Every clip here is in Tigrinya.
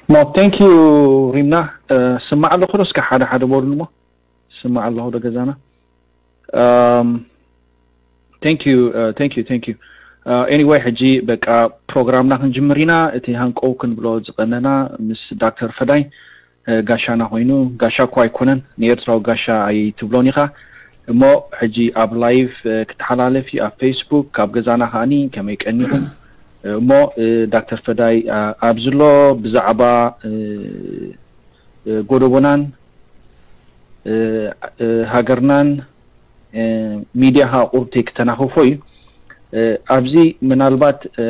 No, thank you. ሪምና፣ ስማዕ ኣለኹ ዶ? እስከ ሓደ ሓደ በሉሞ። ስማዕ ኣለኹ ዶ ገዛና? Um, thank you, uh, thank you, thank you. Uh, anyway, ሕጂ በቃ ፕሮግራምና ክንጅምር ኢና። እቲ ሃንቀው ክንብሎ ዝቐነና ምስ ዳክተር ፈዳይ፣ uh, ጋሻና ኮይኑ፣ ጋሻ እኮ ኣይኮነን፣ ንኤርትራዊ ጋሻ ኣይትብሎን ኢኻ። እሞ ሕጂ ኣብ ላይቭ፣ uh, ክተሓላለፍ እዩ ኣብ ፌስቡክ፣ ካብ ገዛና ከኣኒ ከመይ ቀኒኹም? Uh, እሞ፣ uh, ዳክተር ፈዳይ፣ uh, ኣብዚ ኣሎ ብዛዕባ፣ uh, uh, ጎደቦናን፣ uh, uh, ሃገርናን፣ uh, ሚድያ ከዓ ቁርብተይ ክተናኽፎ እዩ። Uh, ኣብዚ ምናልባት፣ uh,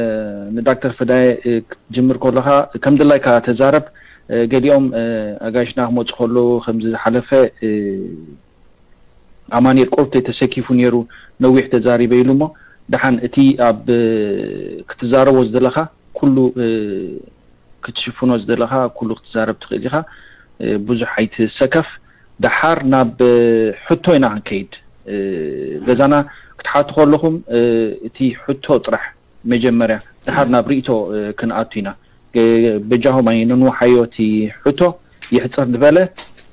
ንዳክተር ፈዳይ፣ uh, ክትጅምር ከለኻ ከም ድላይካ ተዛረብ። Uh, ገሊኦም፣ uh, ኣጋይሽና ክመፁ ከለዉ ከምዚ ዝሓለፈ፣ uh, ኣማኑኤል ቁርብተይ ተሰኪፉ ነይሩ፣ ነዊሕ ተዛሪበ ኢሉ። እሞ ደሓን እቲ ኣብ፣ uh፣ ክትዛረቦ ዝደለኻ ኩሉ፣ uh፣ ክትሽፍኖ ዝደለኻ ኩሉ ክትዛረብ ትኽእል ኢኻ። Uh፣ ብዙሕ ኣይትሰከፍ። ደሓር ናብ፣ uh፣ ሕቶ ኢና ክንከይድ። Uh፣ ገዛና ክትሓቱ ከለኹም፣ uh፣ እቲ ሕቶ ጥራሕ መጀመርያ፣ ደሓር ናብ ርእይቶ፣ uh፣ ክንኣቱ ኢና። Uh፣ በጃኹም ኣይንንውሓዮ እቲ ሕቶ፣ ይሕፅር ዝበለ።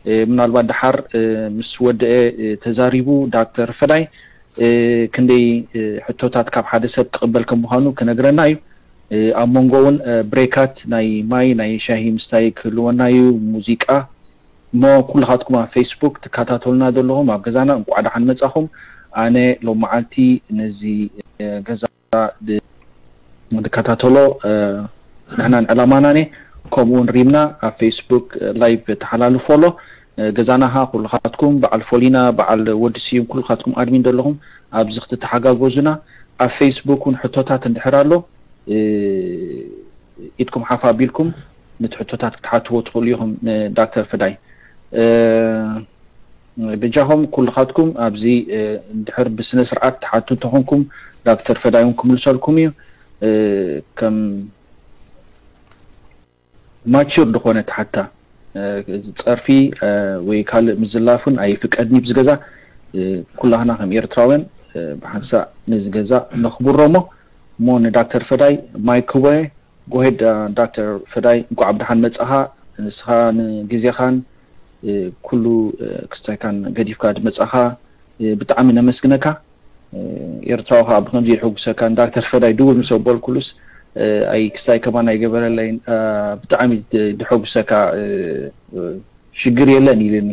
Uh፣ ምናልባት ደሓር፣ uh፣ ምስ ወደአ፣ uh፣ ተዛሪቡ ዳክተር ፈዳይ፣ uh፣ ክንደይ፣ uh፣ ሕቶታት ካብ ሓደ ሰብ ክቕበል ከም ምዃኑ ክነግረና እዩ። Uh፣ ኣብ መንጎ እውን፣ uh፣ ብሬካት ናይ ማይ፣ ናይ ሻሂ ምስታይ ክህልወና እዩ፣ ሙዚቃ። እሞ ኩልኻትኩም ኣብ ፌስቡክ ትከታተሉና ዘለኹም ኣብ ገዛና እንቋዕ ደሓን መጻኹም። ኣነ ሎም መዓልቲ ነዚ፣ uh፣ ገዛ ድ-፣ ንከታተሎ፣ uh፣ ንሕናን ዕላማናን እየ። ከምኡ እውን ሪምና ኣብ ፌስቡክ፣ uh፣ ላይቭ ተሓላልፎ ኣሎ። Uh፣ ገዛና ኸዓ ኩልኻትኩም በዓል ፎሊና፣ በዓል ወዲ ስዩም፣ ኩልኻትኩም ኣድሚን ዘለኹም ኣብዚ ክትተሓጋገዙና። ኣብ ፌስቡክ እውን ሕቶታት እንድሕር ኣሎ፣ uh፣ ኢድኩም ሓፍ ኣቢልኩም ነቲ ሕቶታት ክትሓትዎ ትኽእሉ ኢኹም ንዳክተር ፈዳይ። Uh፣ ብጃኹም ኩልኻትኩም ኣብዚ፣ uh፣ እንድሕር ብስነ ስርዓት ትሓቱ እንተኾንኩም ዳክተር ፈዳይ እውን ክምልሰልኩም እዩ። Uh፣ ከም ማቹር ዝኾነ ተሓታ፣ uh፣ ጸርፊ፣ uh፣ ወይ ካልእ ምዝላፍ እውን ኣይፍቀድን እዩ ብዚ ገዛ። Uh፣ ኩላህና ከም ኤርትራውያን፣ uh፣ ብሓንሳእ ነዚ ገዛ ነኽብሮ እሞ፣ እሞ ንዳክተር ፈዳይ ማይክ ክቦየ፣ ጎሄድ፣ uh፣ ዳክተር ፈዳይ፣ እንኳዕ ብደሓን መጻኻ። ንስኻ ንግዜኻን፣ uh፣ ኩሉ፣ uh፣ ክስታይካን ገዲፍካ ዝመጻኻ፣ uh፣ ብጣዕሚ ነመስግነካ። Uh፣ ኤርትራዊ ከዓ ብኸምዚ ይሕጉሰካ። ንዳክተር ፈዳይ ድውል ምስ ኣበልኩሉስ፣ uh፣ ኣይ ክስታይ ከማን ኣይገበረለይን። Uh፣ ብጣዕሚ ድ-፣ ድሐጉሰካ፣ uh፣ uh፣ ሽግር የለን ኢልኒ።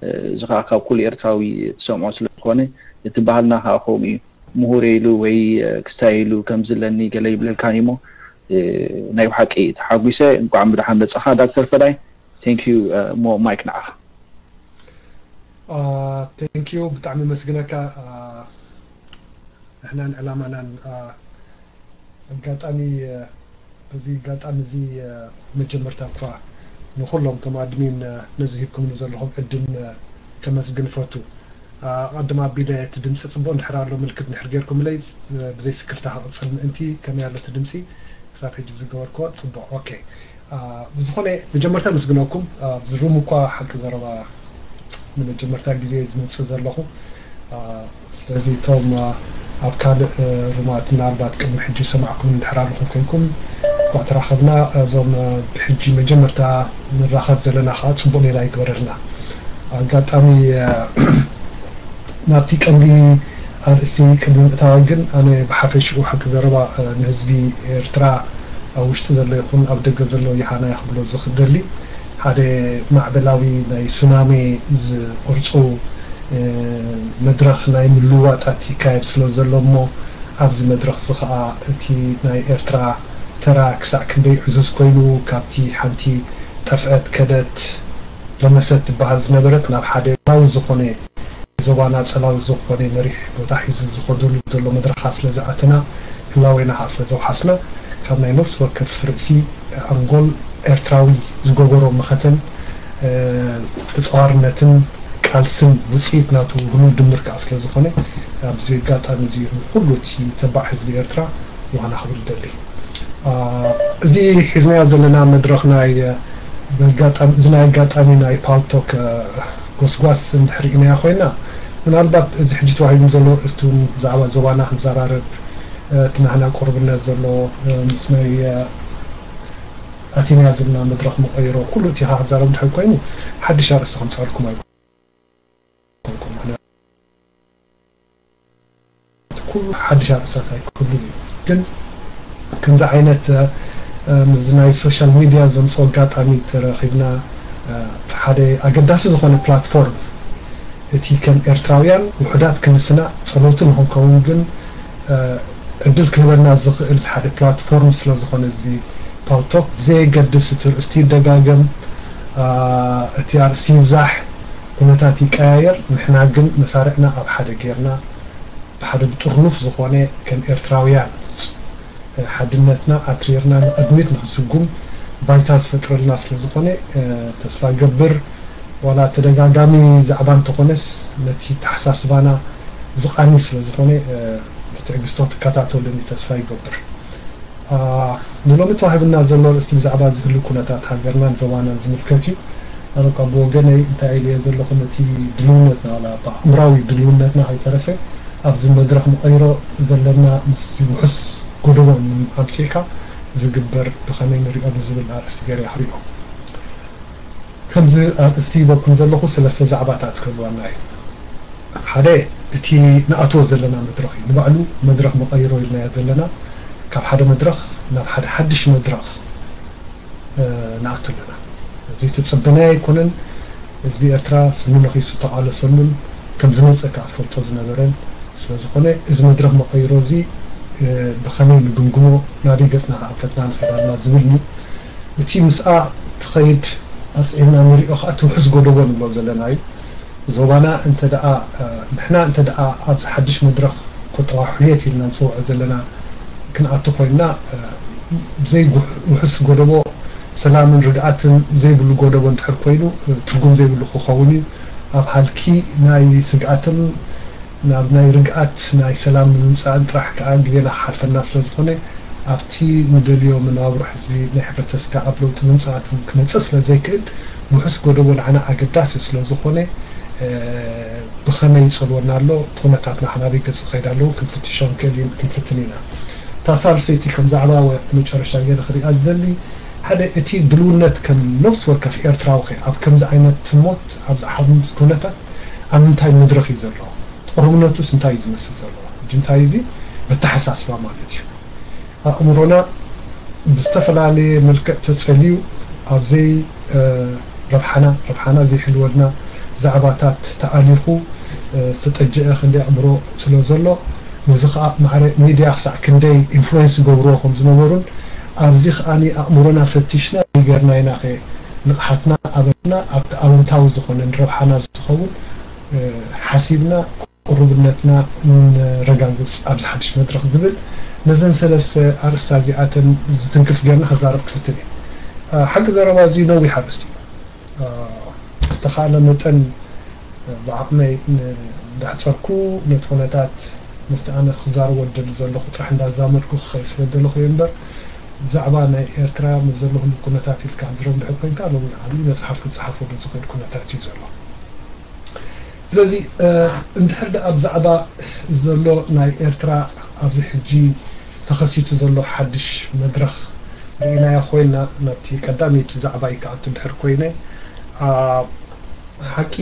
Uh፣ እዚ ከዓ ካብ ኩሉ ኤርትራዊ ትሰምዖ ስለ ዝኾነ፣ እቲ ባህልና ከዓ ከምኡ እዩ። ምሁር ኢሉ ወይ፣ uh፣ ክስታይ ኢሉ ከምዚ ኣለኒ ገለ ይብለልካን እሞ፣ uh፣ ናይ ብሓቂ ተሓጒሰ። እንኳዕ ብደሓን መጻኻ ዳክተር ፈዳይ። Thank you። Uh፣ እሞ ማይክ ንዓኻ። Uh፣ thank you፣ ብጣዕሚ መስግነካ። Uh፣ ንሕናን ዕላማናን፣ uh፣ ኣጋጣሚ፣ uh፣ በዚ ኣጋጣሚ እዚ፣ uh፣ መጀመርታ እኳ ንኹሎም እቶም ኣድሚን፣ uh፣ ነዚ ሂብኩምኒ ዘለኹም ዕድል፣ uh፣ ከመስግን እፈቱ። Uh፣ ኣቐድም ኣቢለ እቲ ድምፂ ፅቡቕ እንድሕር ኣሎ ምልክት እንድሕር ጌርኩምለይ፣ uh፣ ብዘይ ስክፍታ ክቕፅል ምእንቲ። ከመይ ኣሎ እቲ ድምፂ? ክሳብ ሕጂ ብዝገበርክዎ ፅቡቕ። ኦኬ። Uh፣ ብዝኾነ መጀመርታ ምስግነኩም። Uh፣ ኣብዚ ሩም እኳ ሓቂ ዘረባ ንመጀመርታ ግዜ ዝመፅእ ዘለኹ። Uh፣ ስለዚ እቶም፣ uh፣ ኣብ ካልእ፣ uh፣ ሩማት ምናልባት ቅድሚ ሕጂ ሰማዕኩም እንድሕር ኣለኹም ኮይንኩም እንኳዕ ተራኸብና። እዞም፣ uh፣ ብሕጂ መጀመርታ ንራኸብ ዘለና ከዓ ፅቡቕ ሌላ ይግበረልና። ኣጋጣሚ፣ uh፣ ናብቲ ቀንዲ ኣርእስቲ ቅድሚ ምእታወይ ግን ኣነ ብሓፈሽኡ ሓቂ ዘረባ፣ uh፣ ንህዝቢ ኤርትራ ኣብ ውሽጢ ዘሎ ይኹን ኣብ ደገ ዘሎ ይሃና ክብሎ ዝደሊ ሓደ ማዕበላዊ ናይ ሱናሜ ዝቕርጹ፣ uh፣ መድረኽ ናይ ምልውዋጣት ይካየድ ስለ ዘሎ እሞ ኣብዚ መድረኽ እዚ ኸኣ እቲ ናይ ኤርትራ ተራ ክሳዕ ክንደይ ዕዙዝ ኮይኑ ካብቲ ሓንቲ ጠፍአት ከደት ለመሰት ትበሃል ዝነበረት ናብ ሓደ ናዊ ዝኾነ ዞባና ጸላዊ ዝኾነ መሪሕ ቦታ ሒዙ ዝኸደሉ ዘሎ መድረኻ ስለ ዝኣተና፣ ህላዌና ኸኣ ስለ ዘውሓስና፣ ካብ ናይ ነፍሲ ወከፍ ርእሲ ኣንጎል ኤርትራዊ ዝገበሮ መኸተን፣ ተጻዋርነትን ቃልስን ውጽኢት ናቱ ህሉው ድምር ከኣ ስለ ዝኾነ፣ ኣብዚ ኣጋጣሚ እዚ ንኹሉ እቲ ተባዕ ህዝቢ ኤርትራ ዮሃና ክብል እደሊ። እዚ ሒዝናዮ ዘለና መድረኽ ናይ፣ እዚ ናይ ኣጋጣሚ ናይ ፓልቶክ ጎስጓስ እንድሕር ርኢናዮ ኮይና፣ ምናልባት እዚ ሕጂ ተዋሂቡ ዘሎ ኣርእስቲ እውን ብዛዕባ ዞባና ክንዘራረብ፣ እቲ ናህና ቁርብነት ዘሎ ምስ ናይ ኣቲና ዘለና መድረኽ መቐይሮ ኩሉ እቲ ክዛረብ ድሕር ኮይኑ ሓድሽ ኣርእስቲ ከምፃልኩም ኣይኮንኩም። ኩሉ ሓድሽ ኣርእስታት ኣይክህሉን እዩ። ግን ከምዚ ዓይነት ምስ ናይ ሶሻል ሚድያ ዘምፅኦ ኣጋጣሚ ተረኺብና ሓደ ኣገዳሲ ዝኾነ ፕላትፎርም እቲ ከም ኤርትራውያን ውሑዳት ክንስና ጸለውቲ ንኽንከውን ግን ዕድል ክህበና ዝኽእል ሓደ ፕላትፎርም ስለ ዝኾነ እዚ ፓልቶክ ብዘየገድስ እቲ ርእስቲ ይደጋገም እቲ ኣርእስቲ ይብዛሕ ኩነታት ይቀያየር ንሕና ግን መሳርዕና ኣብ ሓደ ጌርና ብሓደ ብጥርኑፍ ዝኾነ ከም ኤርትራውያን ሓድነትና ኣትሪርና ንቕድሚት ንኽስጉም ባይታ ዝፈጥረልና ስለ ዝኾነ ተስፋ ገብር ዋላ ተደጋጋሚ ዛዕባ እንተኾነስ ነቲ ተሓሳስባና ዝቓኒ ስለ ዝኾነ ብትዕግስቲ ክትከታተሉኒ ተስፋ ይገብር። ንሎሚ ተዋሂብና ዘሎ ርእስቲ ብዛዕባ ዝህሉ ኩነታት ሃገርናን ዞባናን ዝምልከት እዩ። ኣነ ካብ ብወገነይ እንታይ ኢለዮ ዘለኹ ነቲ ድልውነትና ዋላ ብኣእምራዊ ድልውነትና ከይተረፈ ኣብዚ መድረኽ ንቐይሮ ዘለና ምስ ውሑስ ጎደቦ ኣምፂእካ ዝግበር ብኸመይ ንሪኦ ንዝብል ኣርእስቲ ገይረ ክሪኦ። ከምዚ ኣርእስቲ ሂበኩም ዘለኹ ሰለስተ ዛዕባታት ክህልዋና እዩ። ሓደ እቲ ንኣትዎ ዘለና መድረኽ እዩ። ንባዕሉ መድረኽ መቐይሮ ኢልናዮ ዘለና ካብ ሓደ መድረኽ ናብ ሓደ ሓድሽ መድረኽ ንኣቱ ኣለና። ዘይተጸበናዮ ኣይኮነን። ህዝቢ ኤርትራ ስኑ ነኺሱ ተቓለሰሉን ከም ዝመጸ ከኣ ዝፈልጦ ዝነበረን ስለ ዝኾነ እዚ መድረኽ መቐይሮ እዚ ብኸመይ ንግምግሞ ናበይ ገጽና ከኣንፈትና ንኸይድ ኣለና ዝብል እዩ። እቲ ምስኣ ትኸይድ ኣስዒብና ንሪኦ ከኣ እቲ ውሑስ ጎደቦ ንብሎ ዘለና እዩ። ዞባና እንተ ደኣ ንሕና እንተ ደኣ ኣብዚ ሓድሽ መድረኽ ቁጠባ ሕውየት ኢልና ንጽውዖ ዘለና ክንኣቱ ኮይንና ዘይውሑስ ጎደቦ ሰላምን ርግኣትን ዘይብሉ ጎደቦ እንድሕር ኮይኑ ትርጉም ዘይብሉ ክኸውን እዩ። ኣብ ሃልኪ ናይ ስግኣትን ናብ ናይ ርግኣት ናይ ሰላም ንምምፃእን ጥራሕ ከዓ ግዜና ክሓልፈና ስለ ዝኾነ ኣብቲ ንደልዮ መነባብሮ ህዝቢ ናይ ሕብረተስካ ኣብ ለውጢ ምምፃእ ክመፅእ ስለ ዘይክእል ውሑስ ጎደቦ ንዓና ኣገዳሲ ስለ ዝኾነ ብኸመይ ይፀልወና ኣሎ እቲ ኩነታትና ክናበይ ገፅ ይኸይድ ኣለዉ ክንፍትሾ ክንክእል ክንፍትን ኢና። እታ ሳልሰይቲ ከም ዛዕባ ወይ መጨረሻ ገይረ ክሪኣ ዝደሊ ሓደ እቲ ድልውነት ከም ነፍሲ ወከፍ ኤርትራዊ ከ ኣብ ከምዚ ዓይነት ህሞት ኣብ ዝሓምስ ኩነታት ኣብ ምንታይ መድረኽ እዩ ዘሎ? ቅሩብነቱስ እንታይ እዩ ዝመስል ዘሎ? ሕጂ እንታይ እዚ በተሓሳስባ ማለት እዩ። ኣእምሮና ብዝተፈላለየ መልክዕ ተጸልዩ ኣብ ዘይ ረብሓና ረብሓና ዘይሕልወልና ዛዕባታት ተኣሊኹ ዝተጠጀአ ክንደይ ኣእምሮ ስለ ዘሎ ነዚ ከዓ ማዕረ ሚድያ ክሳዕ ክንደይ ኢንፍሉዌንስ ዝገብርዎ ከም ዝነበሩን ኣብዚ ከዓኒ ኣእምሮና ፈቲሽና ይገርና ኢና ከ ንቕሓትና ኣበና ኣብቲ ኣወንታዊ ዝኾነ ንረብሓና ዝኸውን ሓሲብና ቅሩብነትና ነረጋግፅ ኣብዚ ሓድሽ መድረኽ ዝብል ነዘን ሰለስተ ኣርእስታ እዚኣተን ዝትንክፍ ጌርና ክዛረብ ክፍትን እየ። ሓቂ ዘረባ እዚ ነዊሕ ኣርእስቲ እዩ። ዝተኻእለ መጠን ብዓቕመይ እንዳሕፀርኩ ነቲ ኩነታት ምስቲ ኣነ ክዛረቦ ዝደሊ ዘለኹ ጥራሕ እንዳዛመድኩ ክኸይድ ስለ ዘለኹ እየ እምበር ብዛዕባ ናይ ኤርትራ ምስ ዘሎ ህሉ ኩነታት ኢልካ ዝረብ ድሕር ኮይንካ ሎሚ ዓብዪ መፅሓፍ ክፀሓፎ ዶ ዝኽእል ኩነታት እዩ ዘሎ። ስለዚ እንድሕር ደኣ ብዛዕባ ዘሎ ናይ ኤርትራ ኣብዚ ሕጂ ተኸሲቱ ዘሎ ሓድሽ መድረኽ ርኢናዮ ኮይና ናብቲ ቀዳመይቲ ዛዕባይ ክኣቱ እንድሕር ኮይነ ሓቂ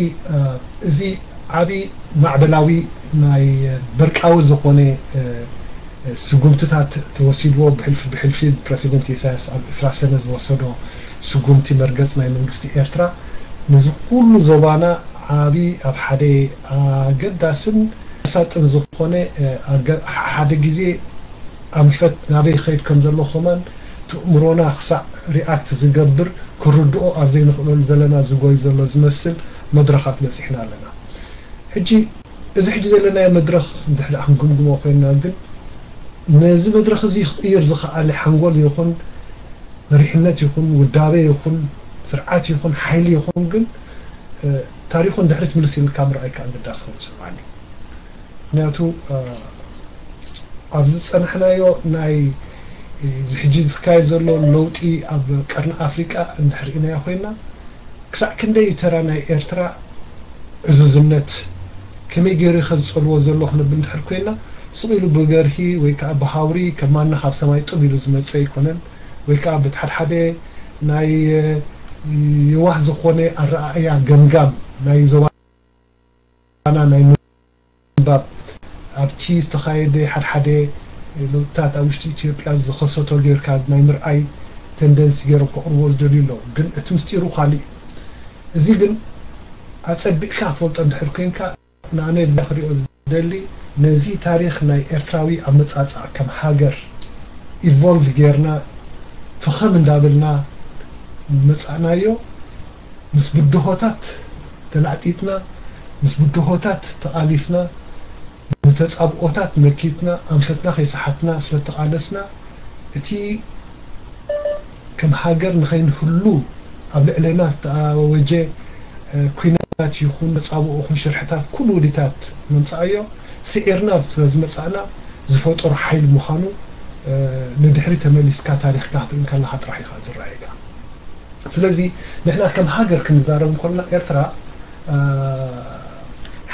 እዚ ዓቢ ማዕበላዊ ናይ በርቃዊ ዝኾነ ስጉምትታት ተወሲድዎ ብሕልፊ ብሕልፊ ፕረሲደንት ኢሳያስ ኣብ ዕስራ ሰነ ዝወሰዶ ስጉምቲ መርገጽ ናይ መንግስቲ ኤርትራ ነዚ ኩሉ ዞባና ዓቢ ኣብ ሓደ ኣገዳስን መሳጥን ዝኾነ ሓደ ግዜ ኣንፈት ናበይ ይኸይድ ከም ዘሎ ከማን ትእምሮና ክሳዕ ሪኣክት ዝገብር ክርድኦ ኣብ ዘይንኽእለሉ ዘለና ዝጎይ ዘሎ ዝመስል መድረኻት በፂሕና ኣለና። ሕጂ እዚ ሕጂ ዘለናዮ መድረኽ እንድሕር ደኣ ክንግምግሞ ኮይንና ግን ነዚ መድረኽ እዚ ክቕይር ዝኸኣለ ሓንጎል ይኹን መሪሕነት ይኹን ውዳበ ይኹን ስርዓት ይኹን ሓይሊ ይኹን ግን ታሪኹ እንድሕሪ ትምልስ ኢልካ ምርኣይ ከዓ ግዳስ ክኸውን ይስምዓኒ። ምክንያቱ ኣብ ዝፀናሕናዮ ናይ እዚ ሕጂ ዝካየድ ዘሎ ለውጢ ኣብ ቀርኒ ኣፍሪቃ እንድሕር ኢናዮ ኮይና ክሳዕ ክንደይ እዩ ተራ ናይ ኤርትራ ዕዙዝነት ከመይ ገይሩ ከዝፀልዎ ዘሎ ክንብል እንድሕር ኮይና ስቕ ኢሉ ብገርሂ ወይ ከዓ ብሃውሪ ከማና ካብ ሰማይ ጡብ ኢሉ ዝመፀ ኣይኮነን። ወይ ከዓ በቲ ሓድሓደ ናይ የዋህ ዝኾነ ኣረኣእያ ገምጋም ናይ ዞባና ናይ ምንባብ ኣብቲ ዝተኻየደ ሓድሓደ ለውጥታት ኣብ ውሽጢ ኢትዮጵያ ዝኸሰቶ ጌርካ ናይ ምርኣይ ተንደንሲ ገይሮም ከቕርቦ ዝደልዩ ኣለዉ። ግን እቲ ምስጢሩ ካልእ እዩ። እዚ ግን ኣጸቢቕካ ትፈልጦ እንድሕር ኮይንካ ንኣነ ክሪኦ ዝደሊ ነዚ ታሪኽ ናይ ኤርትራዊ ኣመጻጽኣ ከም ሃገር ኢቮልቭ ጌርና ፍኸም እንዳበልና መጻእናዮ ምስ ብድሆታት ተላዕጢጥና ምስ ብድሆታት ተቓሊስና ንተጻብኦታት መኪትና ኣንፈትና ከይሰሓትና ስለተቓለስና እቲ ከም ሃገር ንኸይንህሉ ኣብ ልዕለና ዝተኣወጀ ኩናት ይኹን ተጻብኦ ይኹን ሽርሕታት ኩሉ ውዲታት መምጻኣዮ ስዒርና ስለዝመጻእና ዝፈጠሮ ሓይል ምዃኑ ንድሕሪ ተመሊስካ ታሪኽካ ክትርኢ ከለኻ ጥራሕ ኢኻ ዝረኣየካ። ስለዚ ንሕና ከም ሃገር ክንዛረብ እንኮልና ኤርትራ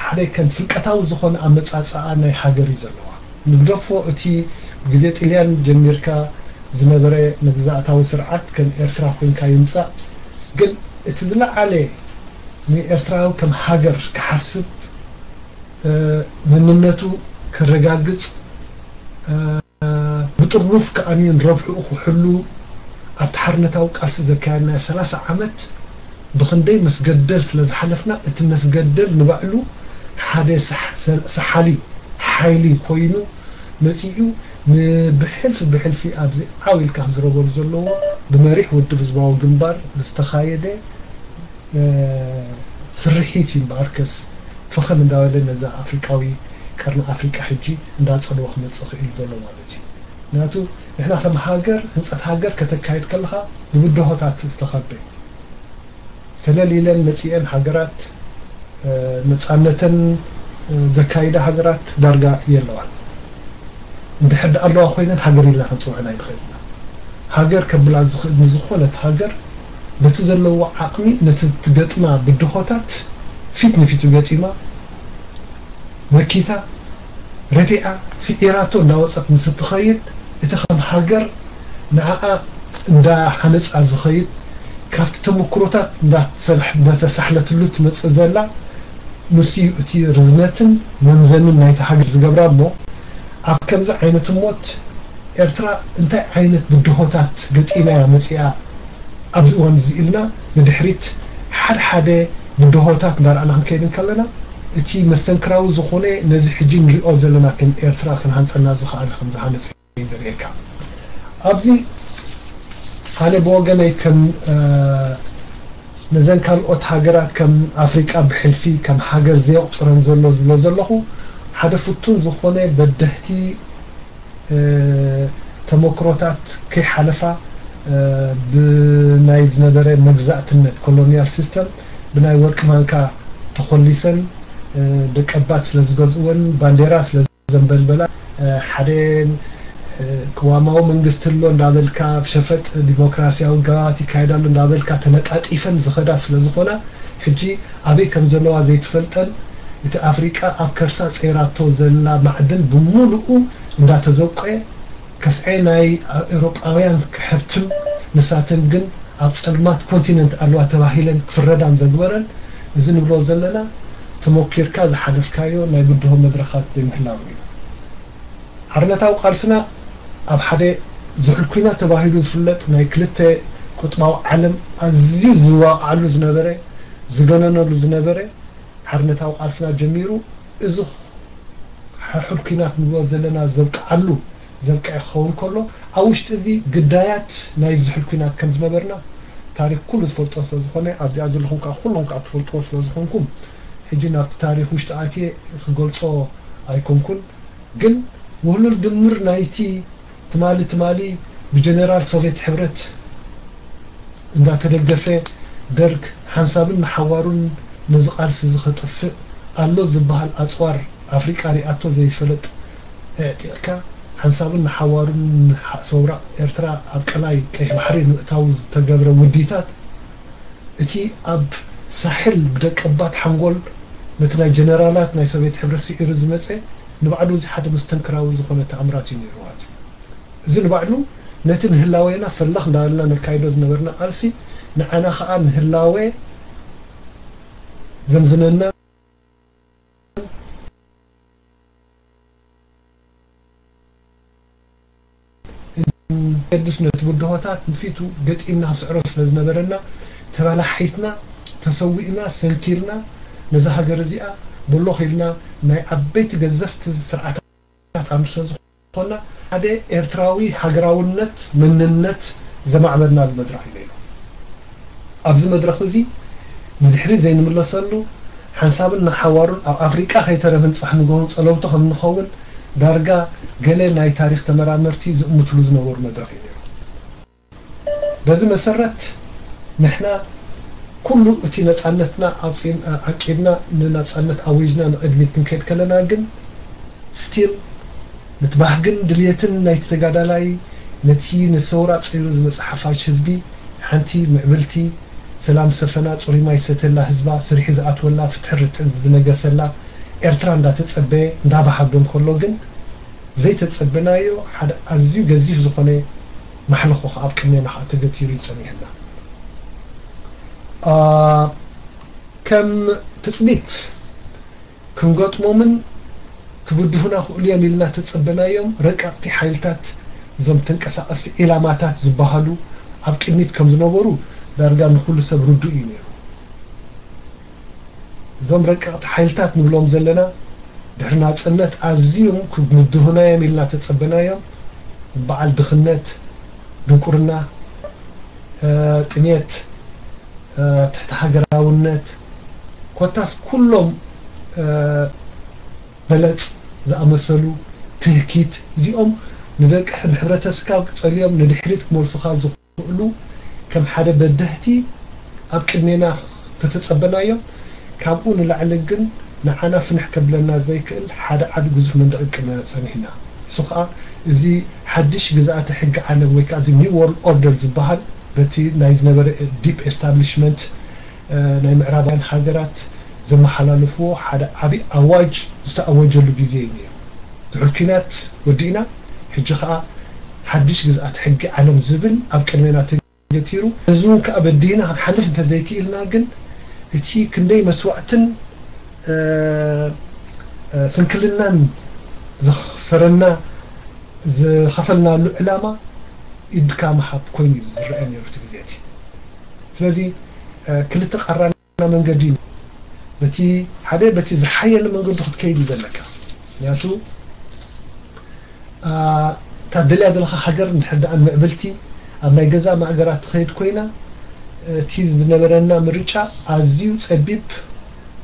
ሓደ ከም ፍልቀታዊ ዝኾነ ኣመጻጽኣ ናይ ሃገር እዩ ዘለዋ። ንግደፎ እቲ ብግዜ ጥልያን ጀሚርካ ዝነበረ መግዛእታዊ ስርዓት ከም ኤርትራ ኮይንካ ይምጻእ፣ ግን እቲ ዝለዓለ ንኤርትራዊ ከም ሃገር ክሓስብ መንነቱ ከረጋግጽ ብጥሩፍ ከኣኒ ንረብሕኡ ክሕሉ ኣብቲ ሓርነታዊ ቃልሲ ዘካየድናዮ ሰላሳ ዓመት ብኽንደይ መስገደል ስለ ዝሓለፍና እቲ መስገደል ንባዕሉ ሓደ ሰሓሊ ሓይሊ ኮይኑ መጺኡ ንብሕልፊ ብሕልፊ ኣብዚ ዓው ኢልካ ክዝረበሉ ዘለዎ ብመሪሕ ውድብ ህዝባዊ ግንባር ዝተኻየደ ስርሒት እዩ እምበኣርከስ ፈኸም እንዳበለ ነዛ ኣፍሪቃዊ ቀርኒ ኣፍሪቃ ሕጂ እንዳጸልወ ክመጽእ ክእል ዘሎ ማለት እዩ። ምክንያቱ ንሕና ከም ሃገር ህንጸት ሃገር ከተካይድ ከለኻ ብብድሆታት ዝተኸበ ሰለል ኢለን መጺኤን ሃገራት ነጻነተን ዘካይዳ ሃገራት ዳርጋ የለዋን። እንድሕር ደኣ ኣለዋ ኮይነን ሃገር ኢልና ክንጽውዐን ኣይንኽእል ኢና። ሃገር ከብላ ዝኽእል ንዝኾነት ሃገር በቲ ዘለዎ ዓቕሚ ነቲ ትገጥማ ብድሆታት ፊት ንፊቱ ገጢማ መኪታ ረቲዓ ስዒራቶ እንዳወፀት ምስ እትኸይድ እቲ ከም ሃገር ንዓኣ እንዳሃነፃ ዝኸይድ ካብቲ ተመክሮታት እንዳተሳሕለትሉ ትመፅእ ዘላ ንሱ እዩ እቲ ርዝነትን መምዘንን ናይቲ ሃገር ዝገብራ እሞ ኣብ ከምዚ ዓይነት እሞት ኤርትራ እንታይ ዓይነት ብድሆታት ገጢማ እያ መፂኣ ኣብዚ እዋን እዚ ኢልና ንድሕሪት ሓደ ሓደ ብድሆታት እንዳረኣና ክንከይድ እንከለና እቲ መስተንክራዊ ዝኾነ ነዚ ሕጂ ንሪኦ ዘለና ከም ኤርትራ ክንሃንፀና ዝኸኣለ ከም ዝሃነፀ እዩ ዘርእየካ። ኣብዚ ኣነ ብወገነይ ከም ነዘን ካልኦት ሃገራት ከም ኣፍሪቃ ብሕልፊ ከም ሃገር ዘየቑፅረን ዘሎ ዝብሎ ዘለኹ ሓደ ፍቱን ዝኾነ በደህቲ ተመክሮታት ከይሓለፋ ብናይ ዝነበረ መግዛእትነት ኮሎኒያል ሲስተም ብናይ ወርቂ ማንካ ተኾሊሰን ደቀባት ስለ ዝገዝእወን ባንዴራ ስለ ዘንበልበላ ሓደ ቅዋማዊ መንግስቲ ኣሎ እንዳበልካ ብሸፈጥ ዲሞክራሲያዊ ጋባት ይካየድ ኣሎ እንዳበልካ ተለጣጢፈን ዝኸዳ ስለ ዝኾና ሕጂ ኣበይ ከም ዘለዋ ዘይትፈልጠን እቲ ኣፍሪቃ ኣብ ከርሳ ጸይራቶ ዘላ ማዕድን ብምሉኡ እንዳተዘቆየ ከስዐ ናይ ኤውሮጳውያን ክሕብትም ንሳተን ግን ኣብ ጸልማት ኮንቲነንት ኣለዋ ተባሂለን ክፍረዳን ዘግበረን እዚ ንብሎ ዘለና ተሞኪርካ ዝሓለፍካዮ ናይ ብድሆ መድረኻት ዘይምህላው እዩ። ሓርነታዊ ቃልስና ኣብ ሓደ ዝሑል ኲናት ተባሂሉ ዝፍለጥ ናይ ክልተ ቁጥባዊ ዓለም ኣዝዩ ዝዋቕዓሉ ዝነበረ ዝገነነሉ ዝነበረ ሓርነታዊ ቃልስና ጀሚሩ እዚ ሕሑል ኲናት ንብሎ ዘለና ዘብቅዓሉ ዘብቅዐ ክኸውን ከሎ ኣብ ውሽጢ እዚ ግዳያት ናይ ዝሑል ኲናት ከም ዝነበርና ታሪክ ኩሉ ዝፈልጦ ስለ ዝኾነ ኣብዚኣ ዘለኹም ከዓ ኩሎም ከዓ ትፈልጥዎ ስለ ዝኾንኩም ሕጂ ናብቲ ታሪክ ውሽጢ ኣትየ ክገልጾ ኣይኮንኩን። ግን ውህሉል ድምር ናይቲ ትማሊ ትማሊ ብጀነራል ሶቬት ሕብረት እንዳተደገፈ ደርግ ሓንሳብን ንሓዋሩን ነዚ ቃልሲ እዚ ከጥፍእ ኣሎ ዝበሃል ኣፅዋር ኣፍሪቃ ሪኣቶ ዘይፈለጥ ኣዕጢቕካ ሓንሳብን ንሓዋሩን ሰውራ ኤርትራ ኣብ ቀላይ ቀይሕ ባሕሪ ንምእታው ዝተገብረ ውዲታት እቲ ኣብ ሳሕል ብደቀባት ሓንጎል ነቲ ናይ ጀነራላት ናይ ሶቬት ሕብረት ስዒሩ ዝመፀ ንባዕሉ እዚ ሓደ መስተንክራዊ ዝኾነ ተኣምራት እዩ ነይሩ ማለት እዩ። እዚ ንባዕሉ ነቲ ንህላዌና ፈለኽ እንዳበልና ነካይዶ ዝነበርና ቃልሲ፣ ንዓና ኸኣ ንህላዌ ዘምዝነና ገድስ ነቲ ብድሆታት ንፊቱ ገጢምና ክስዕሮ ስለ ዝነበረና፣ ተበላሒትና፣ ተሰዊእና፣ ሰንኪልና፣ ነዛ ሃገር እዚኣ ብሎኽ ኢልና ናይ ዓበይቲ ገዘፍቲ ስርዓታት ኣምር ስለ ዝኾና፣ ሓደ ኤርትራዊ ሃገራውነት መንነት ዘማዕበልናሉ መድረኽ እዩ ነይሩ። ኣብዚ መድረኽ እዚ ንድሕሪት ዘይንምለሰሉ፣ ሓንሳብን ንሓዋሩን ኣብ ኣፍሪቃ ከይተረፍን ጽባሕ ንግሆ ጸለውቲ ከም ንኸውን ዳርጋ ገለ ናይ ታሪኽ ተመራመርቲ ዝእምትሉ ዝነበሩ መድረኽ እዩ ነይሩ። በዚ መሰረት ንሕና ኩሉ እቲ ነጻነትና ኣውጺን-፣ ዓቂብና ንነጻነት ኣዊጅና ንቕድሚት ክንከይድ ከለና ግን ስቲል ነቲ ባህግን ድልየትን ናይቲ ተጋዳላይ ነቲ ንሰውራ ጸይሩ ዝመጽእ ሓፋሽ ህዝቢ ሓንቲ ምዕብልቲ ሰላም ሰፈና ጽሩይ ማይ ሰተላ ህዝባ ስሪሑ ዝኣትወላ ፍትሒ ርትዕን ዝነገሰላ ኤርትራ እንዳተጸበየ እንዳበሃገ እንከሎ ግን ዘይተጸበናዮ ሓደ ኣዝዩ ገዚፍ ዝኾነ ማሕለኾ ኣብ ቅድሜና ከዓ ተገቲሩ እዩ ጸኒሕና። ኣ፣ ከም ትጽቢት ክንገጥሞምን ክብድሁና ክእሉ እዮም ኢልና ተጸበናዮም ረቀቕቲ ሓይልታት እዞም ተንቀሳቐስቲ ዒላማታት ዝበሃሉ ኣብ ቅድሚት ከም ዝነበሩ ዳርጋ ንኹሉ ሰብ ርዱእ እዩ ነይሩ። እዞም ረቀቕቲ ሓይልታት ንብሎም ዘለና ድሕሪ ናጽነት ኣዝዮም ክምድሁና እዮም ኢልና ተጸበናዮም። በዓል ድኽነት፣ ድንቁርና፣ እ፣ ጥሜት፣ እ፣ ትሕቲ ሃገራውነት፣ ኮታስ ኩሎም፣ እ፣ በለጽ ዝኣመሰሉ ትህኪት፣ እዚኦም ንደቂ ንሕብረተሰብካ ጸልዮም ንድሕሪት ክመልሱኻ ዝኽእሉ ከም ሓደ በደህቲ ኣብ ቅድሜና ተተጸበናዮም። ካብኡ ንላዕሊ ግን ንዓና ፍንሕ ከብለና ዘይክእል ሓደ ዓቢ ግዙፍ መንደቕ ቅድሜና ጸኒሕና። እሱ ኸኣ እዚ ሓድሽ ግዝኣተ ሕጊ ዓለም ወይ ከኣ እዚ ኒው ወርልድ ኦርደር ዝበሃል በቲ ናይ ዝነበረ ዲፕ ኤስታብሊሽመንት፣ እ፣ ናይ ምዕራባውያን ሃገራት ዘመሓላለፍዎ ሓደ ዓቢ ኣዋጅ ዝተኣወጀሉ ግዜ እዩ ነይሩ። ድሕሪ ኲናት ወዲእና፣ ሕጂ ኸኣ ሓድሽ ግዝኣት ሕጊ ዓለም ዝብል ኣብ ቅድሜና ተገቲሩ። እዚ እውን ከኣ በዲህና ክንሓልፍ እንተዘይክኢልና ግን፣ እቲ ክንደይ መስዋእትን፣ እ፣ እ፣ ስንክልናን ዘኽፈረና፣ ዝኸፈልናሉ ዕላማ ኢድካ ምሃብ ኮይኑ እዩ ዝረአ ነይሩ እቲ ግዜ እቲ። ስለዚ፣ እ፣ ክልተ ቃራና መንገዲ እዩ። በቲ ሓደ፣ በቲ ዝሓየለ መንገዲ ክትከይድ እዩ ዘለካ። ምክንያቱ፣ ኣ፣ እታ ደልያ ዘለኻ ሃገር እንድሕር ደኣ ምዕብልቲ ኣብ ናይ ገዛ ማእገራ ትኸይድ ኮይና፣ እቲ ዝነበረና ምርጫ ኣዝዩ ጸቢብ፣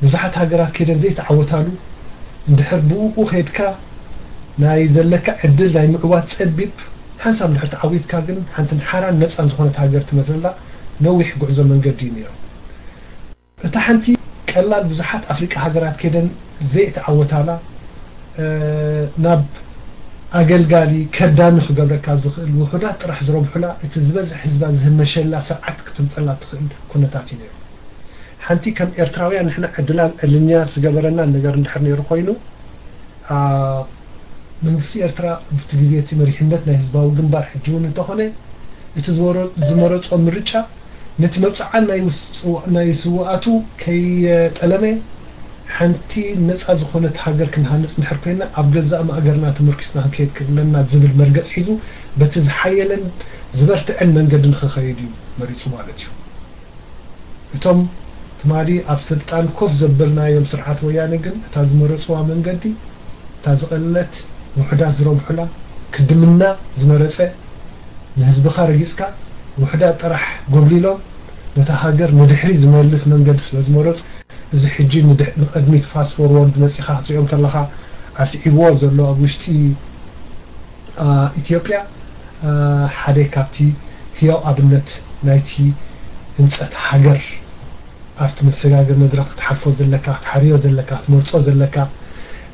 ብዙሓት ሃገራት ከይደን ዘይተዓወታሉ፣ እንድሕር ብኡ ከይድካ ናይ ዘለካ ዕድል ናይ ምዕዋት ጸቢብ፣ ሓንሳብ እንድሕር ተዓዊትካ ግን ሓንትን ሓራን ነጻን ዝኾነት ሃገር ትመትረላ ነዊሕ ጉዕዞ መንገዲ እዩ ነይሩ። እታ ሓንቲ ቀላል ብዙሓት ኣፍሪቃ ሃገራት ከይደን ዘይተዓወታላ፣ እ፣ ናብ ኣገልጋሊ ከዳሚ ክገብረካ ዝኽእል ውሑዳት ጥራሕ ዝረብሑላ፣ እቲ ዝበዝሕ ህዝባ ዝህመሸላ ስርዓት ክትምጸላ ትኽእል ኩነታት እዩ ነይሩ። ሓንቲ ከም ኤርትራውያን ንሕና ዕድላን ዕልኛት ዝገበረና ነገር እንድሕር ነይሩ ኮይኑ፣ ኣ፣ መንግስቲ ኤርትራ ኣብቲ ግዜ እቲ መሪሕነት ናይ ህዝባዊ ግንባር ሕጂ እውን እንተኾነ፣ እቲ ዝወረ-፣ ዝመረጾ ምርጫ ነቲ መብጽዓ ናይ ውስ-፣ ናይ ስውኣቱ ከየጠለመ፣ ሓንቲ ነጻ ዝኾነት ሃገር ክንሃንጽ እንድሕር ኮይና፣ ኣብ ገዛእ ማእገርና ተመርኪስና ክንከይድ ክእለና ዝብል መርገጽ ሒዙ፣ በቲ ዝሓየለን ዝበርትዐን መንገዲ ንኽኸይድ እዩ መሪጹ ማለት እዩ። እቶም ትማሊ ኣብ ስልጣን ኮፍ ዘበልናዮም ስርዓት ወያነ ግን እታ ዝመረጽዋ መንገዲ፣ እታ ዝቐለለት፣ ውሑዳት ዝረብሑላ፣ ክድምና ዝመረጸ፣ ንህዝብኻ ረጊጽካ፣ ውሑዳት ጥራሕ ጎብሊሎም፣ ነታ ሃገር ንድሕሪት ዝመልስ መንገዲ ስለ ዝመረጹ፣ እዚ ሕጂ ንድሕ-፣ ንቕድሚት ፋስት ፎርወርድ መጺኻ ክትሪኦም ከለኻ ኣስዒብዎ ዘሎ ኣብ ውሽጢ ኣ፣ ኢትዮጵያ፣ ኣ፣ ሓደ ካብቲ ህያው ኣብነት ናይቲ ህንጸት ሃገር ኣብቲ መሰጋገሪ መድረኽ ክትሓልፎ ዘለካ፣ ክትሓርዮ ዘለካ፣ ክትመርጾ ዘለካ፣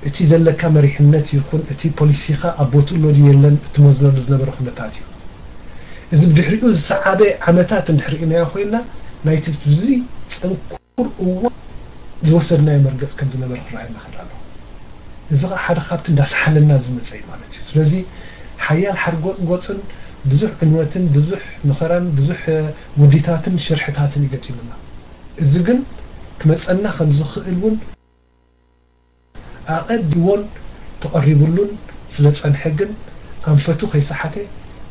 እቲ ዘለካ መሪሕነት ይኹን እቲ ፖሊሲኻ ኣብ ቦትኡ ኣሎ ድዩ የለን እትመዝነሉ ዝነበረ ኩነታት እዩ። እዚ ብድሕሪኡ ዝሰዓበ ዓመታት እንድሕር ርኢናዮ ኮይና፣ ናይቲ ብዙይ ጽንኩር እዋን ዝወሰድናዮ መርገጽ ከም ዝነበረ ክረኣየና ይኽእል ኣሎ። እዚ ኸኣ ሓደ ካብቲ እንዳሰሓለና ዝመጸ እዩ ማለት እዩ። ስለዚ ሓያል ሓርጎጽጎጽን ብዙሕ ዕንወትን ብዙሕ መኸራን ብዙሕ ውዲታትን ሽርሕታትን ይገጢሙና። እዚ ግን ክመፀና ከም ዝኽእል እውን ኣቐዲዎን ተቐሪቡሉን ስለ ጸንሐ ግን ኣንፈቱ ከይሰሓተ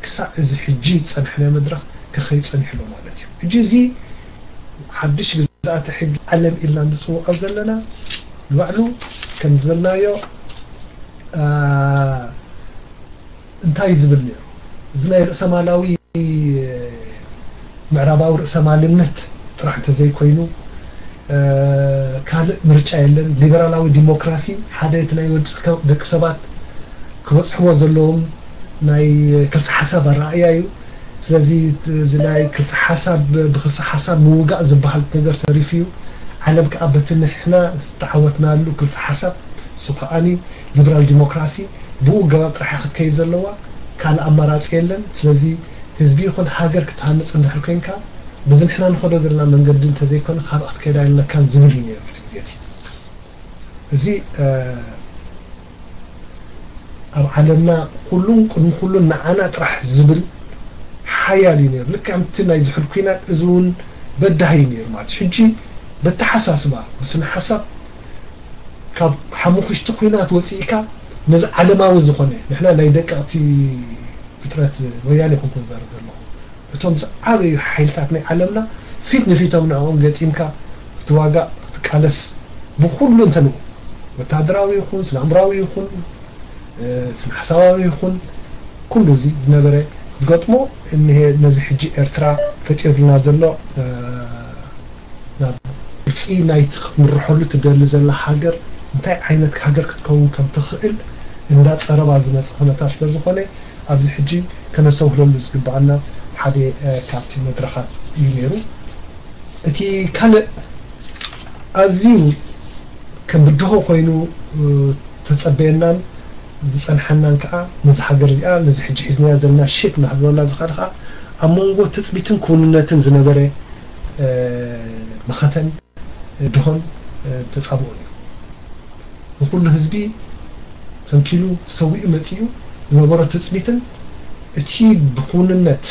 ክሳዕ እዚ ሕጂ ዝጸንሐናዮ መድረኽ ክኸይድ ጸኒሑ ኣሎ ማለት እዩ። ሕጂ እዚ ሓድሽ ግዝኣተ ሕጊ ዓለም ኢልና ንጽውዖ ዘለና ንባዕሉ ከም ዝበልናዮ እንታይ ዝብል ነይሩ? እዚ ናይ ርእሰማላዊ ምዕራባዊ ርእሰማልነት ጥራሕ እንተዘይኮይኑ ካልእ ምርጫ የለን። ሊበራላዊ ዲሞክራሲ ሓደ እቲ ናይ ወዲ ደቂ ሰባት ክበፅሕዎ ዘለዎም ናይ ክልሲ ሓሳብ ኣረኣእያ እዩ። ስለዚ እዚ ናይ ክልሲ ሓሳብ ብክልሲ ሓሳብ ምውጋእ ዝበሃል ነገር ተሪፉ እዩ። ዓለም ከዓ በቲ ንሕና ዝተዓወትናሉ ክልሲ ሓሳብ እሱ ከዓኒ ሊበራል ዲሞክራሲ ብኡ ገባብ ጥራሕ ክትከይድ ዘለዋ ካልእ ኣማራፂ የለን። ስለዚ ህዝቢ ይኹን ሃገር ክትሃንፅ እንድሕር ኮይንካ በዚ ንሕና ንኸዶ ዘለና መንገዲ እንተዘይኮነ ካልእ ክትከይድ ኣይለካን ዝብል እዩ ነይሩ እቲ ግዜ እቲ። እዚ ኣብ ዓለምና ኩሉን ቅድሚ ኩሉን ንዓና ጥራሕ ዝብል ሓያል እዩ ነይሩ። ልክዕ ከምቲ ናይ ዝሑል ኩናት እዚ እውን በዳሂ እዩ ነይሩ ማለት እዩ። ሕጂ በተሓሳስባ ብስነ ሓሳብ ካብ ሓሙኽሽቲ ኩናት ወፂእካ ነዚ ዓለማዊ ዝኾነ ንሕና ናይ ደቀቕቲ ፍጥረት ወያነ ይኹንኩ ዝዛረብ ዘለኹ እቶም ዝዓበዩ ሓይልታት ናይ ዓለምና ፊት ንፊቶም ንዕኦም ገጢምካ ክትዋጋእ ክትቃለስ ብኩሉ እንተንኡ ወታደራዊ ይኹን ስነ ኣእምራዊ ይኹን ስነ ሓሳባዊ ይኹን ኩሉ እዚ ዝነበረ ክትገጥሞ እኒሄ ነዚ ሕጂ ኤርትራ ፈጢሩልና ዘሎ ናብ ግልፂ ናይቲ ክትምርሐሉ ትደሊ ዘላ ሃገር እንታይ ዓይነት ሃገር ክትከውን ከም ትኽእል እንዳ ፀረባ ዝመፀ ኩነታት ስለ ዝኾነ ኣብዚ ሕጂ ከነስተውህለሉ ዝግበኣና ሓደ ካብቲ መድረኻት እዩ ነይሩ። እቲ ካልእ ኣዝዩ ከም ብድሆ ኮይኑ ተጸበየናን ዝጸንሐናን ከኣ ነዚ ሃገር እዚኣ ነዚ ሕጂ ሒዝናዮ ዘለና ሼፕ እናሃለወና ዝኸደ ከኣ ኣብ መንጎ ትጽቢትን ክውንነትን ዝነበረ መኸተን ድሆን ተጻብኦን እዩ። ንኩሉ ህዝቢ ሰንኪሉ ሰዊኡ መጺኡ ዝነበሮ ትጽቢትን እቲ ብክውንነት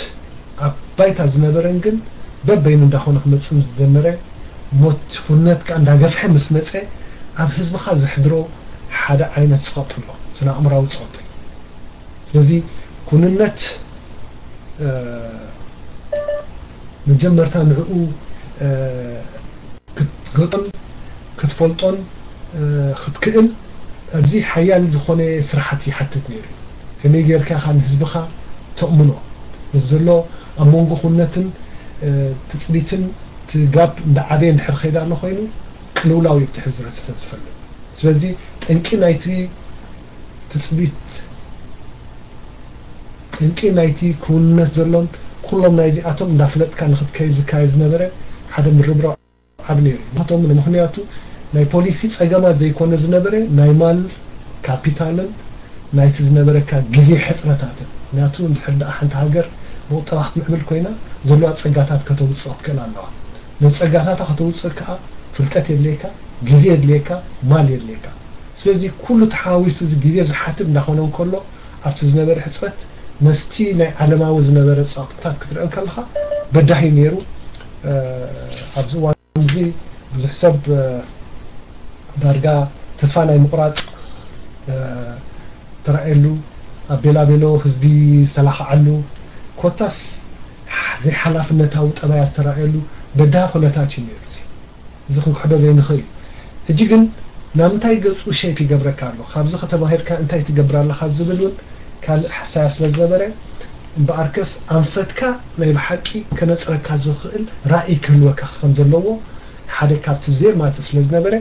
ኣብ ባይታ ዝነበረን ግን በበይኑ እንዳኾነ ክመጽእ ምስ ዝጀመረ ሞት ኩነት ከኣ እንዳገፍሐ ምስ መጸ ኣብ ህዝብኻ ዘሕድሮ ሓደ ዓይነት ጸቕጢ ኣሎ፣ ስነ ኣእምራዊ ጸቕጢ። ስለዚ ኩንነት መጀመርታ ንዕኡ ክትገጦን ክትፈልጦን ክትክእል ኣብዚ ሓያል ዝኾነ ስራሓት ይሓትት ነይሩ። ከመይ ጌርካ ኢኻ ንህዝብኻ ተእምኖ? ነዚ ዘሎ ኣብ መንጎ ኩነትን ትጽቢትን እቲ ጋፕ እንዳዓበየ እንድሕር ከይዳ ኣሎ ኮይኑ ቅልውላው እዩ ብቲ ሕብረተሰብ ዝፈልጥ። ስለዚ ጠንቂ ናይቲ ትጽቢት ጠንቂ ናይቲ ክውንነት ዘሎን ኩሎም ናይዚኣቶም እንዳፍለጥካ ንክትከይድ ዝካየድ ዝነበረ ሓደ ምርብራብ ዓቢ ነይሩ። ምክንያቱ ናይ ፖሊሲ ጸገማት ዘይኮነ ዝነበረ ናይ ማል ካፒታልን ናይቲ ዝነበረካ ግዜ ሕጽረታትን። ምክንያቱ እንድሕር ደኣ ሓንቲ ሃገር ብቁጠባ ክትምዕብል ኮይና ዘለዋ ጸጋታት ከተውጽእ ክትክእል ኣለዋ። ነዚ ጸጋታታ ከተውጽእ ከኣ ፍልጠት የድልየካ፣ ግዜ የድልየካ፣ ማል የድልየካ። ስለዚ ኩሉ ተሓዋዊሱ እዚ ግዜ ዝሓትት እንዳኾነ እንከሎ ኣብቲ ዝነበረ ሕጽረት መስቲ ናይ ዓለማዊ ዝነበረ ጸቕጥታት ክትርኢ እንከለኻ በዳሂ ነይሩ። ኣብዚ እዋን እዚ ብዙሕ ሰብ ዳርጋ ተስፋ ናይ ምቑራጽ ተራእየሉ፣ ኣብ ቤላቤሎ ህዝቢ ዝተላኽዓሉ፣ ኮታስ ዘይሓላፍነታዊ ጠባያት ዝተራእየሉ በዳሂ ኩነታት እዩ ነይሩ። እዚ እዚ ክንክሕዶ ዘይንኽእል እዩ። ሕጂ ግን ናብ ምንታይ ገጹ ሼፕ ይገብረካ ኣሎ፣ ካብዚ ከተማሂርካ እንታይ ትገብር ኣለኻ ዝብል እውን ካልእ ሓሳያ ስለ ዝነበረ እምበኣርከስ ኣንፈትካ ናይ ብሓቂ ከነጽረካ ዝኽእል ራእይ ክህልወካ ከም ዘለዎ ሓደ ካብቲ ዜማ እቲ ስለ ዝነበረ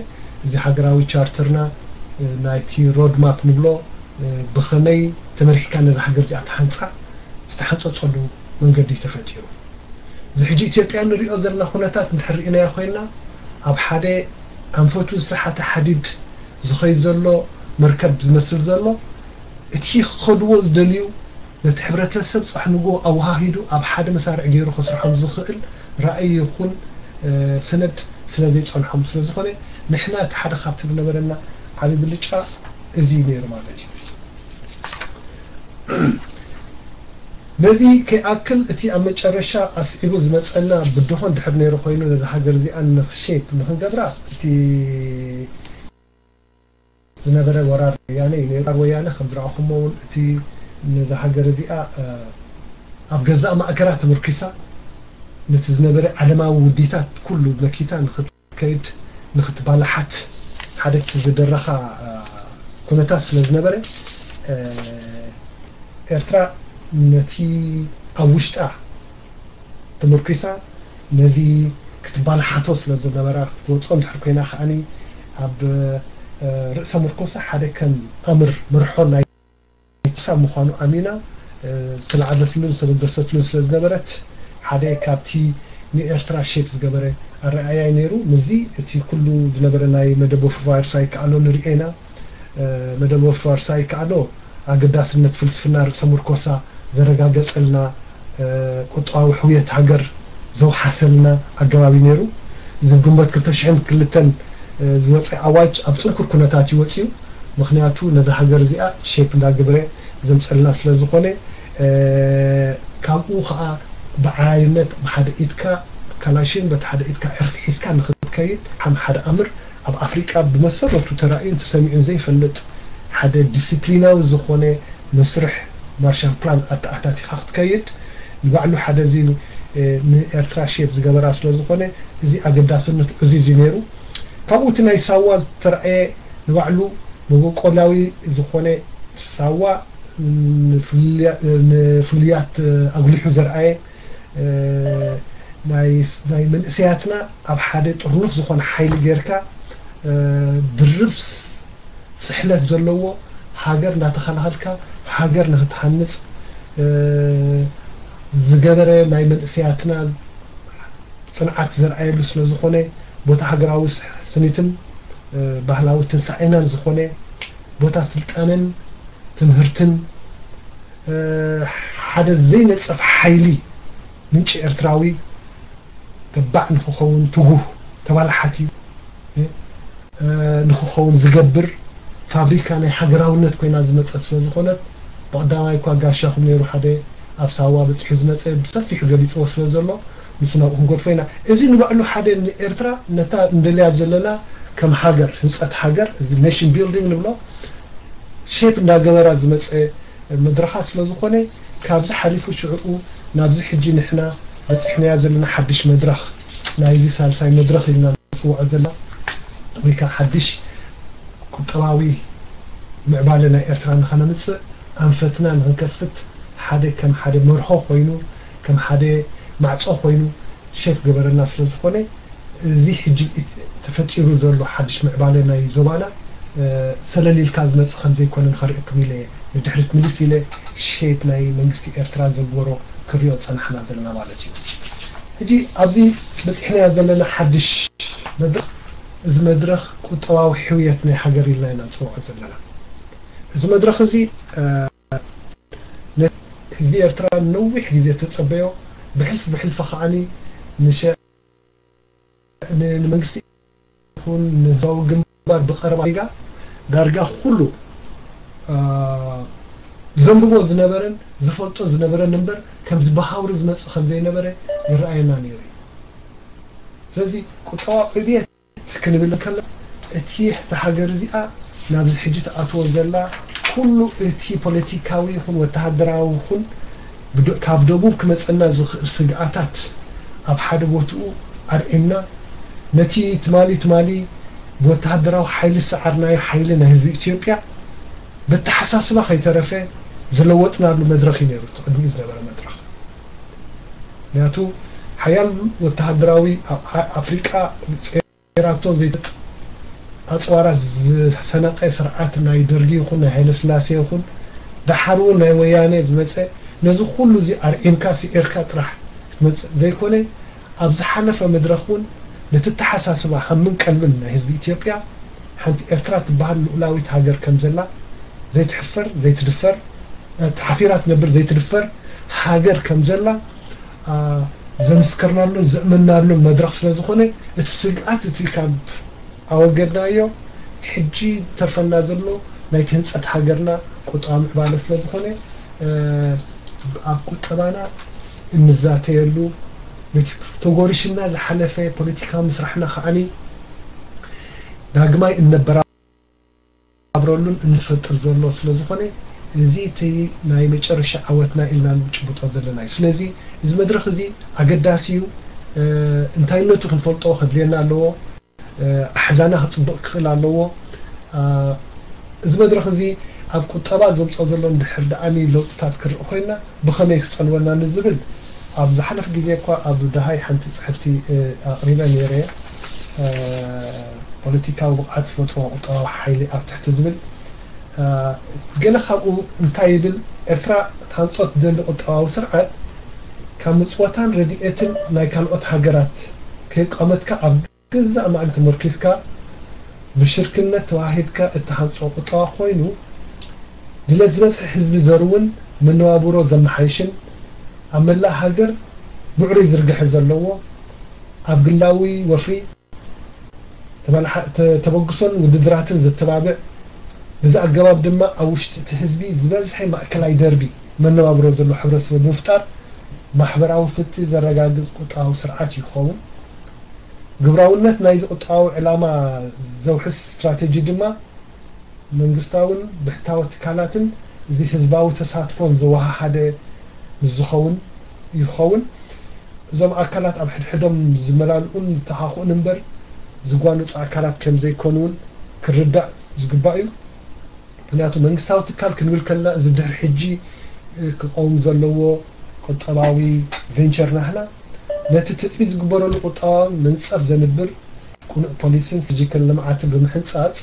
እዚ ሃገራዊ ቻርተርና ናይቲ ሮድማፕ ንብሎ ብኸመይ ተመሪሕካ ነዛ ሃገር እዚኣ ትሃንጻ ዝተሓንጸጸሉ መንገዲ ተፈጢሩ። እዚ ሕጂ ኢትዮጵያ ንሪኦ ዘለና ኩነታት እንድሕር ርኢናዮ ኮይንና ኣብ ሓደ ኣንፈቱ ዝተሓተ ሓዲድ ዝኸይድ ዘሎ መርከብ ዝመስል ዘሎ እቲ ክኸድዎ ዝደልዩ ነቲ ሕብረተሰብ ፃሕንጎ ኣወሃሂዱ ኣብ ሓደ መሳርዕ ገይሩ ከስርሖም ዝኽእል ራእይ ይኹን ሰነድ ስለ ዘይፀንሖም ስለ ዝኾነ ንሕና እቲ ሓደ ካብቲ ዝነበረና ዓብዪ ብልጫ እዚ እዩ ነይሩ ማለት እዩ። ነዚ ከይኣክል እቲ ኣብ መጨረሻ ኣስዒቡ ዝመፀና ብድሆ እንድሕር ነይሩ ኮይኑ ነዚ ሃገር እዚኣ ንክሼፕ ንክንገብራ እቲ ዝነበረ ወራር ወያነ እዩ ነይሩ። ወያነ ከም ዝረኣኹሞ እውን እቲ ነዚ ሃገር እዚኣ ኣብ ገዛእ ማእከላ ተመርኪሳ ነቲ ዝነበረ ዓለማዊ ውዲታት ኩሉ መኪታ ንክትከይድ ንክትባላሓት ሓደ ዝደረኻ ኩነታት ስለ ዝነበረ ኤርትራ ነቲ ኣብ ውሽጣ ተመርኪሳ ነዚ ክትባላሓቶ ስለ ዝነበራ ክትወፅኦ እንድሕር ኮይና ከዓኒ ኣብ ርእሰ ምርኮሳ ሓደ ከም ኣምር መርሖ ናይ ክሳብ ምዃኑ ኣሚና ዝተላዕለትሉን ዝተበገሰትሉን ስለ ዝነበረት ሓደ ካብቲ ንኤርትራ ሼፕ ዝገበረ ኣረኣእያ ነይሩ። ምስዚ እቲ ኩሉ ዝነበረ ናይ መደብ ወፍርፋርሳ ይከኣሎ ንሪኦ ኢና። መደብ ወፍርፋርሳ ይከኣሎ ኣገዳስነት ፍልስፍና ርእሰ ምርኮሳ ዘረጋገጸልና ቁጠባዊ ሕውየት ሃገር ዘውሓሰልና ኣገባብ እዩ ነይሩ። እዚ ግንቦት ክልተ ሽሕን ክልተን ዝወፀ ኣዋጅ ኣብ ፅንኩር ኩነታት እዩ ወፂኡ። ምክንያቱ ነዛ ሃገር እዚኣ ሼፕ እንዳግብረ ዘምፀልና ስለ ዝኾነ ካብኡ ከዓ ብዓይነት ብሓደ ኢድካ ካላሽን በቲ ሓደ ኢድካ ዕርፊ ሒዝካ ንክትከይድ ከም ሓደ ኣምር ኣብ ኣፍሪቃ ብመሰረቱ ተራእዩን ተሰሚዑን ዘይፈልጥ ሓደ ዲስፕሊናዊ ዝኾነ መስርሕ ማርሻል ፕላን ኣተኣታቲኻ ክትከይድ ንባዕሉ ሓደ እዚ ንኤርትራ ሼፕ ዝገበራ ስለ ዝኾነ እዚ ኣገዳስነት ዕዙዝ እዩ ነይሩ። ካብኡ እቲ ናይ ሳዋ ዝተረኣየ ንባዕሉ መበቆላዊ ዝኾነ ሳዋ ንፍሉያት ኣጉሊሑ ዘርኣየ ናይ መንእሰያትና ኣብ ሓደ ጥርኑፍ ዝኾነ ሓይሊ ጌርካ ድርብ ስሕለት ዘለዎ ሃገር እናተኸላኸልካ ሃገር ንክትሃንፅ ዝገበረ ናይ መንእሰያትና ፅንዓት ዘርኣየሉ ስለ ዝኾነ ቦታ ሃገራዊ ስኒትን ባህላዊ ትንሳኤናን ዝኾነ ቦታ ስልጣነን ትምህርትን ሓደ ዘይነፀፍ ሓይሊ ምንጪ ኤርትራዊ ተባዕ ንክኸውን ትጉህ ተባላሓቲ ንክኸውን ዝገብር ፋብሪካ ናይ ሃገራውነት ኮይና ዝመፀት ስለ ዝኾነት ብቐዳማይ እኳ ጋሻኹም ነይሩ ሓደ ኣብ ሳዋ በፂሑ ዝመፀ ብሰፊሑ ገሊፅዎ ስለ ዘሎ ምስ ናብኡ ክንገድፎ ኢና። እዚ ንባዕሉ ሓደ ንኤርትራ ነታ እንደልያ ዘለና ከም ሃገር ህንፀት ሃገር እዚ ኔሽን ቢልዲንግ ንብሎ ሼፕ እንዳገበራ ዝመፀ መድረኻት ስለ ዝኾነ ካብዚ ሓሊፉ ሽዕኡ ናብዚ ሕጂ ንሕና በፂሕናያ ዘለና ሓድሽ መድረኽ ናይዚ ሳልሳይ መድረኽ ኢልና ንፅውዖ ዘለና ወይ ከዓ ሓድሽ ቁጠባዊ ምዕባለ ናይ ኤርትራ ንኸነምፅእ ኣንፈትና ንክንከፍት ሓደ ከም ሓደ መርሆ ኮይኑ ከም ሓደ ማዕፆ ኮይኑ ሼፕ ገበረና ስለ ዝኾነ እዚ ሕጂ ተፈጢሩ ዘሎ ሓድሽ ምዕባለ ናይ ዞባና ሰለል ኢልካ ዝመፅእ ከም ዘይኮነ ንኸርእየኩም ኢለ ንድሕሪት ምልስ ኢለ ሼፕ ናይ መንግስቲ ኤርትራ ዘግበሮ ክሪኦ ዝፀናሕና ዘለና ማለት እዩ። ሕጂ ኣብዚ በፂሕናዮ ዘለና ሓድሽ መድረኽ እዚ መድረኽ ቁጠባዊ ሕውየት ናይ ሃገር ኢልና ኢና ንፅውዖ ዘለና። እዚ መድረኽ እዚ ህዝቢ ኤርትራ ነዊሕ ግዜ ተፀበዮ ብሕልፊ ብሕልፊ ከዓኒ ንመንግስቲ ይኹን ንህዝባዊ ግንባር ብቐረባ ሪጋ ዳርጋ ኩሉ ዘንብቦ ዝነበረን ዝፈልጦ ዝነበረን እምበር ከምዚ ብሃውሪ ዝመፅእ ከም ዘይነበረ ይረኣየና ነይሩ እዩ። ስለዚ ቁጠባዊ ዕብየት ክንብል ከለና እቲ እታ ሃገር እዚኣ ናብዚ ሕጂ ትኣትዎ ዘላ ኩሉ እቲ ፖለቲካዊ ይኹን ወተሃደራዊ ይኹን ካብ ደቡብ ክመፀና ዝኽእል ስግኣታት ኣብ ሓደ ቦትኡ ኣርዒምና ነቲ ትማሊ ትማሊ ብወተሃደራዊ ሓይሊ ዝሰዓርናዮ ሓይሊ ናይ ህዝቢ ኢትዮጵያ በተሓሳስባ ከይተረፈ ዝለወጥናሉ መድረኽ እዩ ነይሩ እቲ ቅድሚኡ ዝነበረ መድረኽ። ምክንያቱ ሓያል ወተሃደራዊ ኣፍሪቃ ራቶ ዘይትጥ ኣፅዋራት ዝሰነቀ ስርዓት ናይ ደርጊ ይኹን ናይ ሃይለስላሴ ይኹን ደሓር እውን ናይ ወያነ ዝመፀ ነዚ ኩሉ እዚ ኣርዒምካ ስዒርካ ጥራሕ ክትመፅእ ዘይኮነ ኣብ ዝሓለፈ መድረኽ እውን ነቲ ተሓሳስባ ሃምን ቀልብን ናይ ህዝቢ ኢትዮጵያ ሓንቲ ኤርትራ ትበሃል ልኡላዊት ሃገር ከም ዘላ ዘይትሕፈር ዘይትድፈር ተሓፊራ ትነብር ዘይትድፈር ሃገር ከም ዘላ ዘምስከርናሉን ዘእመናሉን መድረኽ ስለ ዝኾነ እቲ ስግኣት እቲ ካብ ኣወገድናዮ ሕጂ ተርፈና ዘሎ ናይቲ ህንፀት ሃገርና ቁጠባ ምዕባለ ስለ ዝኾነ ኣብ ቁጠባና እንዛተየሉ፣ ነቲ ተጎሪሽና ዝሓለፈ ፖለቲካዊ ምስራሕና ከዓኒ ዳግማይ እነበራብረሉን እንፈጥር ዘሎ ስለ ዝኾነ፣ እዚ እቲ ናይ መጨረሻ ዓወትና ኢልና ንጭብጦ ዘለና እዩ። ስለዚ እዚ መድረኽ እዚ ኣገዳሲ እዩ። እንታይነቱ ክንፈልጦ ከድልየና ኣለዎ። ኣሕዛና ክፅብቕ ክኽእል ኣለዎ። እዚ መድረኽ እዚ ኣብ ቁጠባ ዘምፅኦ ዘሎ እንድሕር ደኣኒ ለውጥታት ክርኢ ኮይና ብኸመይ ክፀልወና ንዝብል ኣብ ዝሓለፍ ግዜ እኳ ኣብ ደሃይ ሓንቲ ፅሕፍቲ ኣቕሪበ ነይረ። ፖለቲካዊ ብቕዓት ዝፈጥሮ ቁጠባዊ ሓይሊ ኣብ ትሕቲ ዝብል፣ ገለ ካብኡ እንታይ ይብል? ኤርትራ ትሃንጾ ትደሊ ቁጠባዊ ስርዓት ካብ ምጽወታን ረድኤትን ናይ ካልኦት ሃገራት ከየቋመትካ ኣብ ገዛእ ማእገር ተመርኪዝካ ብሽርክነት ተዋሂድካ እትሃንጾ ቁጠባ ኮይኑ፣ ድሌት ዝበዝሐ ህዝቢ ዘርውን መነባብሮ ዘመሓይሽን፣ ኣብ መላእ ሃገር ብዕሩይ ዝርግሐ ዘለዎ፣ ኣብ ግላዊ ወፍሪ ተበግሶን ውድድራትን ዘተባብዕ፣ በዚ ኣገባብ ድማ ኣብ ውሽጢ እቲ ህዝቢ ዝበዝሐ ማእከላይ ደርቢ መነባብሮ ዘሎ ሕብረተሰብ ብምፍጣር ማሕበራዊ ፍትሒ ዘረጋግጽ ቁጠባዊ ስርዓት ይኸውን። ግብራውነት ናይዚ ቁጠባዊ ዕላማ ዘውሕስ ስትራተጂ ድማ መንግስታውን ብሕታዊ ትካላትን እዚ ህዝባዊ ተሳትፎን ዘወሃሃደ ምስ ዝኸውን ይኸውን። እዞም ኣካላት ኣብ ሕድሕዶም ዝመላልኡን ዝተኻኽኡን እምበር ዝጓነጹ ኣካላት ከም ዘይኮኑ እውን ክርዳእ ዝግባእ እዩ። ምክንያቱ መንግስታዊ ትካል ክንብል ከለና እዚ ድሕሪ ሕጂ ክቀውም ዘለዎ ቁጠባዊ ቬንቸር ናህና ነቲ ትጽቢት ዝግበረሉ ቁጠባዊ መንጸፍ ዘንብር ቅኑዕ ፖሊሲን ስትራተጂክን ልምዓትን ብምሕንጻጽ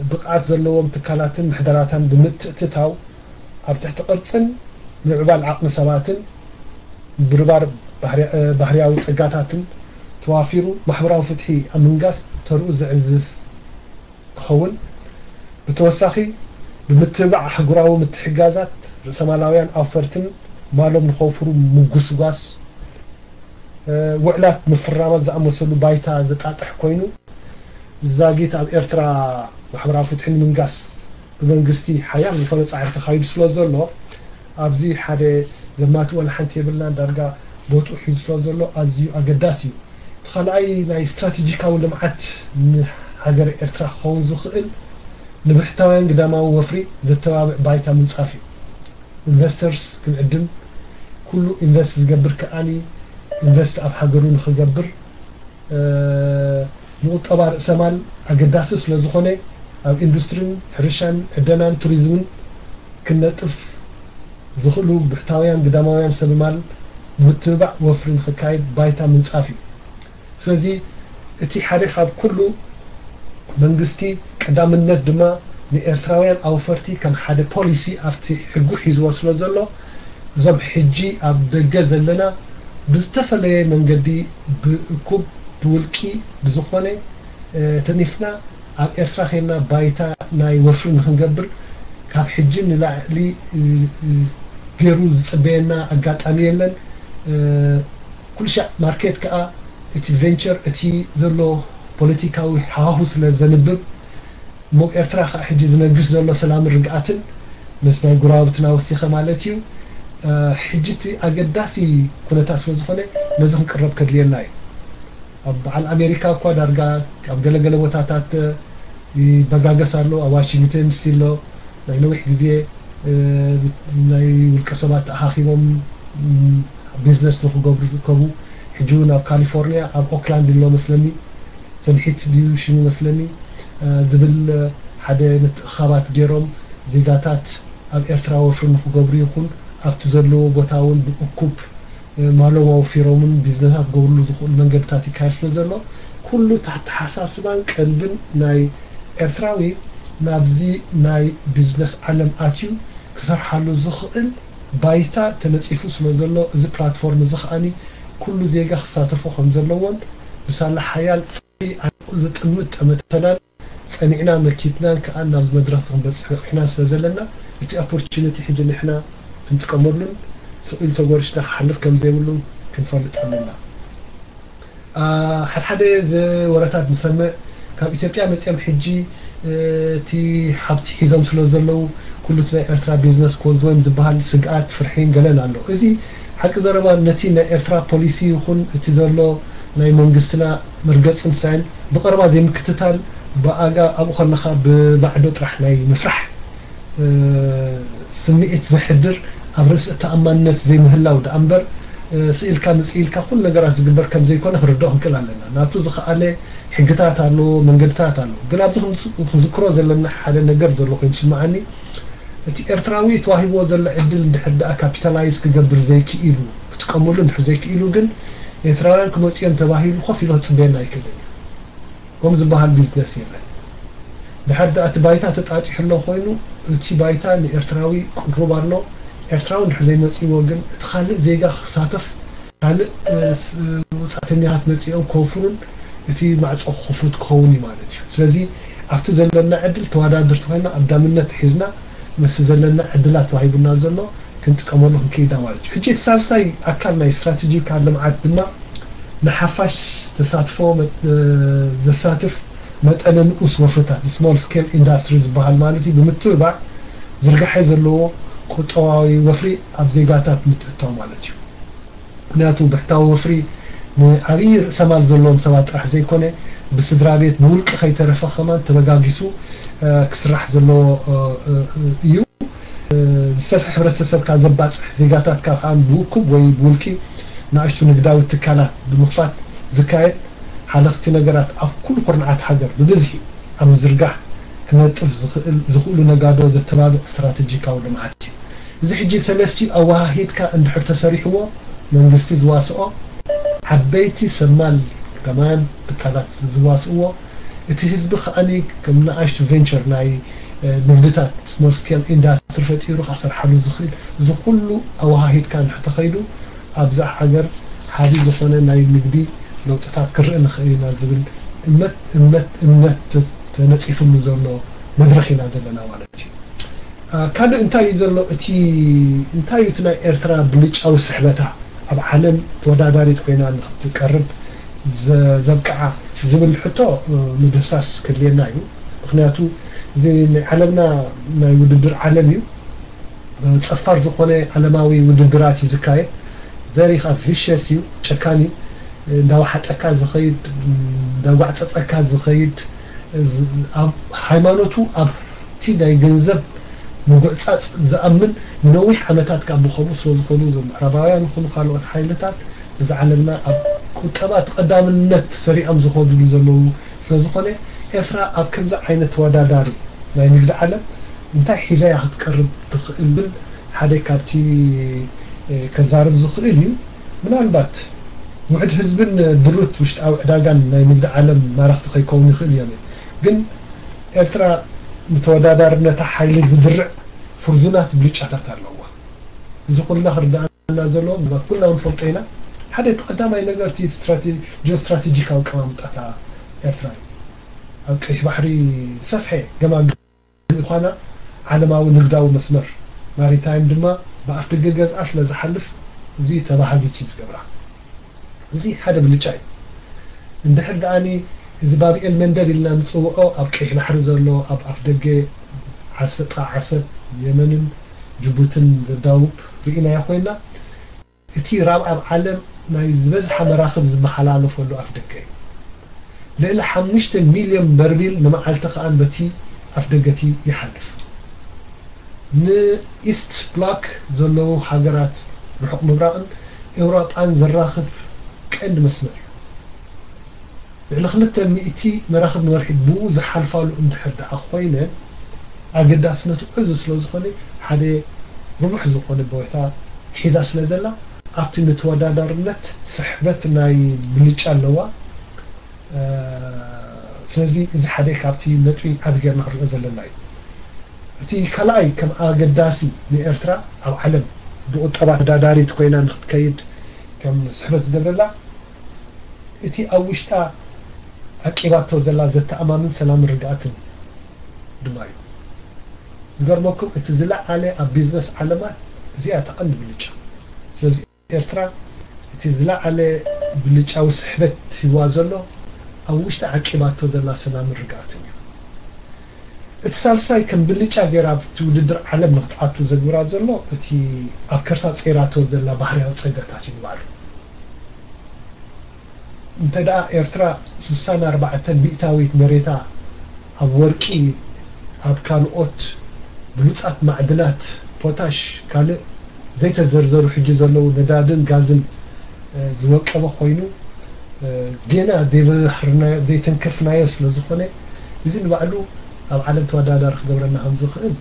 ብቕዓት ዘለዎም ትካላትን ምሕደራታን ብምትእትታው ኣብ ትሕቲ ቅርጽን ምዕባል ዓቕሚ ሰባትን ምብርባር ባህርያዊ ጸጋታትን ተዋፊሩ ማሕበራዊ ፍትሒ ኣብ ምንጋስ ተርኡ ዘዕዝዝ ክኸውን፣ ብተወሳኺ ብምትብባዕ ኣህጉራዊ ምትሕግጋዛት ርእሰማላውያን ኣውፈርትን ማሎም ንኸውፍሩ ምጉስጓስ፣ ውዕላት ምፍራማት ዝኣመሰሉ ባይታ ዘጣጥሕ ኮይኑ፣ ዛጊት ኣብ ኤርትራ ማሕበራዊ ፍትሒ ንምንጋስ ብመንግስቲ ሓያል ዝኾነ ጻዕሪ ተኻይዱ ስለ ዘሎ፣ ኣብዚ ሓደ ዘማትእ ዋላ ሓንቲ የብልናን። ዳርጋ ቦትኡ ሒዙ ስለ ዘሎ ኣዝዩ ኣገዳሲ እዩ። እቲ ካልኣይ ናይ ስትራቴጂካዊ ልምዓት ንሃገረ ኤርትራ ክኸውን ዝኽእል ንብሕታውያን ግዳማዊ ወፍሪ ዘተባብዕ ባይታ ምንጻፍ እዩ። ኢንቨስተርስ ክንዕድም፣ ኩሉ ኢንቨስት ዝገብር ከኣኒ ኢንቨስት ኣብ ሃገሩ ንኽገብር፣ ንቁጠባ ርእሰማል ኣገዳሲ ስለ ዝኾነ ኣብ ኢንዱስትሪን ሕርሻን ዕደናን ቱሪዝምን ክነጥፍ ዝኽእሉ ብሕታውያን ግዳማውያን ሰብ ማል ንምትብባዕ ወፍሪ ንኽካየድ ባይታ ምንጻፍ እዩ። ስለዚ እቲ ሓደ ካብ ኩሉ መንግስቲ ቀዳምነት ድማ ንኤርትራውያን ኣውፈርቲ ከም ሓደ ፖሊሲ ኣብቲ ሕጉ ሒዝዎ ስለ ዘሎ እዞም ሕጂ ኣብ ደገ ዘለና ብዝተፈለየ መንገዲ ብእኩብ ብውልቂ ብዝኾነ ተኒፍና ኣብ ኤርትራ ኸይድና ባይታ ናይ ወፍሪ ንክንገብር ካብ ሕጂ ንላዕሊ ገይሩ ዝፅበየና ኣጋጣሚ የለን። ኩልሻዕ ማርኬት ከዓ እቲ ቬንቸር እቲ ዘሎ ፖለቲካዊ ሃዋሁ ስለ ዘንብብ እሞ ኤርትራ ከዓ ሕጂ ዝነግስ ዘሎ ሰላምን ርግኣትን ምስ ናይ ጉራብትና ወሲኸ ማለት እዩ። ሕጂ እቲ ኣገዳሲ ኩነታት ስለ ዝኾነ ነዚ ክንቅረብ ከድልየና እዩ። ኣብ በዓል ኣሜሪካ እኳ ዳርጋ ኣብ ገለገለ ቦታታት ይበጋገስ ኣሎ። ኣብ ዋሽንግተን ዲሲ ኣሎ። ናይ ነዊሕ ግዜ ናይ ውልቀ ሰባት ተኣኻኺቦም ቢዝነስ ንክገብሩ ዝእከቡ ሕጂ እውን ኣብ ካሊፎርኒያ ኣብ ኦክላንድ ኣሎ መስለኒ፣ ሰንሒት ድዩ ሽሙ መስለኒ ዝብል ሓደ ምትእኻባት ገይሮም ዜጋታት ኣብ ኤርትራ ወፍሪ ንክገብሩ ይኹን ኣብቲ ዘለዎ ቦታ እውን ብእኩብ ማሎም ኣውፊሮምን ቢዝነሳት ክገብርሉ ዝኽእሉ መንገድታት ይካየድ ስለ ዘሎ ኩሉ ኣተሓሳስባን ቀልብን ናይ ኤርትራዊ ናብዚ ናይ ቢዝነስ ዓለም ኣትዩ ክሰርሓሉ ዝኽእል ባይታ ተነፂፉ ስለ ዘሎ እዚ ፕላትፎርም እዚ ከዓኒ ኩሉ ዜጋ ክሳተፎ ከም ዘለዎን ብሳላ ሓያል ዝጥምት ጠመተናን ጸኒዕና መኪትናን ከኣ ናብዚ መድረኽ እዚ ክንበጽሕ በቒዕና ስለ ዘለና እቲ ኦፖርቹኒቲ ሕጂ ንሕና ክንጥቀመሉን ስቕ ኢሉ ተጎሪሽና ክሓልፍ ከም ዘይብሉን ክንፈልጥ ኣለና። ሓድሓደ ወረታት ንሰምዕ ካብ ኢትዮጵያ መጺኦም ሕጂ እቲ ሃብቲ ሒዞም ስለ ዘለዉ ኩሉ ናይ ኤርትራ ቢዝነስ ክወልድ ወይም ዝበሃል ስግኣት ፍርሒን ገለን ኣሎ። እዚ ሓቂ ዘረባ ነቲ ናይ ኤርትራ ፖሊሲ ይኹን እቲ ዘሎ ናይ መንግስትና መርገጽ ምሳይን ብቐረባ ዘይምክትታል ብኣጋ ኣብኡ ከለኻ ብማዕዶ ጥራሕ ናይ ምፍራሕ ስምዒት ዘሕድር ኣብ ርእሲ ተኣማንነት ዘይምህላው ደኣ እምበር ስኢልካ ምጽኢልካ ኩሉ ነገራት ዝግበር ከም ዘይኮነ ክንርድኦ ክንክእል ኣለና። ናቱ ዝኸኣለ ሕግታት ኣለዎ፣ መንገድታት ኣለዎ። ግን ኣብዚ ክንዝክሮ ዘለና ሓደ ነገር ዘሎ ኮይኑ ዝስምዓኒ እቲ ኤርትራዊ ተዋሂብዎ ዘሎ ዕድል እንድሕር ደኣ ካፒታላይዝ ክገብር ዘይክኢሉ ክጥቀመሉ እንድሕር ዘይክኢሉ ግን ኤርትራውያን ክመፅኦም ተባሂሉ ኮፍ ኢሉ ክፅበየና ኣይክእልን እዩ። ከምኡ ዝበሃል ቢዝነስ የለን። ድሓር ደኣ እቲ ባይታ ተጣጢሑ ኣሎ ኮይኑ እቲ ባይታ ንኤርትራዊ ቅሩብ ኣሎ። ኤርትራዊ እንድሕር ዘይመፅዎ ግን እቲ ካልእ ዜጋ ክሳተፍ ካልእ ወፃእተኛታት መፂኦም ክወፍሩን እቲ ማዕፆ ክፉት ክኸውን እዩ ማለት እዩ። ስለዚ ኣብቲ ዘለና ዕድል ተወዳደርቲ ኮይና ኣብ ዳምነት ሒዝና ምስ ዘለና ዕድላት ተዋሂቡና ዘሎ ክንጥቀመሉ ክንከይዳ ማለት እዩ። ሕጂ እቲ ሳልሳይ ኣካል ናይ ስትራቴጂካል ልምዓት ድማ ንሓፋሽ ተሳትፎ ዘሳትፍ መጠነ ንኡስ ወፍርታት small scale industry ዝበሃል ማለት እዩ ብምትብባዕ ዝርጋሐ ዘለዎ ቁጠባዊ ወፍሪ ኣብ ዜጋታት ምትእታው ማለት እዩ። ምክንያቱ ብሕታዊ ወፍሪ ንዓብዪ ርእሰማል ዘለዎም ሰባት ጥራሕ ዘይኮነ ብስድራ ቤት ብውልቂ ከይተረፈ ከማን ተበጋጊሱ ክስራሕ ዘለዎ እዩ። ዝሰፍሐ ሕብረተሰብካ ዘባፅሕ ዜጋታትካ ከዓ ብውኩብ ወይ ብውልቂ ንኣሽቱ ንግዳዊ ትካላት ብምኽፋት ዝካየድ ሓለኽቲ ነገራት ኣብ ኩሉ ኩርናዓት ሃገር ብብዝሒ ኣብ ምዝርጋሕ ክነጥፍ ዝኽእሉ ነጋዶ ዘተባብዕ ስትራተጂካዊ ልምዓት እዩ። እዚ ሕጂ ሰለስቲኡ ኣወሃሂድካ እንድሕር ተሰሪሕዎ መንግስቲ ዝዋስኦ ዓበይቲ ሰማል ከማን ትካላት ዝዋስእዎ እቲ ህዝቢ ከኣኒ ከም ንኣሽቱ ቬንቸር ናይ ንግድታት small scale industry ፈጢሩ ካሰርሓሉ ዝኽእል እዚ ኩሉ ኣወሃሂድካ እንድሕር ተኸይዱ ኣብዛ ሃገር ሓዲ ዝኾነ ናይ ንግዲ ለውጥታት ክርኢ ንኽእል ኢና ዝብል እመት እመት እምነት ተነፂፍሉ ዘሎ መድረኽ ኢና ዘለና ማለት እዩ። ካልእ እንታይ እዩ ዘሎ እቲ እንታይ እዩ እቲ ናይ ኤርትራ ብልጫዊ ስሕበታ ኣብ ዓለም ተወዳዳሪት ኮይና ንክትቀርብ ዘብቅዓ ዝብል ሕቶ ምድህሳስ ክድልየና እዩ። ምክንያቱ እዚ ናይ ዓለምና ናይ ውድድር ዓለም እዩ። ፀፋር ዝኾነ ዓለማዊ ውድድራት እዩ ዝካየድ። ቨሪ ከዓ ቪሸስ እዩ፣ ጨካን እዩ። እንዳወሓጠካ ዝኸይድ እንዳጓዕፀፀካ ዝኸይድ ኣብ ሃይማኖቱ ኣብቲ ናይ ገንዘብ ምጉዕፃፅ ዝኣምን ንነዊሕ ዓመታት ካብ ብኸምኡ ስለ ዝኾኑ እዞም ምዕራባውያን ይኹኑ ካልኦት ሓይልታት ነዚ ዓለምና ኣብ ቁጠባ እቲ ቀዳምነት ሰሪዖም ዝኸዱሉ ዘለዉ ስለ ዝኾነ ኤርትራ ኣብ ከምዚ ዓይነት ተወዳዳሪ ናይ ንግዲ ዓለም እንታይ ሒዛ እያ ክትቀርብ ትኽእል ብል ሓደ ካብቲ ከዛርብ ዝኽእል እዩ። ምናልባት ውሕድ ህዝብን ድሩት ውሽጣዊ ዕዳጋን ናይ ንግዲ ዓለም ማራኽቲ ከይከውን ይኽእል እዮም። ግን ኤርትራ ንተወዳዳርነታ ሓይሊ ዝድርዕ ፍርዙናት ብልጫታት ኣለዋ። እዚ ኩልና ክርድኣና ዘለዎ ምናልባት ኩልና ንፈልጦ ኢና። ሓደ እቲ ቀዳማይ ነገር እቲ ስትራቴ- ጂኦስትራቴጂካዊ ኣቀማምጣታ ኤርትራ እዩ። ኣብ ቀይሕ ባሕሪ ዝሰፍሐ ገማግም ምዃና ዓለማዊ ንግዳዊ መስመር ማሪታይም ድማ ብኣፍደገ ገዝኣ ስለ ዝሓልፍ እዚ ተባሃጊት እዩ ዝገብራ። እዚ ሓደ ብልጫ እዩ። እንድሕር ደኣኒ እዚ ባብኤል መንደብ ኢልና ንፅውዖ ኣብ ቀይሕ ባሕሪ ዘሎ ኣብ ኣፍደገ ዓሰጣ ዓሰብ የመንን ጅቡትን ዘዳውብ ርኢናዮ ኮይና እቲ ራብ ኣብ ዓለም ናይ ዝበዝሓ መራኽብ ዝመሓላለፈሉ ኣፍደገ እዩ። ልዕሊ ሓሙሽተ ሚልዮን በርሚል ንመዓልቲ ከኣ በቲ ኣፍደገቲ ይሓልፍ። ንኢስት ብሎክ ዘለዉ ሃገራት ርሑቕ ምብራቕን ኤውሮጳን ዘራኽብ ቀንዲ መስመር እዩ። ልዕሊ ክልተ ሚእቲ መራኽብ ንወርሒ ብኡ ዝሓልፋሉ እንድሕር ደኣ ኮይነን ኣገዳስነቱ ዕዙዝ ስለ ዝኾነ ሓደ ርቡሕ ዝኾነ ቦታ ሒዛ ስለ ዘላ ኣብቲ ንተወዳዳርነት ስሕበት ናይ ብልጫ ኣለዋ። ስለዚ እዚ ሓደ ካብቲ ነጥቢ ዓቢ ጌርና ክንሪኦ ዘለና እዩ። እቲ ካልኣይ ከም ኣገዳሲ ንኤርትራ ኣብ ዓለም ብቁጠባ ተወዳዳሪት ኮይና ንክትከይድ ከም ስሕበት ዝገብረላ እቲ ኣብ ውሽጣ ዓቂባቶ ዘላ ዘተኣማምን ሰላምን ርግኣትን ድማ እዩ። ዝገርመኩም እቲ ዝለዓለ ኣብ ቢዝነስ ዓለማት እዚኣ እታ ቀንዲ ብልጫ። ስለዚ ኤርትራ እቲ ዝለዓለ ብልጫዊ ስሕበት ሂዋ ዘሎ ኣብ ውሽጢ ዓቂባቶ ዘላ ሰላምን ርግኣትን እዩ። እቲ ሳልሳይ ከም ብልጫ ገይራ ኣብቲ ውድድር ዓለም ንክትኣቱ ዘግብራ ዘሎ እቲ ኣብ ከርሳ ጸይራቶ ዘላ ባህርያዊ ጸጋታት እዩ ንባዕሉ። እንተ ደኣ ኤርትራ ስሳን ኣርባዕተን ሚእታዊት መሬታ ኣብ ወርቂ፣ ኣብ ካልኦት ብሉጻት ማዕድናት፣ ፖታሽ፣ ካልእ ዘይተዘርዘሩ ሕጂ ዘለዉ ነዳድን ጋዝን ዝወቀበ ኮይኑ፣ ጌና ዘይበህርናዮ ዘይተንከፍናዮ ስለ ዝኾነ፣ እዚ ንባዕሉ ኣብ ዓለም ተወዳዳሪ ክገብረና ከም ዝኽእል፣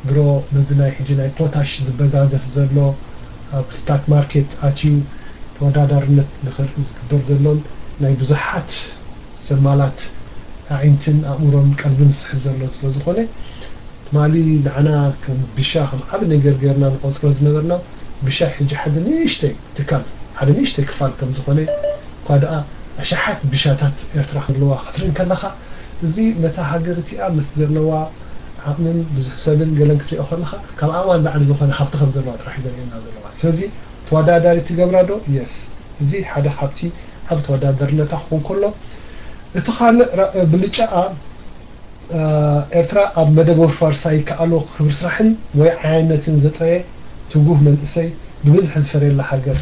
ድሮ በዚ ናይ ሕጂ ናይ ፖታሽ ዝበጋገስ ዘሎ፣ ኣብ ስታክ ማርኬት ኣትዩ ተወዳዳርነት ንኽርኢ ዝግበር ዘሎን ናይ ብዙሓት ዘማላት ኣዒንትን ኣእምሮን ቀልብን ዝስሕብ ዘሎ ስለ ዝኾነ፣ ትማሊ ንዓና ከም ብሻ ከም ዓቢ ነገር ገይርና ንቆጽሮ ዝነበርና ብሻ ሕጂ ሓደ ንእሽተይ ትካል፣ ሓደ ንእሽተይ ክፋል ከም ዝኾነ፣ እኳ ደኣ ኣሽሓት ብሻታት ኤርትራ ክህልዋ ክትርኢ እንከለኻ፣ እዚ ነታ ሃገር እቲኣ ምስ ዘለዋ ዓቕምን ብዙሕ ሰብን ገለን ክትሪኦ ከለኻ፣ ካብ ዓቕማ ንላዕሊ ዝኾነ ሃብቲ ከም ዘለዋ ጥራሕ እዩ ዘርእየና ዘሎ ማለት። ስለዚ ተወዳዳሪ ትገብራ ዶ? የስ። እዚ ሓደ ካብቲ ኣብ ተወዳዳርነታ ክኾን ከሎ፣ እቲ ካልእ ራ-፣ ብልጫኣ፣ እ፣ ኤርትራ ኣብ መደብ ወርፋር ሳይከኣሎ ክብሪ ስራሕን ወይ ዓያነትን ዘጥረየ ትጉህ መንእሰይ ብብዝሒ ዝፈርየላ ሃገር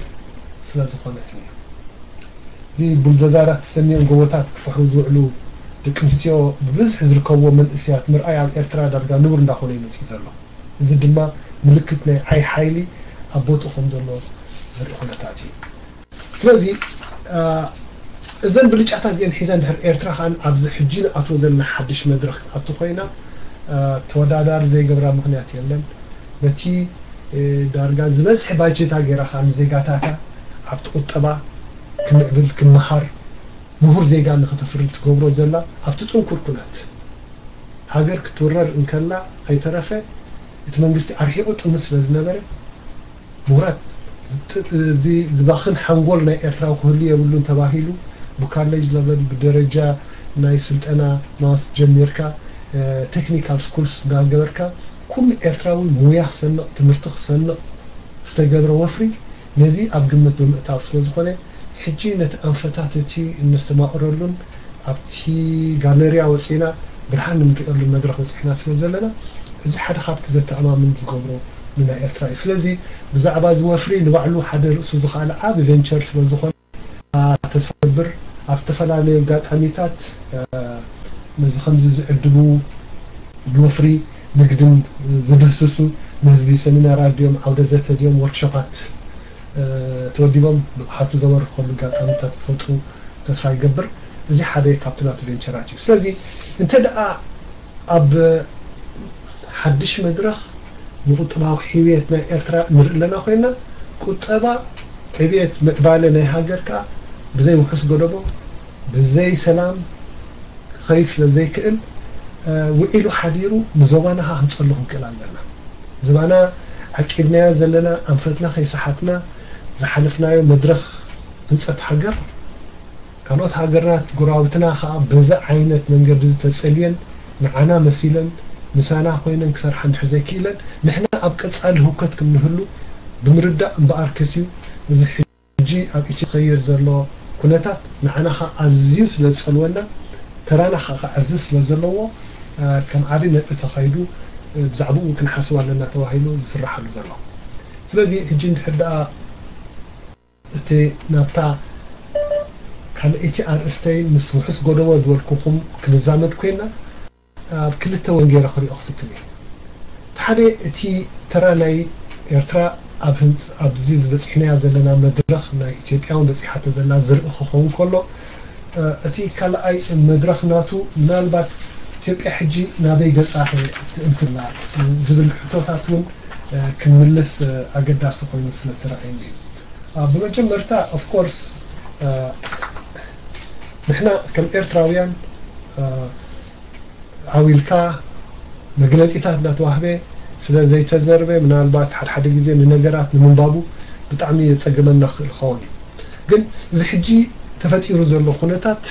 ስለ ዝኾነት እዩ። እዚ ቡልደዛራት ተሰንዮም ጎቦታት ክፍሕሩ ዝውዕሉ ደቂ ኣንስትዮ ብብዝሒ ዝርከብዎ መንእሰያት ምርኣይ ኣብ ኤርትራ ዳርጋ ንቡር እንዳኾነ እዩ መጺኡ ዘሎ። እዚ ድማ ምልክት ናይ ዓይ ሓይሊ ኣብ ቦትኡ ከም ዘሎ ዘርኢ ኩነታት እዩ። ስለዚ፣ እ፣ እዘን ብልጫታት እዚአን ሒዛ እንድሕር ኤርትራ ከኣ ኣብዚ ሕጂ ንኣትዎ ዘለና ሓድሽ መድረኽ ክትኣቱ ኮይና፣ እ፣ ተወዳዳሪ ዘይገብራ ምኽንያት የለን። በቲ፣ እ፣ ዳርጋ ዝበዝሐ ባጀታ ገይራ ከኣ ንዜጋታታ ኣብቲ ቁጠባ ክምዕብል፣ ክመሃር፣ ምሁር ዜጋ ንኽተፍሪ ትገብሮ ዘላ ኣብቲ ጽንኩር ኩነት ሃገር ክትውረር እንከላ ከይተረፈ እቲ መንግስቲ ኣርሒቑ ጥምት ስለ ዝነበረ፣ ምሁራት፣ እቲ ዝባኽን ሓንጎል ናይ ኤርትራዊ ክህሉ የብሉን ተባሂሉ፣ ብካሌጅ ለቨል፣ ብደረጃ ናይ ስልጠና ማስ ጀሚርካ፣ እ፣ ቴክኒካል ስኩልስ እናገበርካ፣ ኩሉ ኤርትራዊ ሙያ ክሰንቕ፣ ትምህርቲ ክሰንቕ ዝተገብረ ወፍሪ፣ ነዚ ኣብ ግምት ብምእታው ስለ ዝኾነ፣ ሕጂ ነቲ ኣንፈታት እቲ እነስተማቕረሉን ኣብቲ ጋለርያ ወጺእና ብርሃን እንርእየሉ መድረኽ በጺሕና ስለ ዘለና፣ እዚ ሓደ ካብቲ ዘተኣማምን ዝገብሮ ንናይ ኤርትራ እዩ። ስለዚ ብዛዕባ እዚ ወፍሪ ንባዕሉ ሓደ ርእሱ ዝኸኣለ ዓቢ ቬንቸር ስለ ዝኾነ፣ ኣ፣ ተስፋ ገብር ኣብ ዝተፈላለዩ ኣጋጣሚታት፣ እ፣ ነዚ ከምዚ ዝዕድሙ ንወፍሪ ንግድን ዝድህስሱ ንህዝቢ ሰሚናራት ድዮም፣ ዓውደ ዘተ ድዮም፣ ወርክሾፓት፣ እ፣ ተወዲቦም ንቕሓቱ ዘበርኽሉ ኣጋጣሚታት ክፈጥሩ ተስፋ ይገብር። እዚ ሓደ ካብቲ ናቱ ቬንቸራት እዩ። ስለዚ እንተ ደኣ ኣብ ሓድሽ መድረኽ ንቁጠባዊ ሕውየት ናይ ኤርትራ ንርኢ ኣለና ኮይና፣ ቁጠባ፣ ዕብየት፣ ምዕባለ ናይ ሃገር ከኣ ብዘይ ውሑስ ጎደቦ፣ ብዘይ ሰላም ክኸይድ ስለ ዘይክእል፣ እ፣ ውዒሉ ሓዲሩ ንዞባና ከኣ ክንጸሉ ክንክእል ኣለና። ዞባና ዓቂብናዮ ዘለና፣ ኣንፈትና ከይሰሓትና ዝሓለፍናዮ መድረኽ ህንጸት ሃገር፣ ካልኦት ሃገራት ጎረባብትና ከኣ በዚ ዓይነት መንገዲ እዚ ተጸልየን ንዓና መሲለን ምሳና ኮይነን ክሰርሓ እንድሕር ዘይክኢለን፣ ንሕና ኣብ ቀጻሊ ህውከት ከም ንህሉ ብምርዳእ እምበኣርከስ እዩ። እዚ ሕጂ ኣብ ኢትዮጵያ ዝኸየድ ዘሎ ኩነታት ንዓና ከኣ ኣዝዩ ስለ ዝጸልወና፣ ተራና ከኣ ክዓዝዝ ስለ ዘለዎ፣ እ፣ ከም ዓቢ ነጥቢ ተኸይዱ፣ እ፣ ብዛዕባኡ ክንሓስብ ኣለና ተባሂሉ ዝስራሓሉ ዘሎ። ስለዚ ሕጂ እንድሕር ደኣ እቲ ናብታ ካልኣይቲ ኣርእስተይ ምስ ውሑስ ጎደቦ ዝበልኩኹም ክንዛመድ ኮይና፣ ኣብ ክልተ ወንጌረ ክሪኦ ክፍትን እየ። እቲ ሓደ፣ እቲ ተራ ናይ ኤርትራ ኣብ ህንጽ-፣ ኣብዚ ዝበጺሕናዮ ዘለና መድረኽ፣ ናይ ኢትዮጵያ እውን በጺሓቶ ዘላ ዝርኢ ክኸውን ከሎ፣ እ፣ እቲ ካልኣይ መድረኽ ናቱ፣ ምናልባት ኢትዮጵያ ሕጂ ናበይ ገጻ ትእንፍላ ዝብል ሕቶታት እውን፣ እ፣ ክንምልስ፣ እ፣ ኣገዳሲ ኮይኑ ስለ ዝተረኣየኒ እዩ። እ፣ ብመጀመርታ፣ ኦፍ ኮርስ፣ እ፣ ንሕና ከም ኤርትራውያን፣ እ፣ ዓው ኢልካ መግለጺታት እናተዋህበ ስለ ዘይተዘርበ፣ ምናልባት ሓደ ሓደ ግዜ ንነገራት ንምንባቡ ብጣዕሚ የጸግመና ክኽእል ክኸውን እዩ። ግን እዚ ሕጂ ተፈጢሩ ዘሎ ኩነታት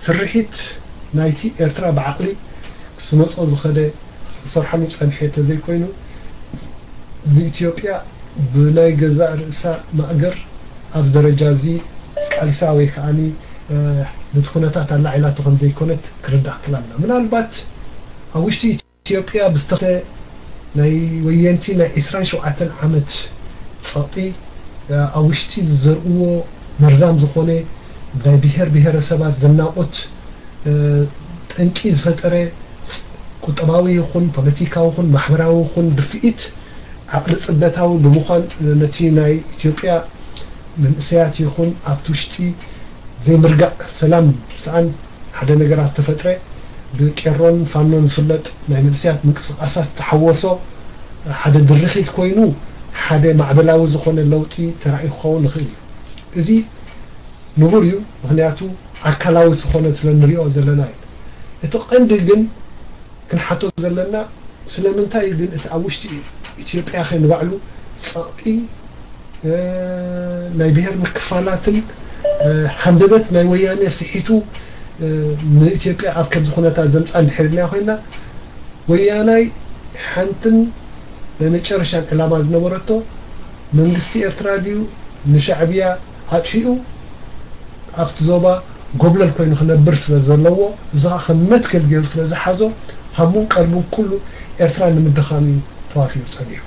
ስርሒት ናይቲ ኤርትራ ብዓቕሊ ክስመጾ ዝኸደ ክሰርሓሉ ጸንሐ እንተዘይኮይኑ፣ ንኢትዮጵያ ብናይ ገዛእ ርእሳ ማእገር ኣብ ደረጃ እዚ ቃልሳ ወይ ከኣኒ፣ እ፣ ነቲ ኩነታት ኣላዒላቶ ከም ዘይኮነት ክርዳእ ክእል ኣለና። ምናልባት ኣብ ውሽጢ ኢትዮጵያ ብዝተኸ ናይ ወየንቲ ናይ ዕስራን ሸውዓተን ዓመት ጸቕጢ ኣብ ውሽጢ ዝዘርእዎ መርዛም ዝኾነ ናይ ብሔር ብሔረሰባት ዘናቑት ጠንቂ ዝፈጠረ ቁጠባዊ ይኹን ፖለቲካዊ ይኹን ማሕበራዊ ይኹን ድፍኢት ዓቕሊ ጽበታዊ ብምዃን ነቲ ናይ ኢትዮጵያ መንእሰያት ይኹን ኣብቲ ውሽጢ ዘይምርጋእ ሰላም ሰኣን ሓደ ነገራት ተፈጥረ ብቄሮን ፋኖን ዝፍለጥ ናይ መንእሰያት ምንቅስቃሳት ተሓወሶ ሓደ ድርኺት ኮይኑ ሓደ ማዕበላዊ ዝኾነ ለውጢ ተራእዩ ክኸውን ይኽእል እዩ። እዚ ንቡር እዩ፣ ምኽንያቱ ኣካላዊ ዝኾነ ስለ ንሪኦ ዘለና እዩ። እቲ ቀንዲ ግን ክንሓቶ ዘለና ስለምንታይ ግን እቲ ኣብ ውሽጢ ኢትዮጵያ ከ ንባዕሉ ጸቕጢ ናይ ብሔር ምክፋላትን ሃንደበት ናይ ወያነ ስሒቱ ንኢትዮጵያ ኣብ ከምዚ ኩነታት ዘምፃ እንድሕር ኢልና ኮይና ወያናይ ሓንትን ናይ መጨረሻን ዕላማ ዝነበረቶ መንግስቲ ኤርትራ ድዩ ንሻዕብያ ኣጥፊኡ ኣብቲ ዞባ ጎብለል ኮይኑ ክነብር ስለ ዘለዎ እዚ ከዓ ከም መትከል ገይሩ ስለ ዝሓዞ ሃሙን ቀልቡን ኩሉ ኤርትራ ንምድኻም እዩ ተዋፊሩ ጸኒሑ።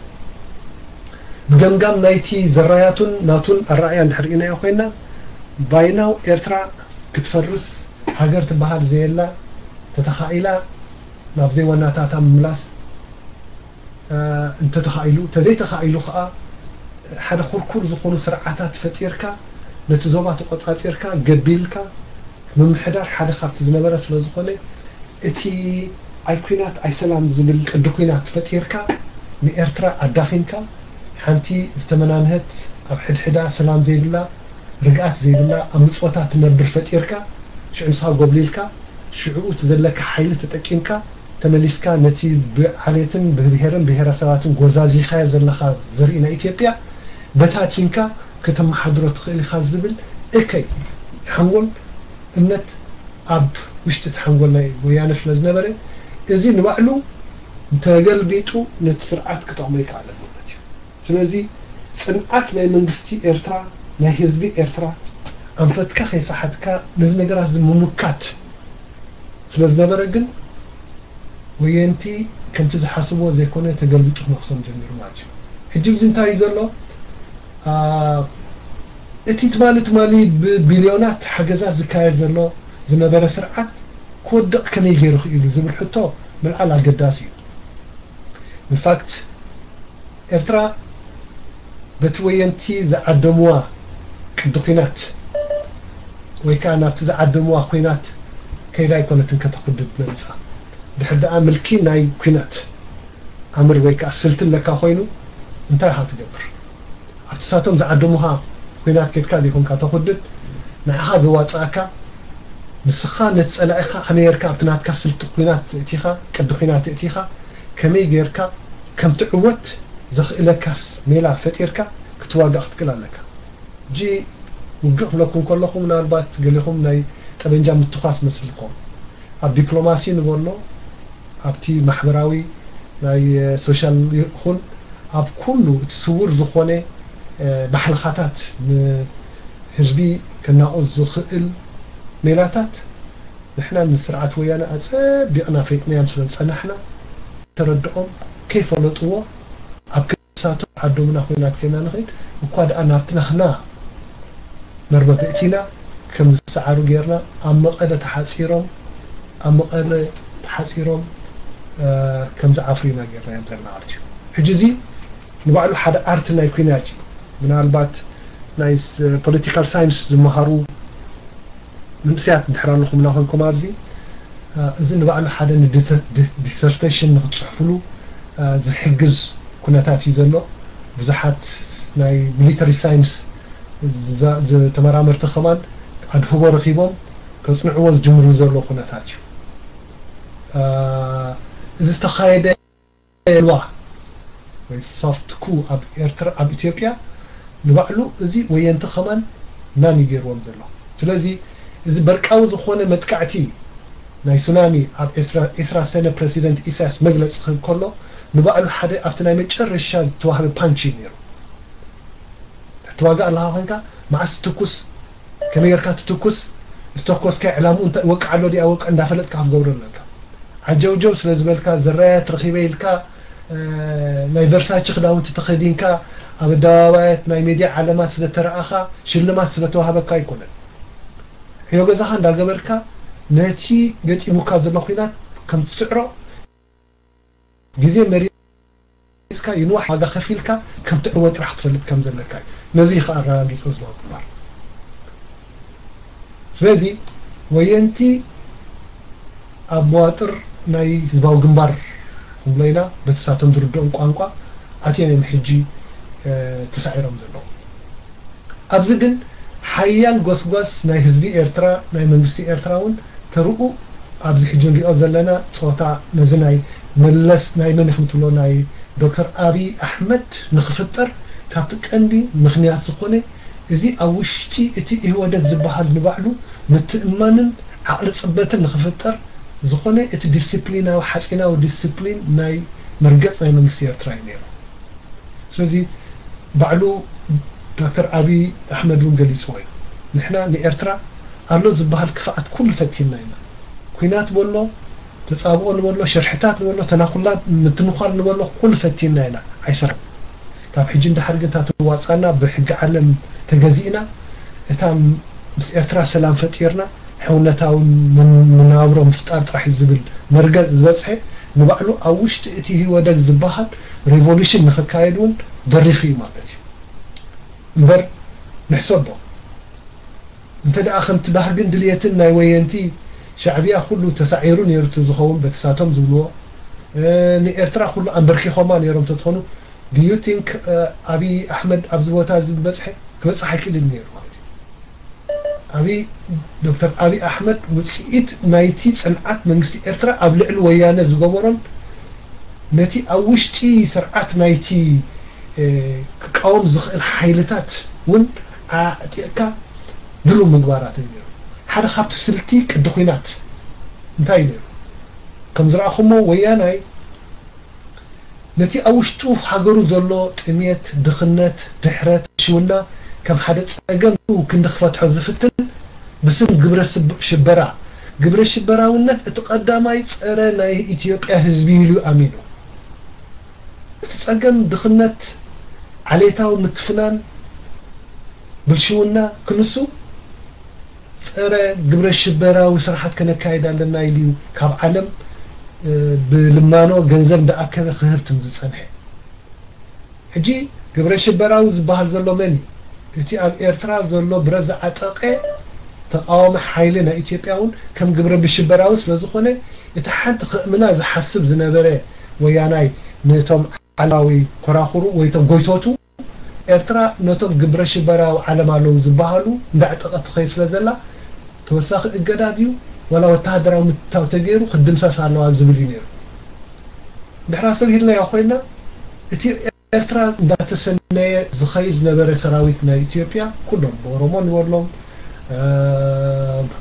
ብገምጋም ናይቲ ዘራያቱን ናቱን ኣረኣእያ እንድሕር ኢናዮ ኮይና ባይናው ኤርትራ ክትፈርስ ሃገር ትበሃል ዘየላ ተተኻኢላ ናብ ዘይዋናታታ ምምላስ እንተተኻኢሉ፣ እንተዘይተኻኢሉ ከዓ ሓደ ኩርኩር ዝኾኑ ስርዓታት ፈጢርካ ነቲ ዞባ ተቆፃፂርካ ገቢልካ ምምሕዳር ሓደ ካብቲ ዝነበረ ስለዝኾነ እቲ ኣይ ኩናት ኣይ ሰላም ዝብል ቅዲ ኩናት ፈጢርካ ንኤርትራ ኣዳኺምካ ሓንቲ ዝተመናንሀት ኣብ ሕድሕዳ ሰላም ዘይብላ ርግኣት ዘይብላ ኣብ ምጽወታ ትነብር ፈጢርካ ሽዑ ንስኻ ጎብሊልካ ሽዑ እቲ ዘለካ ሓይሊ ተጠቂምካ ተመሊስካ ነቲ ብዓሌትን ብብሄርን ብሄረሰባትን ጎዛዚኻዮ ዘለኻ ዘርኢ ናይ ኢትዮጵያ በታቲንካ ከተመሓድሮ ትኽእል ኢኻ ዝብል እከይ ሓንጎል እምነት ኣብ ውሽጢ እቲ ሓንጎል ናይ ወያነ ስለ ዝነበረ እዚ ንባዕሉ ተገልቢጡ ነቲ ስርዓት ክጠቕሞ ይከኣለን ማለት እዩ። ስለዚ ጽንዓት ናይ መንግስቲ ኤርትራ ናይ ህዝቢ ኤርትራ ኣንፈትካ ከይሰሓትካ ነዚ ነገራት እዚ ምምካት ስለ ዝነበረ ግን ወየንቲ ከምቲ ዝሓስብዎ ዘይኮነ ተገልቢጡ ክነኽሶም ጀሚሩ ማለት እዩ። ሕጂ እዚ እንታይ እዩ ዘሎ? እቲ ትማሊ ትማሊ ብቢልዮናት ሓገዛት ዝካየድ ዘሎ ዝነበረ ስርዓት ክወድቕ ከመይ ገይሩ ክኢሉ ዝብል ሕቶ ምልዓል ኣገዳሲ እዩ። ኢንፋክት ኤርትራ በቲ ወየንቲ ዝዓደምዋ ቅዲ ኲናት ወይ ከዓ ናብቲ ዝዓደምዋ ኲናት ከይዳ ኣይኮነትን ከተኹድድ መሪፃ። ድሕር ደኣ ምልኪ ናይ ኲናት ኣምር ወይ ከዓ ስልቲ ኣለካ ኮይኑ እንታይ ኢኻ ትገብር? ኣብቲ ሳቶም ዝዓደሙኻ ኲናት ኬድካ ዘይኮንካ ተኹድድ ንዓኻ ዘዋፅኣካ ንስኻ ነቲ ፀላኢኻ ከመይ ጌርካ ኣብቲ ናትካ ስልቲ ኲናት እቲኻ ቅዲ ኲናት እቲኻ ከመይ ጌርካ ከም ትዕወት ዘኽእለካስ ሜላ ፈጢርካ ክትዋጋእ ክትክእል ኣለካ። ሕጂ ውግእ ክብለኩም ከለኹ ምናልባት ገሊኹም ናይ ጠበንጃ ምትኳስ መስልኩም ኣብ ዲፕሎማሲ ንበሎ ኣብቲ ማሕበራዊ ናይ ሶሻል ይኹን ኣብ ኩሉ እቲ ስውር ዝኾነ ባሕልኻታት ንህዝቢ ከናቑ ዝኽእል ሜላታት ንሕና ንስርዓት ወያነ ኣጸቢቕና ፈይጥናዮም ስለ ዝጸናሕና ተረድኦም ከይፈለጥዎ ኣብ ክሳቶም ዓዶምና ኮይናት ከይና ንኸይድ እኳ ደኣ ናብቲ ናህና መርበብ እቲና ከም ዝሰዓሩ ጌርና ኣብ መቐለ ተሓጺሮም ኣብ መቐለ ተሓጺሮም ከም ዝዓፍሩ ኢና ጌርናዮም ዘለና ማለት እዩ። ሕጂ እዚ ንባዕሉ ሓደ ኣርት ናይ ኩናት እዩ። ምናልባት ናይ ፖለቲካል ሳይንስ ዝመሃሩ መንእሰያት እንድሕር ኣለኹምና ኮንኩም ኣብዚ እዚ ንባዕሉ ሓደ ንዲሰርቴሽን ንክትፅሕፍሉ ዝሕግዝ ኩነታት እዩ ዘሎ። ብዙሓት ናይ ሚሊተሪ ሳይንስ ተመራመርቲ ከማን ኣድህቦ ረኪቦም ከፅንዕዎ ዝጅምሩ ዘሎ ኩነታት እዩ። እዚ ዝተኻየደ ዋ ወይ ሶፍት ኩ ኣብ ኤርትራ ኣብ ኢትዮጵያ ንባዕሉ እዚ ወየንቲ ከማን ናን ይገይርዎም ዘሎ። ስለዚ እዚ በርቃዊ ዝኾነ መጥቃዕቲ ናይ ሱናሚ ኣብ ዒስራ ሰነ ፕረሲደንት ኢሳያስ መግለፂ ክህብ ከሎ ንባዕሉ ሓደ ኣብቲ ናይ መጨረሻ ዝተዋህበ ፓንች እዩ ነይሩ። ትዋጋእ ኣለኻ ኮይንካ መዓስ ትኩስ ከመይ ጌርካ ትትኩስ ዝተኮስካዮ ዕላምኡ እንታይ ወቅዕ ኣሎ ድኣ ወቅዕ እንዳፈለጥካ ክትገብሮ ኣለካ። ዓጀውጀው ስለ ዝበልካ፣ ዝራያት ረኺበ ኢልካ፣ እ፣ ናይ ቨርሳቺ ክዳውንቲ ተኸዲንካ ኣብ ኣደባባያት ናይ ሜድያ ዓለማት ስለ ተረኣኻ ሽልማት ስለ ተዋህበካ ኣይኮነን። ዕዮ ገዛኻ እንዳገበርካ ነቲ ገጢሙካ ዘሎ ኲናት ከም ትስዕሮ ግዜ መሪጽካ ይንዋሕ ዋጋ ከፊልካ ከም ትዕወ ጥራሕ ክትፈልጥ ከም ዘለካ እዩ። ነዚ እዩ ከኣ ኣረጋጊጹ ህዝባዊ ግንባር። ስለዚ ወየንቲ ኣብ መዋጥር ናይ ህዝባዊ ግንባር ንብሎ ኢና፣ በቲ ሳቶም ዝርድኦም ቋንቋ ኣትዮም እዮም ሕጂ፣ እ፣ ተሳዒሮም ዘለዉ። ኣብዚ ግን ሓያል ጎስጓስ ናይ ህዝቢ ኤርትራ፣ ናይ መንግስቲ ኤርትራ እውን ተርኡ ኣብዚ ሕጂ ንሪኦ ዘለና ጾታ ነዚ ናይ መለስ ናይ መን ኢኹም ትብሎ ናይ ዶክተር ኣብይ ኣሕመድ ንኽፍጠር ካብቲ ቀንዲ ምኽንያት ዝኾነ እዚ ኣብ ውሽጢ እቲ ኢህወደግ ዝበሃል ንባዕሉ ምትእምማንን ዓቕሊ ጽበትን ንኽፍጠር ዝኾነ እቲ ዲስፕሊናዊ ሓጺናዊ ዲስፕሊን ናይ መርገጽ ናይ መንግስቲ ኤርትራ እዩ ነይሩ። ስለዚ ባዕሉ ዶክተር ኣብይ ኣሕመድ እውን ገሊጽዎ እዩ። ንሕና ንኤርትራ ኣሎ ዝበሃል ክፍኣት ኩሉ ፈቲንና ኢና። ኲናት በሎ፣ ተጻብኦ ንበሎ፣ ሽርሕታት ንበሎ፣ ተናኩላት ምትንኳል ንበሎ ኩሉ ፈቲንና ኢና። ኣይሰርሕን። ካብ ሕጂ ንድሓር ግን እታ ትዋጻና ብሕጊ ዓለም ተገዚእና እታ ምስ ኤርትራ ሰላም ፈጢርና ሕውነታዊ መን-፣ መነባብሮ ምፍጣር ጥራሕ እዩ ዝብል መርገጽ ዝበጽሐ ንባዕሉ ኣብ ውሽጢ እቲ ህወደግ ዝበሃል ሪቮሉሽን ንኽካየድ እውን ደሪኹ እዩ ማለት እዩ። እምበር ንሕሰቦ እንተ ደኣ ከምቲ ባህግን ድልየትን ናይ ወየንቲ ሻዕብያ ኩሉ ተሳዒሩ ነይሩ እቲ ዝኸውን በቲ ሳቶም ዝብልዎ፣ እ፣ ንኤርትራ ኩሉ ኣንበርኪኾማ ነይሮም ተትኾኑ፣ do you think፣ እ፣ ኣብይ ኣሕመድ ኣብዚ ቦታ እዚ ዝበጽሐ ክበጽሕ ኣይክእልን ነይሩ ማለት እዩ። ኣብይ፣ ዶክተር ኣብይ ኣሕመድ ውጽኢት ናይቲ ጽንዓት መንግስቲ ኤርትራ ኣብ ልዕሊ ወያነ ዝገበሮን ነቲ ኣብ ውሽጢ ስርዓት ናይቲ፣ እ፣ ክቃወም ዝኽእል ሓይልታት እውን ኣዕጢቕካ ድሉው ምግባራት እዩ ነይሩ። ሓደ ካብቲ ስልቲ ቅዲ ኲናት እንታይ እዩ ነይሩ? ከም ዝረኣኹሞ ወያናይ ነቲ ኣብ ውሽጡ ሃገሩ ዘሎ ጥሜት፣ ድኽነት፣ ድሕረት፣ ሽውና ከም ሓደ ጸገም ክንዲ ክፈትሖ ዝፍትን ብስም ግብረ ስብ-፣ ሽበራ፣ ግብረ ሽበራውነት እቲ ቀዳማይ ጸረ ናይ ኢትዮጵያ ህዝቢ ኢሉ ኣሚኑ። እቲ ጸገም ድኽነት፣ ዓሌታዊ ምትፍናን፣ ብልሽውና ክንሱ ጸረ ግብረ ሽበራዊ ስራሓት ከነካይድ ኣለና ኢሉ እዩ ካብ ዓለም፣ እ፣ ብልማኖ ገንዘብ እንዳኣከበ ክህብትም ዝጸንሐ። ሕጂ ግብረ ሽበራዊ ዝበሃል ዘሎ መን እዩ? እቲ ኣብ ኤርትራ ዘሎ ብረት ዝዓጠቐ ተቃዋሚ ሓይሊ ናይ ኢትዮጵያ እውን ከም ግብረ ብሽበራዊ ስለ ዝኾነ፣ እቲ ሓንቲ ክእምና ዝሓስብ ዝነበረ ወያናይ ነቶም ዓላዊ ኮራኹሩ ወይ ቶም ጎይቶቱ ኤርትራ ነቶም ግብረ ሽበራዊ ዓለም ኣለዉ ዝበሃሉ እንዳዕጠቐት ትኸይድ ስለ ዘላ፣ ተወሳኺ እገዳ ድዩ ዋላ ወተሃደራዊ ምትታው ተገይሩ ክትድምሰስ ኣለዋ ዝብል እዩ ነይሩ። ድሕራ ሰብ ሂልናዮ ኮይና፣ እቲ ኤርትራ እንዳተሰነየ ዝኸይድ ዝነበረ ሰራዊት ናይ ኢትዮጵያ፣ ኩሎም ብኦሮሞ ንበሎም፣ እ፣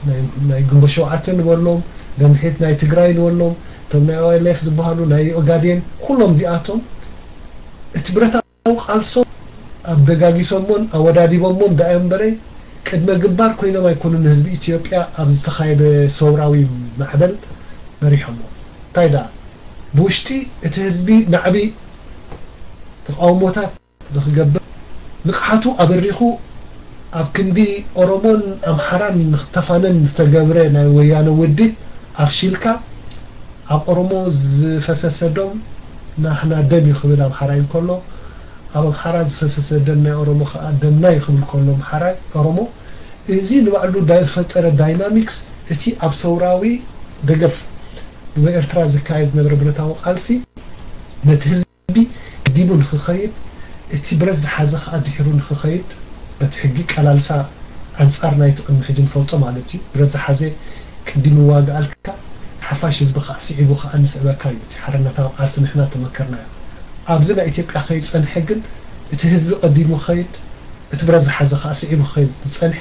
ናይ፣ ናይ ግንቦት ሸውዓተ ንበሎም፣ ደምሒት ናይ ትግራይ ንበሎም፣ እቶም ናይ ኦኤልኤፍ ዝበሃሉ፣ ናይ ኦጋዴን፣ ኩሎም እዚኣቶም እቲ ብረታዊ ቃልሶም ኣበጋጊሶሞን ኣወዳዲቦሞን ደኣ እምበረ፣ ቅድመ ግንባር ኮይኖም ኣይኮኑን ንህዝቢ ኢትዮጵያ ኣብ ዝተኻየደ ሰውራዊ ማዕበል መሪሖሞ። እንታይ ደኣ፣ ብውሽጢ እቲ ህዝቢ ናዕቢ ተቃውሞታት ንኽገብር ንቕሓቱ ኣበሪኹ ኣብ ክንዲ ኦሮሞን ኣምሓራን ንኽተፋነን ዝተገብረ ናይ ወያነ ውድብ ኣፍሺልካ፣ ኣብ ኦሮሞ ዝፈሰሰ ደም ናህና ደም እዩ ክብል ኣምሓራይ እንከሎ፣ ኣብ ኣምሓራ ዝፈሰሰ ደም ናይ ኦሮሞ ከኣ ደምና እዩ ክብል ከሎ ኣምሓራይ፣ ኦሮሞ፣ እዚ ንባዕሉ ዳይ-፣ ዝፈጠረ ዳይናሚክስ እቲ ኣብ ሰውራዊ ደገፍ ንኤርትራ ዝካየድ ዝነበረ ብረታዊ ቃልሲ ነቲ ህዝቢ ህዝቢ ቀዲሙ ንኽኸይድ፣ እቲ ብረት ዝሓዘ ከኣ ድሒሩ ንኽኸይድ፣ በቲ ሕጊ ቀላልሳ ኣንጻር ናይቲ ቅድሚ ሕጂ ንፈልጦ ማለት እዩ። ብረት ዝሓዘ ቀዲሙ ይዋግኣልካ፣ ሓፋሽ ህዝቢ ከኣ ስዒቡ ከኣ ንስዕበካ እዩ። እቲ ሓርነታዊ ቃልሲ ንሕና ተመከርናዮ። ኣብዚ ናይ ኢትዮጵያ ክኸይድ ጸንሐ ግን፣ እቲ ህዝቢ ቀዲሙ ክኸይድ፣ እቲ ብረት ዝሓዘ ከኣ ስዒቡ ክኸይድ ዝጸንሐ፣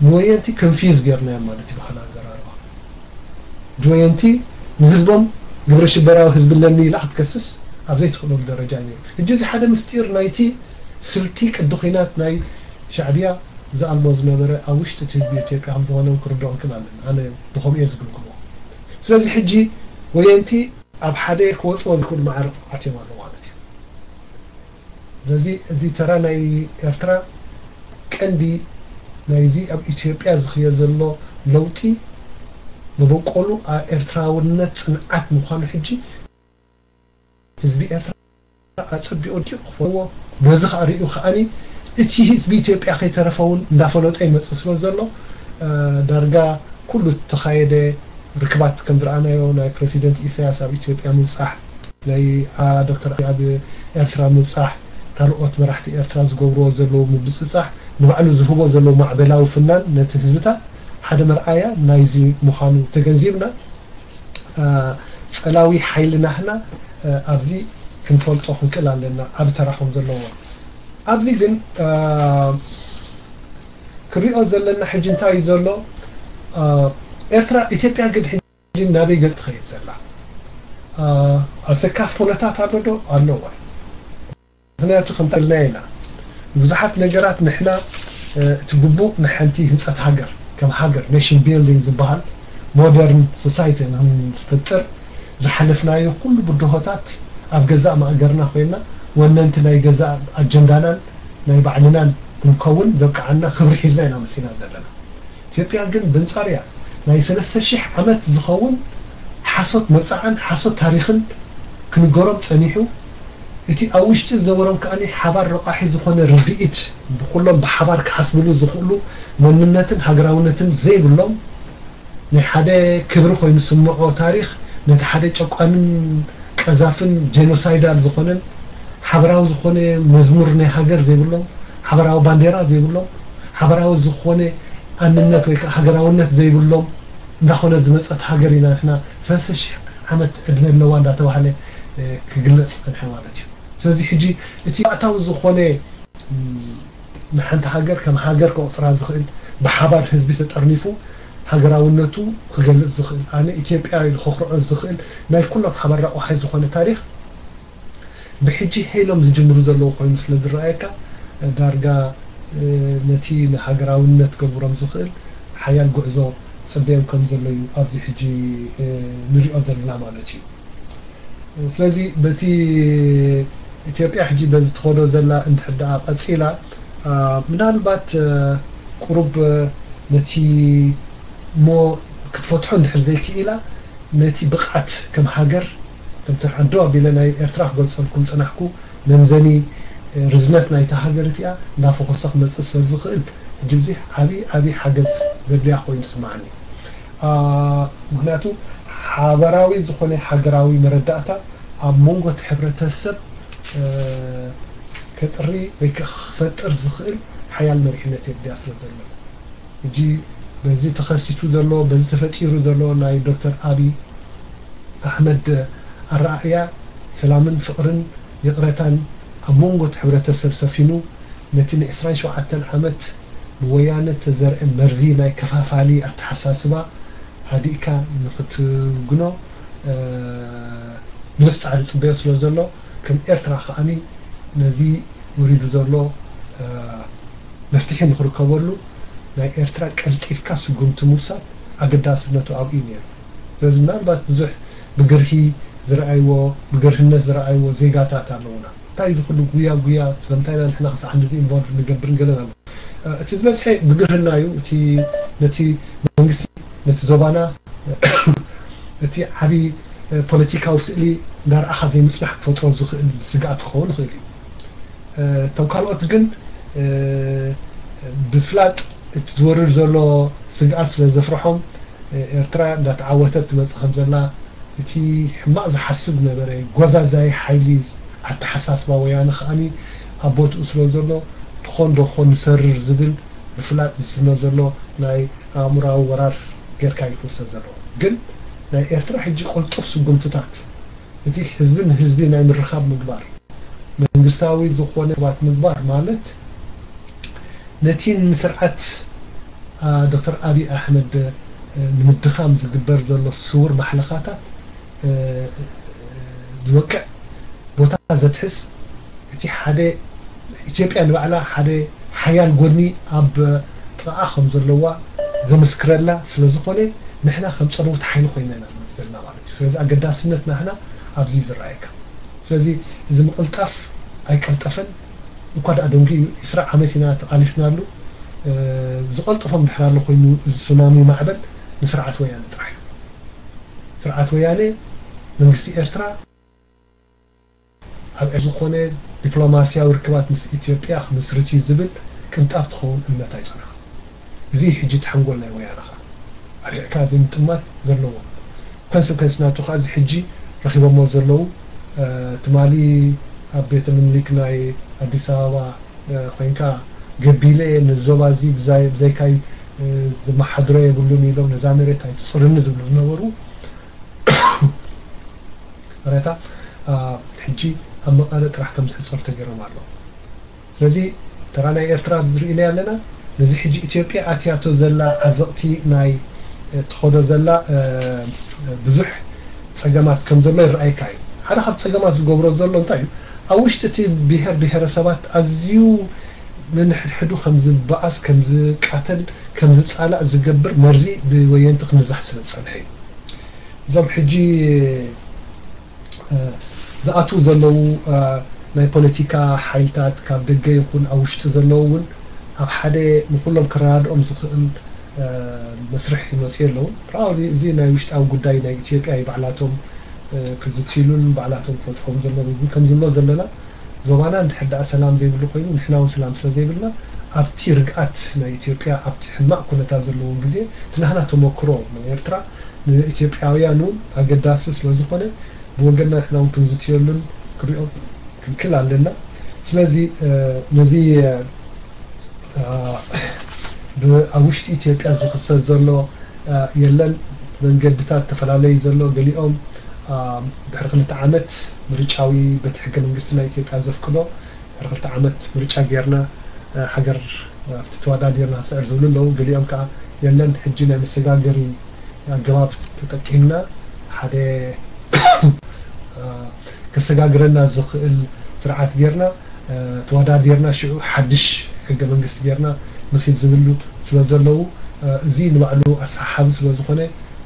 ንወየንቲ ኮንፊውዝ ጌርናዮም ማለት እዩ ብኻልእ ኣዘራርባ። ጅወየንቲ ንህዝቦም ግብረ ሽበራዊ ህዝቢ ኣለኒ ኢላ ክትከስስ ኣብ ዘይትኽእለሉ ደረጃ እዩ ነይሩ። ሕጂ እዚ ሓደ ምስጢር ናይቲ ስልቲ ቅዲ ኲናት ናይ ሻዕብያ ዝኣልሞ ዝነበረ ኣብ ውሽጢ እቲ ህዝቢ ኢትዮጵያ ከም ዝኾነ እውን ክርድኦክን ኣለኒ። ኣነ ብኸምኡ እየ ዝግምግሞ። ስለዚ ሕጂ ወየንቲ ኣብ ሓደ ክወፅዎ ዝኽእሉ ማዕረ ኣትዮም ኣለዉ ማለት እዩ። ስለዚ እዚ ተራ ናይ ኤርትራ ቀንዲ ናይዚ ኣብ ኢትዮጵያ ዝኽየ ዘሎ ለውጢ መበቆሉ ኣብ ኤርትራውነት ጽንዓት ምዃኑ ሕጂ ህዝቢ ኤርትራ ኣጸቢቑ ክፈልዎ፣ በዚ ከዓ ርእዩ ከዓኒ እቲ ህዝቢ ኢትዮጵያ ከይተረፈ እውን እንዳፈለጦ ይመጽእ ስለ ዘሎ ዳርጋ ኩሉ ዝተኻየደ ርክባት ከም ዝረኣናዮ ናይ ፕረሲደንት ኢሳያስ ኣብ ኢትዮጵያ ምብጻሕ ናይ ዶክተር ኣብ ኤርትራ ምብጻሕ ካልኦት መራሕቲ ኤርትራ ዝገብርዎ ዘለዉ ምብጽጻሕ ንባዕሉ ዝህቦ ዘለዉ ማዕበላዊ ፍናን ነቲ ህዝብታት ሓደ መርኣያ ናይዚ ምዃኑ ተገንዚብና ጸላዊ ሓይሊ ናህና ኣብዚ ክንፈልጦ ክንክእል ኣለና ዓብ ተራኹም ዘለዎ ኣብዚ ግን ክሪኦ ዘለና ሕጂ እንታይ እዩ ዘሎ ኤርትራ ኢትዮጵያ ግን ሕጂ ናበይ ገጽ ትኸይድ ዘላ ኣሰካፍ ኩነታት ኣሎ ዶ ኣለዋ ምክንያቱ ከምታ ኢልና ኢና ብዙሓት ነገራት ንሕና እቲ ግቡእ ንሓንቲ ህንፀት ሃገር ከም ሃገር nation building ዝበሃል modern society ንክንፈጥር ዝሓለፍናዮ ኩሉ ብድሆታት ኣብ ገዛእ ማእገርና ኮይና ወነንቲ ናይ ገዛእ ኣጀንዳናን ናይ ባዕልናን ክንከውን ዘብቅዓና ክብሪ ሒዝና ኢና መፂና ዘለና ኢትዮጵያ ግን ብንፃርያ ናይ ሰለስተ ሺሕ ዓመት ዝኸውን ሓሶት መብፃዓን ሓሶት ታሪኽን ክንገሮም ፀኒሑ እቲ ኣብ ውሽጢ ዝነበሮም ከኣ ሓባር ረቋሒ ዝኾነ ርድኢት ብኩሎም ብሓባር ክሓስብሉ ዝኽእሉ መንነትን ሃገራውነትን ዘይብሎም ናይ ሓደ ክብሪ ኮይኑ ስምዖ ታሪኽ ነቲ ሓደ ጨቋንን ቀዛፍን ጀኖሳይዳል ዝኾነን ሓበራዊ ዝኾነ መዝሙር ናይ ሃገር ዘይብሎም ሓበራዊ ባንዴራ ዘይብሎም ሓበራዊ ዝኾነ ኣንነት ወይ ከዓ ሃገራውነት ዘይብሎም እንዳኾነ ዝመፀት ሃገር ኢና ንሕና ሰለስተ ሺሕ ዓመት ዕድመ ኣለዋ እንዳተባህለ ክግለፅ ዝፀንሐ ማለት እዩ ስለዚ ሕጂ እቲ ባእታዊ ዝኾነ ንሓንቲ ሃገር ከም ሃገር ከቑፅራ ዝኽእል ብሓባር ህዝቢ ተጠርኒፉ ሃገራውነቱ ክገልፅ ዝኽእል ኣነ ኢትዮጵያ ኢሉ ከኹርዖ ዝኽእል ናይ ኩሎም ሓባር ረቋሒ ዝኾነ ታሪኽ ብሕጂ ሄሎም ዝጅምሩ ዘለዉ ኮይኑ ስለ ዝረኣየካ ዳርጋ ነቲ ንሃገራውነት ገብሮም ዝኽእል ሓያል ጉዕዞ ፅበዮም ከም ዘሎ እዩ ኣብዚ ሕጂ ንሪኦ ዘለና ማለት እዩ ስለዚ በቲ ኢትዮጵያ ሕጂ በዚ ትኸዶ ዘላ እንድሕር ደኣ ቀፂላ ምናልባት ቁሩብ ነቲ እሞ ክትፈትሖ እንድሕር ዘይክኢላ ነቲ ብቕዓት ከም ሃገር ከምቲ ዓዶ ኣቢለ ናይ ኤርትራ ክገልፀልኩም ፅናሕኩ መምዘኒ ርዝነት ናይታ ሃገር እቲኣ እናፈኾሰ ክመፅእ ስለ ዝኽእል ሕጂ ብዚ ዓብዪ ዓብዪ ሓገዝ ዘድልያ ኮይኑ ስምዓኒ ምክንያቱ ሓበራዊ ዝኾነ ሃገራዊ መረዳእታ ኣብ መንጎ እቲ ሕብረተሰብ ከጥሪ ወይ ክፈጥር ዝኽእል ሓያል መሪሕነት የድልያ ስለ ዘሎ ሕጂ በዚ ተኸሲቱ ዘሎ በዚ ተፈጢሩ ዘሎ ናይ ዶክተር ኣብይ ኣሕመድ ኣረኣእያ ሰላምን ፍቕርን ይቕረታን ኣብ መንጎ እቲ ሕብረተሰብ ሰፊኑ ነቲ ን ዕስራን ሸውዓተን ዓመት ብወያነ ተዘርአ መርዚ ናይ ከፋፋሊ ኣተሓሳስባ ሃዲእካ ንኽትግኖ ብዙሕ ፃዕሪ ፅበዮ ስለ ዘሎ ከም ኤርትራ ከዓኒ ነዚ ወሪዱ ዘሎ መፍትሒ ንኽርከበሉ ናይ ኤርትራ ቀልጢፍካ ስጉምቲ ምውሳድ ኣገዳስነቱ ኣብኡ እዩ ነይሩ። ስለዚ ምናልባት ብዙሕ ብግርሂ ዝረኣይዎ ብግርህነት ዝረኣይዎ ዜጋታት ኣለውና። እንታይ እዚ ኩሉ ጉያ ጉያ ስለምንታይ ኢና ንሕና ክሳዕ ክንድዚ ኢንቮልቭ ንገብርን ገለን ኣሎ። እቲ ዝበዝሐ ብግርህና እዩ። እቲ ነቲ መንግስቲ ነቲ ዞባና እቲ ዓቢ ፖለቲካዊ ስእሊ እንዳረኣኻ ዘይምጽናሕ ክፈጥሮ ዝኽእል ስግኣት ክኸውን ይኽእል እዩ። እቶም ካልኦት ግን ብፍላጥ እቲ ዝወርድ ዘሎ ስግኣት ስለ ዘፍርሖም ኤርትራ እንዳተዓወተት ትመጽእ ከም ዘላ እቲ ሕማቕ ዝሓስብ ነበረ ጎዛዛይ ሓይሊ ኣተሓሳስባ ወያነ ከኣኒ ኣብ ቦትኡ ስለ ዘሎ ትኾን ዶ ክኾን ንሰርር ዝብል ብፍላጥ ዝስነ ዘሎ ናይ ኣእምራዊ ወራር ጌርካ እዩ ክውሰድ ዘለዎ። ግን ናይ ኤርትራ ሕጂ ቅልጡፍ ስጉምትታት እቲ ህዝቢ ንህዝቢ ናይ ምርኻብ ምግባር መንግስታዊ ዝኾነ ሰባት ምግባር ማለት ነቲ ንስርዓት ዶክተር ኣብይ ኣሕመድ ንምድኻም ዝግበር ዘሎ ስውር ማሕለኻታት ዝወቅዕ ቦታ ዘትሕዝ እቲ ሓደ ኢትዮጵያ ንባዕላ ሓደ ሓያል ጎኒ ኣብ ጥቓኣ ከም ዘለዋ ዘመስክረላ ስለ ዝኾነ ንሕና ከም ጸለውቲ ሓይሊ ኮይና ኢና ንመጽእ። ዘለና ማለት እዩ። ስለዚ ኣገዳስነት ናህና ኣብዚ እዩ ዝረኣየካ። ስለዚ እዚ ምቕልጣፍ ኣይቀልጠፈን። እኳ ደኣ ደንጉ እዩ፣ ዕስራ ዓመት ኢና ተቓሊስናሉ። ዝቐልጠፎም ድሕር ኣሎ ኮይኑ፣ እዚ ሱናሚ ማዕበል ንስርዓት ወያነ ጥራሕ እዩ። ስርዓት ወያነ መንግስቲ ኤርትራ ኣብ ዝኾነ ዲፕሎማስያዊ ርክባት ምስ ኢትዮጵያ ክምስርት እዩ ዝብል ቅንጣብ ትኸውን እምነት ኣይጸንሓ። እዚ ሕጂ ተሓንጎል ናይ ወያነ ኸኣ ኣርሒቕካ ዘይምጥማት ዘለዎ። ኮንስኮንስ ናቱ ኸኣ እዚ ሕጂ ረኺቦሞ ዘለዉ ትማሊ ኣብ ቤተ ምኒልክ ናይ ኣዲስ ኣበባ ኮይንካ ገቢለ ነዚ ዞባ እዚ ብዛይ ብዘይካይ ዝመሓድሮ የብሉን ኢሎም ነዛ መሬት ኣይትፅርኒ ዝብሉ ዝነበሩ ረታ ሕጂ ኣብ መቐለ ጥራሕ ከም ዝሕፀሩ ተገይሮም ኣለዉ። ስለዚ ተራ ናይ ኤርትራ ዝርእናዮ ኣለና። ነዚ ሕጂ ኢትዮጵያ ኣትያቶ ዘላ ዓዘቕቲ ናይ ትኸዶ ዘላ ብዙሕ ፀገማት ከም ዘሎ ይረኣይካ እዩ። ሓደ ካብ ፀገማት ዝገብሮ ዘሎ እንታይ እዩ? ኣብ ውሽጢ እቲ ብሄር ብሄረሰባት ኣዝዩ ነንሕድሕዱ ከም ዝበኣስ ከም ዝቃተል ከም ዝፃላእ ዝገብር መርዚ ብወየንቲ ክንዛሕ ስለ ዝፀንሐ እዩ። እዞም ሕጂ ዝኣትዉ ዘለዉ ናይ ፖለቲካ ሓይልታት ካብ ደገ ይኹን ኣብ ውሽጢ ዘለዉ እውን ኣብ ሓደ ንኩሎም ክረዳድኦም ዝኽእል መስርሕ ይመፅኡ ኣለዉ። ፕሮባብሊ እዚ ናይ ውሽጣዊ ጉዳይ ናይ ኢትዮጵያ እዩ። ባዕላቶም ክዝትይሉን ባዕላቶም ክፈትሖም ዘለዉ ግን ከም ዝብሎ ዘለና ዞባና እንድሕር ደኣ ሰላም ዘይብሉ ኮይኑ ንሕና እውን ሰላም ስለ ዘይብልና ኣብቲ ርግኣት ናይ ኢትዮጵያ ኣብቲ ሕማቕ ኩነታት ዘለዎም ግዜ እቲ ናህና ተመክሮ ናይ ኤርትራ ንኢትዮጵያውያን እውን ኣገዳሲ ስለ ዝኾነ ብወገንና ንሕና እውን ክንዝትየሉን ክንሪኦ ክንክል ኣለና። ስለዚ ነዚ ኣብ ውሽጢ ኢትዮጵያ ዝኽሰት ዘሎ የለን መንገድታት ተፈላለዩ ዘሎ ገሊኦም ድሕሪ ክልተ ዓመት ምርጫዊ በቲ ሕገ መንግስቲ ናይ ኢትዮጵያ ዘፍቅዶ ድሕሪ ክልተ ዓመት ምርጫ ጌርና ሃገር ኣብቲ ተወዳዲርና ክስዕር ዝብሉ ኣለዉ። ገሊኦም ከዓ የለን ሕጂ ናይ መሰጋገሪ ኣገባብ ተጠቂምና ሓደ ከሰጋግረና ዝኽእል ስርዓት ጌርና ተወዳዲርና ሽዑ ሓድሽ ሕገ መንግስቲ ጌርና ንኺድ ዝብሉ ስለ ዘለዉ እዚ ንባዕሉ ኣሰሓሓቢ ስለ ዝኾነ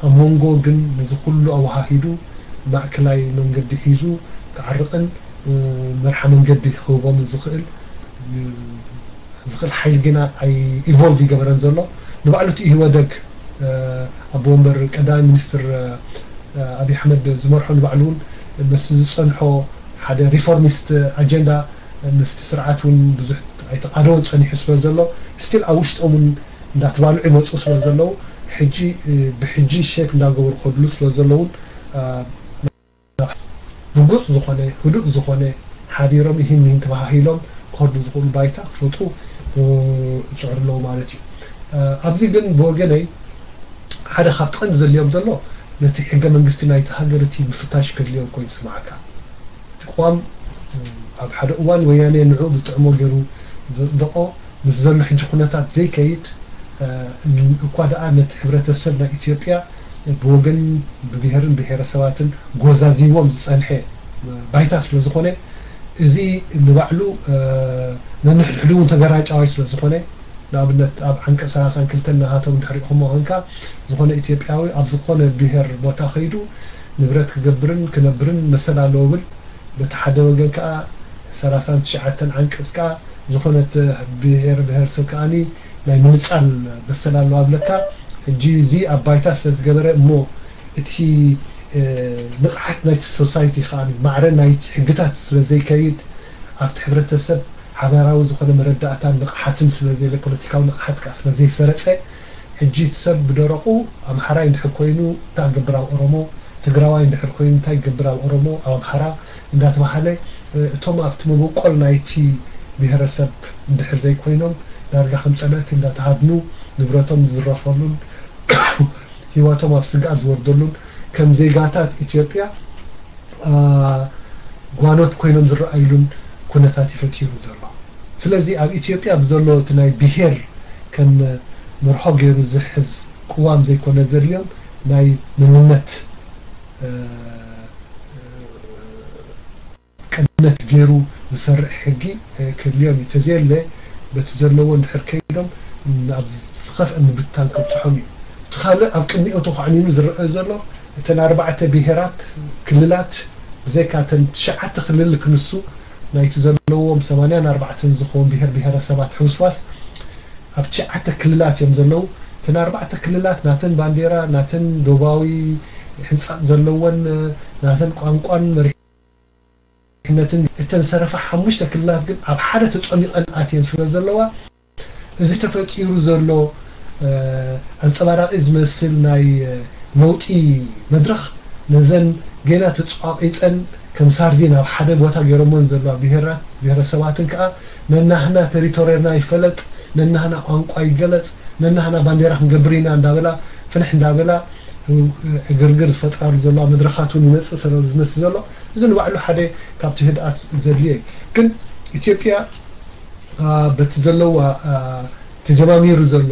ኣብ መንጎ ግን ነዚ ኩሉ ኣወሃሂዱ ማእከላይ መንገዲ ሒዙ ክዓርቕን መርሓ መንገዲ ክህቦምን ዝኽእል ዝኽእል ሓይሊ ግና ኣይ ኢቮልቭ ይገበረን ዘሎ ንባዕሉ እቲ ኢህወደግ ኣቦ ወንበር ቀዳማይ ሚኒስትር ኣብይ ኣሕመድ ዝመርሖ ንባዕሉ እውን መስቲ ዝፀንሖ ሓደ ሪፎርሚስት ኣጀንዳ ምስቲ ስርዓት እውን ብዙሕ ኣይተቃደወን ፀኒሑ ስለ ዘሎ ስቲል ኣብ ውሽጦም እውን እንዳተባልዑ ይመፁ ስለ ዘለዉ ሕጂ ብሕጂ ሼፕ እንዳገበሩ ከድሉ ስለ ዘለውን ርጉፅ ዝኾነ ህዱእ ዝኾነ ሓቢሮም ይህን ይህን ተባሃሂሎም ክኸዱ ዝኽእሉ ባይታ ክፈጥሩ ይፅዕሩ ኣለዉ ማለት እዩ። ኣብዚ ግን ብወገነይ ሓደ ካብቲ ቀንዲ ዘድልዮም ዘሎ ነቲ ሕገ መንግስቲ ናይቲ ሃገር እቲ ምፍታሽ ከድልዮም ኮይኑ ይስምዓካ። እቲ ቅዋም ኣብ ሓደ እዋን ወያነ ንዑ ብጥዕሞ ገይሩ ዘፅደቆ ምስ ዘሎ ሕጂ ኩነታት ዘይከይድ እኳ ደኣ ነቲ ሕብረተሰብ ናይ ኢትዮጵያ ብወገን ብብሄርን ብሄረሰባትን ጎዛዚዎም ዝፀንሐ ባይታ ስለ ዝኾነ እዚ ንባዕሉ ነንሕድሕዱ እውን ተገራጫዋይ ስለ ዝኾነ ንኣብነት ኣብ ዓንቀ ሰላሳን ክልተን ናሃቶም ድሕሪኹሞ ኮንካ ዝኾነ ኢትዮጵያዊ ኣብ ዝኾነ ብሄር ቦታ ከይዱ ንብረት ክገብርን ክነብርን መሰል ኣለዎ ብል በቲ ሓደ ወገን ከዓ ሰላሳን ትሽዓተን ዓንቀፅ ከዓ ዝኾነት ብሄር ብሄረሰብ ከዓኒ ናይ ምንፃል መሰል ኣለዋ ብለካ ሕጂ እዚ ኣብ ባይታ ስለ ዝገበረ እሞ እቲ ንቕሓት ናይቲ ሶሳይቲ ከዓ ማዕረ ናይቲ ሕግታት ስለ ዘይከይድ ኣብቲ ሕብረተሰብ ሓባራዊ ዝኾነ መረዳእታን ንቕሓትን ስለ ዘለ ፖለቲካዊ ንቕሓት ከዓ ስለ ዘይሰረፀ ሕጂ እቲ ሰብ ብደረቑ ኣምሓራይ እንድሕር ኮይኑ እንታይ ክገብር ኣብ ኦሮሞ ትግራዋይ እንድሕር ኮይኑ እንታይ ክገብር ኣብ ኦሮሞ ኣብ ኣምሓራ እንዳተባሃለ እቶም ኣብቲ መበቆል ናይቲ ብሄረሰብ እንድሕር ዘይኮይኖም ዳርጋ ከም ፀላእቲ እንዳተሃድኑ ንብረቶም ዝዝረፈሉን ህይወቶም ኣብ ስግኣት ዝወርደሉን ከም ዜጋታት ኢትዮጵያ ጓኖት ኮይኖም ዝረኣይሉን ኩነታት ይፈጢሩ ዘሎ። ስለዚ ኣብ ኢትዮጵያ ብዘሎ እቲ ናይ ብሄር ከም መርሖ ገይሩ ዝሕዝ ቅዋም ዘይኮነ ዘድልዮም ናይ መንነት ቅድመት ገይሩ ዝሰርሕ ሕጊ ከድልዮም እዩ። ተዘየለ በቲ ዘለዎ እንድሕር ከይዶም ናብ ዝኸፍአ ምብታን ከብፅሖም እዩ። እቲ ካልእ ኣብ ቅድሚኦም ተኳዕኒኑ ዝረአ ዘሎ እተን ኣርባዕተ ብሄራት ክልላት ብዘይካ እተን ትሽዓተ ክልል ክንሱ ናይቲ ዘለዎም ሰማንያን ኣርባዕተን ዝኸውን ብሄር ብሄረሰባት ሕውስዋስ ኣብ ትሽዓተ ክልላት እዮም ዘለዉ። እተን ኣርባዕተ ክልላት ናተን ባንዴራ፣ ናተን ዶባዊ ሕንጻጽ ዘለወን፣ ናተን ቋንቋን መሪሕነትን እተን ዝተረፋ ሓሙሽተ ክልላት ግን ኣብ ሓደ ተጸሚቐን ኣትየን ስለ ዘለዋ እዚ ተፈጢሩ ዘሎ ኣንጸባራቂ ዝመስል ናይ ለውጢ መድረኽ ነዘን ገና ተጻቒጸን ከም ሳርዲን ኣብ ሓደ ቦታ ገይሮሞን ዘለዋ ብሄራት ብሄረሰባትን ከኣ ነናህና ተሪቶርና ይፈለጥ፣ ነናህና ቋንቋ ይገለጽ፣ ነናህና ባንዴራ ክንገብር ኢና እንዳበላ ፍንሕ እንዳበላ ዕግርግር ዝፈጥራሉ ዘለዋ መድረኻት እውን ይመጽእ ስለ ዝመስል ዘሎ እዚ ንባዕሉ ሓደ ካብቲ ህድኣት ዘድልዮ እዩ። ግን ኢትዮጵያ በቲ ዘለዋ ተጀማሚሩ ዘሎ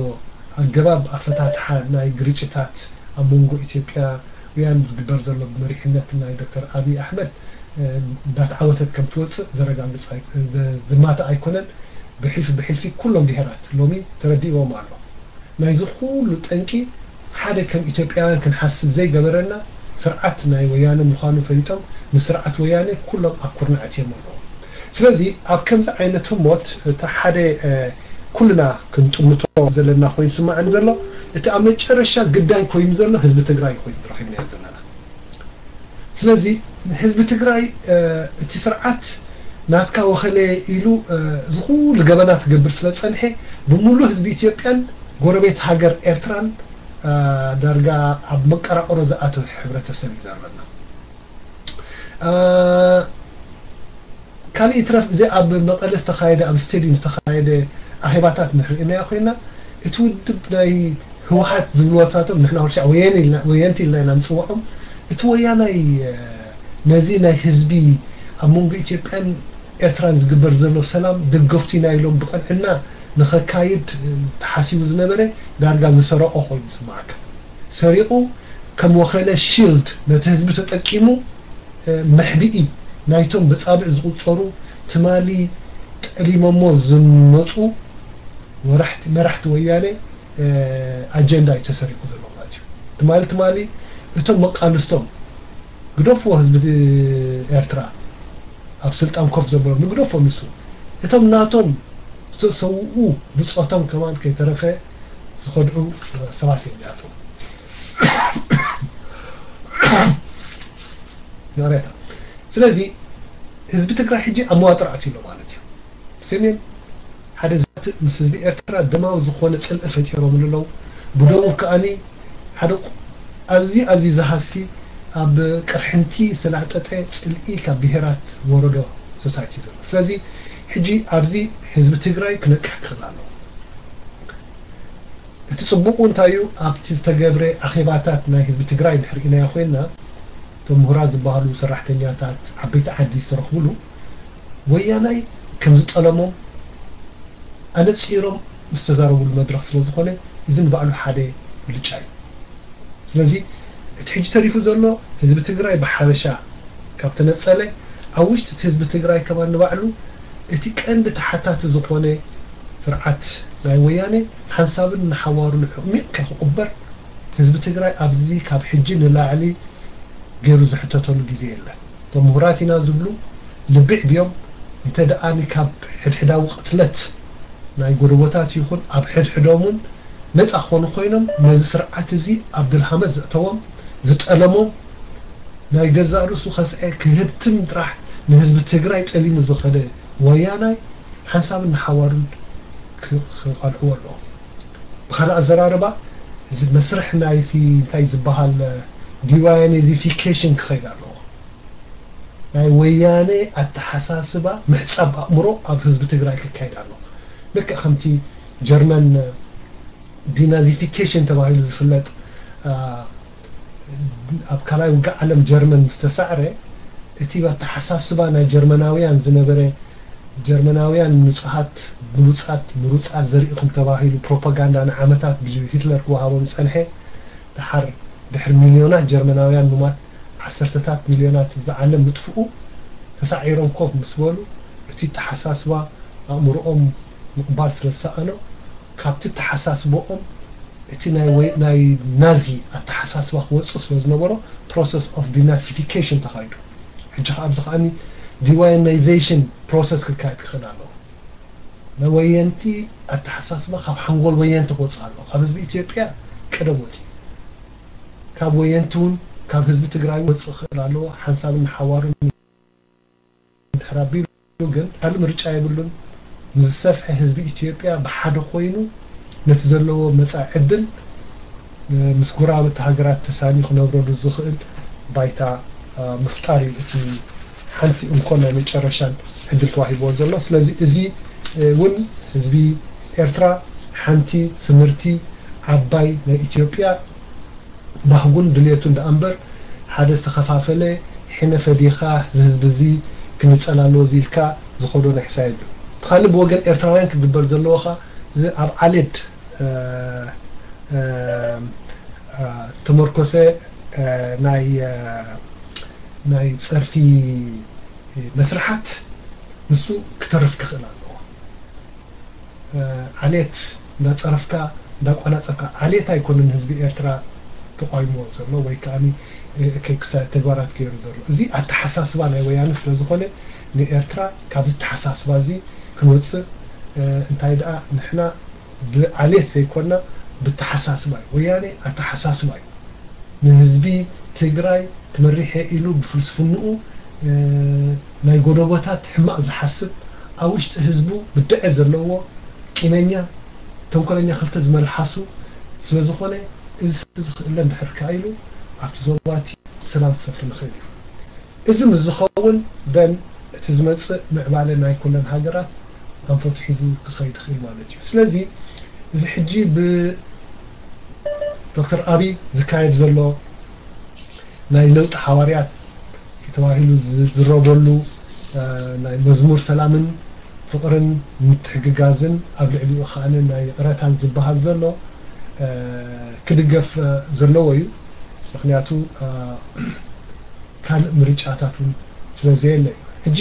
ኣገባብ ኣፈታትሓ ናይ ግርጭታት ኣብ መንጎ ኢትዮጵያውያን ዝግበር ዘሎ ብመሪሕነት ናይ ዶክተር ኣብይ ኣሕመድ እንዳተዓወተት ከም ትወፅእ ዘረጋግፅ ዝማትእ ኣይኮነን። ብሕልፊ ብሕልፊ ኩሎም ብሄራት ሎሚ ተረዲእዎም ኣሎ። ናይዚ ኩሉ ጠንቂ ሓደ ከም ኢትዮጵያውያን ክንሓስብ ዘይገበረና ስርዓት ናይ ወያነ ምዃኑ ፈሊጦም ንስርዓት ወያነ ኩሎም ኣብ ኩርናዕ ኣትዮም ኣለዉ። ስለዚ ኣብ ከምዚ ዓይነት ህሞት እቲ ሓደ ኩልና ክንጥምቶ ዘለና ኮይኑ ስማዕኒ ዘሎ እቲ ኣብ መጨረሻ ግዳይ ኮይኑ ዘሎ ህዝቢ ትግራይ ኮይኑ ረኺብናዮ ዘለና። ስለዚ ህዝቢ ትግራይ እቲ ስርዓት ናትካ ወኸለ ኢሉ እዚ ኩሉ ገበናት ክገብር ስለ ዝፀንሐ ብምሉእ ህዝቢ ኢትዮጵያን ጎረቤት ሃገር ኤርትራን ዳርጋ ኣብ መቀራቀሮ ዝኣተወ ሕብረተሰብ እዩ ዘሎና። ካልእ ይትረፍ እዚ ኣብ መቐለ ዝተኻየደ ኣብ ስቴድዩም ዝተኻየደ ኣኼባታት ንርኢናዮ ኮይና እቲ ውድብ ናይ ህወሓት ዝብልዎ ሳቶም ንሕና ኩልሻዕ ወየንቲ ኢልና ኢና ምፅውዖም። እቲ ወያናይ ነዚ ናይ ህዝቢ ኣብ መንጎ ኢትዮጵያን ኤርትራን ዝግበር ዘሎ ሰላም ደገፍቱ ኢና ኢሎም ብቐንዕና ንኸካይድ ተሓሲቡ ዝነበረ ዳርጋ ዝሰረቆ ኮይኑ ዝስማዓካ። ሰሪቑ ከም ወኸለ ሺልድ ነቲ ህዝቢ ተጠቂሙ መሕብኢ ናይቶም ብጻብዕ ዝቑጸሩ ትማሊ ጠሊሞሞ ዝመጹ መራሕቲ ወያነ ኣጀንዳ እዩ ተሰሪቑ ዘሎ ማለት እዩ። ትማሊ ትማሊ እቶም መቃልስቶም ግደፍዎ ህዝቢ ኤርትራ ኣብ ስልጣን ኮፍ ዘበሉ ንግደፎም ንሱ እቶም ናቶም ዝተሰውኡ ብጾቶም ከማን ከይተረፈ ዝኸድዑ ሰባት እዮም እዚኣቶም። ይቕሬታ። ስለዚ ህዝቢ ትግራይ ሕጂ ኣብ መዋጥር ኣትዩ ኣሎ ማለት እዩ። ሰሜን ሓደ ዛትእ ምስ ህዝቢ ኤርትራ ደማዊ ዝኾነ ጽልኢ ፈጢሮምሉ ኣለዉ። ብደቡብ ከኣኒ ሓደ ኣዝዩ ኣዝዩ ዝሃሲ ኣብ ቅርሕንቲ ዝተላጠጠ ጽልኢ ካብ ብሄራት ወረዶ ሶሳይቲ ዘሎ። ስለዚ ሕጂ ኣብዚ ህዝቢ ትግራይ ክነቅሕ ክኽእል ኣለዎ። እቲ ጽቡቑ እንታይ እዩ ኣብቲ ዝተገብረ ኣኼባታት ናይ ህዝቢ ትግራይ እንድሕር ኢናዮ ኮይንና እቶም ምሁራት ዝበሃሉ ሰራሕተኛታት ዓበይቲ ዓዲ ዝተረኽብሉ ወያናይ ከም ዝጠለሞም ኣነጺሮም ዝተዛረብሉ መድረኽ ስለ ዝኾነ እዚ ንባዕሉ ሓደ ብልጫ እዩ። ስለዚ እቲ ሕጂ ተሪፉ ዘሎ ህዝቢ ትግራይ ብሓበሻ ካብ ተነጸለ ኣብ ውሽጢ እቲ ህዝቢ ትግራይ ከማን ንባዕሉ እቲ ቀንዲ ተሓታቲ ዝኾነ ስርዓት ናይ ወያነ ሓንሳብን ንሓዋሩን ሕሚቕ ከክቕበር ህዝቢ ትግራይ ኣብዚ ካብ ሕጂ ንላዕሊ ገይሩ ዝሕተተሉ ግዜ የለን። እቶም ምሁራት ኢና ዝብሉ ልቢ ዕብዮም እንተ ደኣ ካብ ሕድሕዳዊ ቅትለት ናይ ጎደቦታት ይኹን ኣብ ሕድሕዶም እውን ነፃ ክኾኑ ኮይኖም ነዚ ስርዓት እዚ ኣብ ድልሃመት ዘእተዎም ዝጠለሞም ናይ ገዛእ ርእሱ ከስዐ ክህብትም ጥራሕ ንህዝቢ ትግራይ ጠሊሙ ዝኸደ ወያናይ ሓንሳብን ንሓዋሩን ክቐልዕዎ ኣለዎ። ብኻልእ ኣዘራርባ እዚ መስርሕ ናይቲ እንታይ ዝበሃል ዲዋያኔዚፊኬሽን ክኸይድ ኣለዎ። ናይ ወያነ ኣተሓሳስባ ምሕፃብ ኣእምሮ ኣብ ህዝቢ ትግራይ ክካየድ ኣለዎ። ልክዕ ከምቲ ጀርመን ዲናዚፊኬሽን ተባሂሉ ዝፍለጥ ኣብ ካልኣይ ውግእ ዓለም ጀርመን ምስ ተሳዕረ እቲ ኣተሓሳስባ ናይ ጀርመናውያን ዝነበረ ጀርመናውያን ንጹሃት ብሉጻት ምሩጻት ዘርኢኹም ተባሂሉ ፕሮፓጋንዳ ንዓመታት ብሂትለር ክወሃቦም ዝጸንሐ ድሓር ድሕሪ ሚልዮናት ጀርመናውያን ምማት ዓሰርተታት ሚልዮናት ህዝቢ ዓለም ምጥፍኡ ተሳዒሮም ኮፍ ምስ በሉ እቲ ኣተሓሳስባ ኣእምሮኦም ምቕባል ስለ ዝሰኣኖ ካብቲ ኣተሓሳስቦኦም እቲ ናይ ወይ ናይ ናዚ ኣተሓሳስባ ክወፅእ ስለ ዝነበሮ process of denazification ተኻይዱ። ሕጂ ከዓ ኣብዚ ከዓኒ deweyanization process ክካየድ ክኽእል ኣለዎ። ናይ ወየንቲ ኣተሓሳስባ ካብ ሓንጎል ወየንቲ ክወፅእ ኣለዎ። ካብ ህዝቢ ኢትዮጵያ ቀደም ወፂኡ፣ ካብ ወየንቲ እውን ካብ ህዝቢ ትግራይ ወፅእ ክኽእል ኣለዎ። ሓንሳብን ሓዋሩን ድሕር ኣቢሉ ግን ካልእ ምርጫ የብሉን። ንዝሰፍሐ ህዝቢ ኢትዮጵያ ብሓደ ኮይኑ ነቲ ዘለዎ መጻኢ ዕድል ምስ ጎረባብቲ ሃገራት ተሳንዩ ክነብረሉ ዝኽእል ባይታ ምፍጣር እዩ እቲ ሓንቲ እንኮ ናይ መጨረሻን ዕድል ተዋሂብዎ ዘሎ። ስለዚ እዚ እውን ህዝቢ ኤርትራ ሓንቲ ስምርቲ ዓባይ ናይ ኢትዮጵያ ባህጉን ድልየቱን ደኣ እምበር ሓደ ዝተኸፋፈለ ሕነ ፈዲኻ እዚ ህዝቢ እዚ ክንጸላሎ እዚ ኢልካ ዝኸዶ ናይ ሕሳብ የብሉ። እቲ ካልእ ብወገን ኤርትራውያን ክግበር ዘለዎ ኸኣ እዚ ኣብ ዓሌት ዝተመርኮሰ ናይ ናይ ጸርፊ መስርሓት ንሱ ክተርፍ ክኽእል ኣለዎ። ዓሌት እንዳጸረፍካ እንዳቋናጸብካ፣ ዓሌት ኣይኮነን ህዝቢ ኤርትራ ተቋይሞ ዘሎ ወይ ከዓ ተግባራት ገይሩ ዘሎ። እዚ ኣተሓሳስባ ናይ ወያነ ስለ ዝኾነ ንኤርትራ ካብዚ ኣተሓሳስባ እዚ ክንወፅእ እንታይ ደኣ ንሕና ብዓሌት ዘይኮና ብተሓሳስባ እዩ። ወያነ ኣተሓሳስባ እዩ። ንህዝቢ ትግራይ ክመሪሕ ኢሉ ብፍልስፍንኡ ናይ ጎደቦታት ሕማቕ ዝሓስብ ኣብ ውሽጢ ህዝቡ ብድዐ ዘለዎ ቂመኛ ተንኮለኛ ክልተ ዝመልሓሱ ስለ ዝኾነ እዚ ዝኽእለ እንድሕር ከኣ ኢሉ ኣብቲ ዞባቲ ሰላም ክሰፍን ይኽእል እዩ። እዚ ምስ ዝኸውን በን እቲ ዝመፅእ ምዕባለ ናይ ኩለን ሃገራት ኣንፈቱ ሒዙ ክኸይድ ይኽእል ማለት እዩ። ስለዚ እዚ ሕጂ ብዶክተር ኣቢይ ዝካየድ ዘሎ ናይ ለውጢ ሓዋርያት ተባሂሉ ዝዝረበሉ ናይ መዝሙር ሰላምን ፍቕርን ምትሕግጋዝን ኣብ ልዕሊኡ ከኣ ናይ ይቕረታን ዝበሃል ዘሎ ክድገፍ ዘለዎ እዩ። ምክንያቱ ካልእ ምርጫታት እውን ስለ ዘየለ እዩ። ሕጂ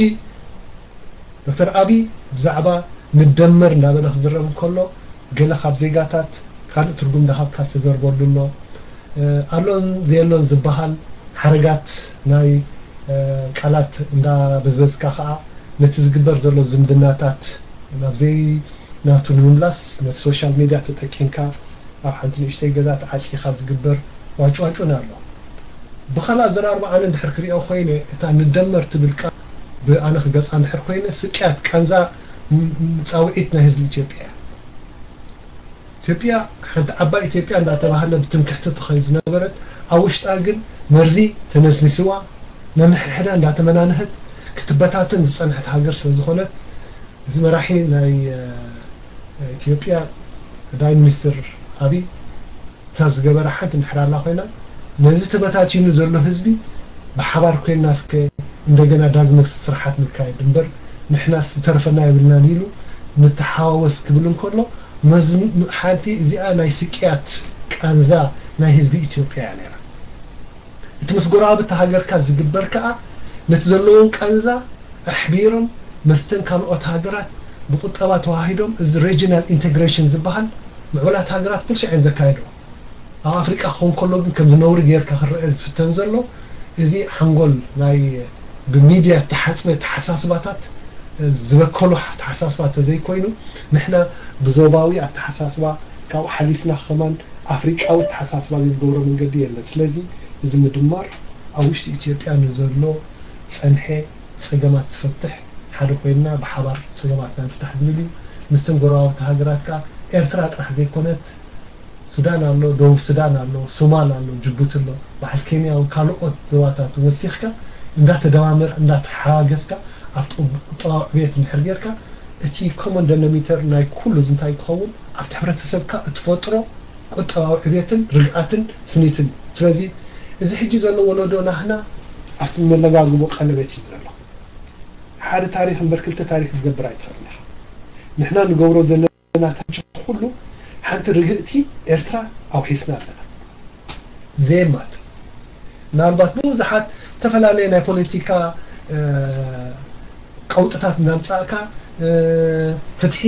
ዶክተር ኣቢይ ብዛዕባ ንደመር እንዳበለ ክዝረብ እንከሎ ገለ ካብ ዜጋታት ካልእ ትርጉም እንዳሃብካ ዝተዘርበሉ ኣሎ። ኣሎን ዘየሎን ዝበሃል ሓረጋት ናይ ቃላት እንዳበዝበዝካ ከዓ ነቲ ዝግበር ዘሎ ዝምድናታት ናብ ዘይናቱ ንምምላስ ነቲ ሶሻል ሚድያ ተጠቂምካ ኣብ ሓንቲ ንእሽተይ ገዛ ተዓፂኻ ዝግበር ዋጭዋጩን ኣሎ። ብኻልእ ኣዘራርባ ኣነ እንድሕር ክሪኦ ኮይነ እታ ንደመር ትብል ቃል ብኣነ ክገልፃ እንድሕር ኮይነ ስቅያት ቃንዛ ፃውዒት ናይ ህዝቢ ኢትዮጵያ እያ። ኢትዮጵያ ሓንቲ ዓባይ ኢትዮጵያ እንዳተባህለ ብትምክሕቲ ትኸይድ ዝነበረት ኣብ ውሽጣ ግን መርዚ ተነስኒስዋ ነንሕድሕዳ እንዳተመናንሀት ክትበታተን ዝፀንሐት ሃገር ስለ ዝኾነት እዚ መራሒ ናይ ኢትዮጵያ ቀዳማይ ሚኒስትር ኣቢይ እታ ዝገበራ ሓንቲ እንድሕር ኣላ ኮይና ነዚ ተበታቲኑ ዘሎ ህዝቢ ብሓባር ኮይንና እስከ እንደገና ዳግመ ስርሓት ንካየድ እምበር ንሕናስ ዝተረፈና የብልናን ኢሉ ንተሓዋወስ ክብል እንከሎ ሓንቲ እዚኣ ናይ ስቅያት ቃንዛ ናይ ህዝቢ ኢትዮጵያ እያ ነይራ። እቲ ምስ ጎረባብቲ ሃገርካ ዝግበር ከኣ ነቲ ዘለዎም ቃንዛ ኣሕቢሮም መስተን ካልኦት ሃገራት ብቁጠባ ተዋሂዶም እዚ regional integration ዝበሃል ምዕቡላት ሃገራት ኩልሻ እየን ዘካየድኦ። ኣብ ኣፍሪቃ ክኸውን ከሎ ግን ከምዚ ነውሪ ጌርካ ክረአ ዝፍተን ዘሎ እዚ ሓንጎል ናይ ብሚድያ ዝተሓፅበ ተሓሳስባታት ዝበከሎ ተሓሳስባ ተዘይኮይኑ ንሕና ብዞባዊ ኣተሓሳስባ ካብኡ ሓሊፍና ከማን ኣፍሪቃዊ ኣተሓሳስባ ዘይንገብሮ መንገዲ የለን። ስለዚ እዚ ምድማር ኣብ ውሽጢ ኢትዮጵያ ንዘሎ ፀንሐ ፀገማት ዝፈትሕ ሓደ ኮይንና ብሓባር ፀገማትና ንፍታሕ ዝብል እዩ። ምስተን ጎረባብቲ ሃገራት ከዓ ኤርትራ ጥራሕ ዘይኮነት ሱዳን ኣሎ፣ ደቡብ ሱዳን ኣሎ፣ ሶማል ኣሎ፣ ጅቡቲ ኣሎ፣ በዓል ኬንያ እውን ካልኦት ዞባታት ወሲኽካ እንዳተደማመር እንዳተሓጋገዝካ ኣብቲ ቁጠባዊ ዕብየት እንድሕር ጌርካ እቲ common denominator ናይ ኩሉ እዚ እንታይ ክኸውን ኣብቲ ሕብረተሰብካ እትፈጥሮ ቁጠባዊ ዕብየትን ርግኣትን ስኒትን እዩ። ስለዚ እዚ ሕጂ ዘሎ ወለዶ ናህና ኣብቲ መለጋግቦ ቀለበት እዩ ዘሎ። ሓደ ታሪኽ እምበር ክልተ ታሪኽ ክትገብር ኣይትኽእልን ኢኻ። ንሕና ንገብሮ ዘለና ታሪኽ ኩሉ ሓንቲ ርግእቲ ኤርትራ ኣውሒስና ኣለና። ዜማት ምናልባት ብዙሓት ዝተፈላለየ ናይ ፖለቲካ ቀውጥታት እናምፃእካ ፍትሒ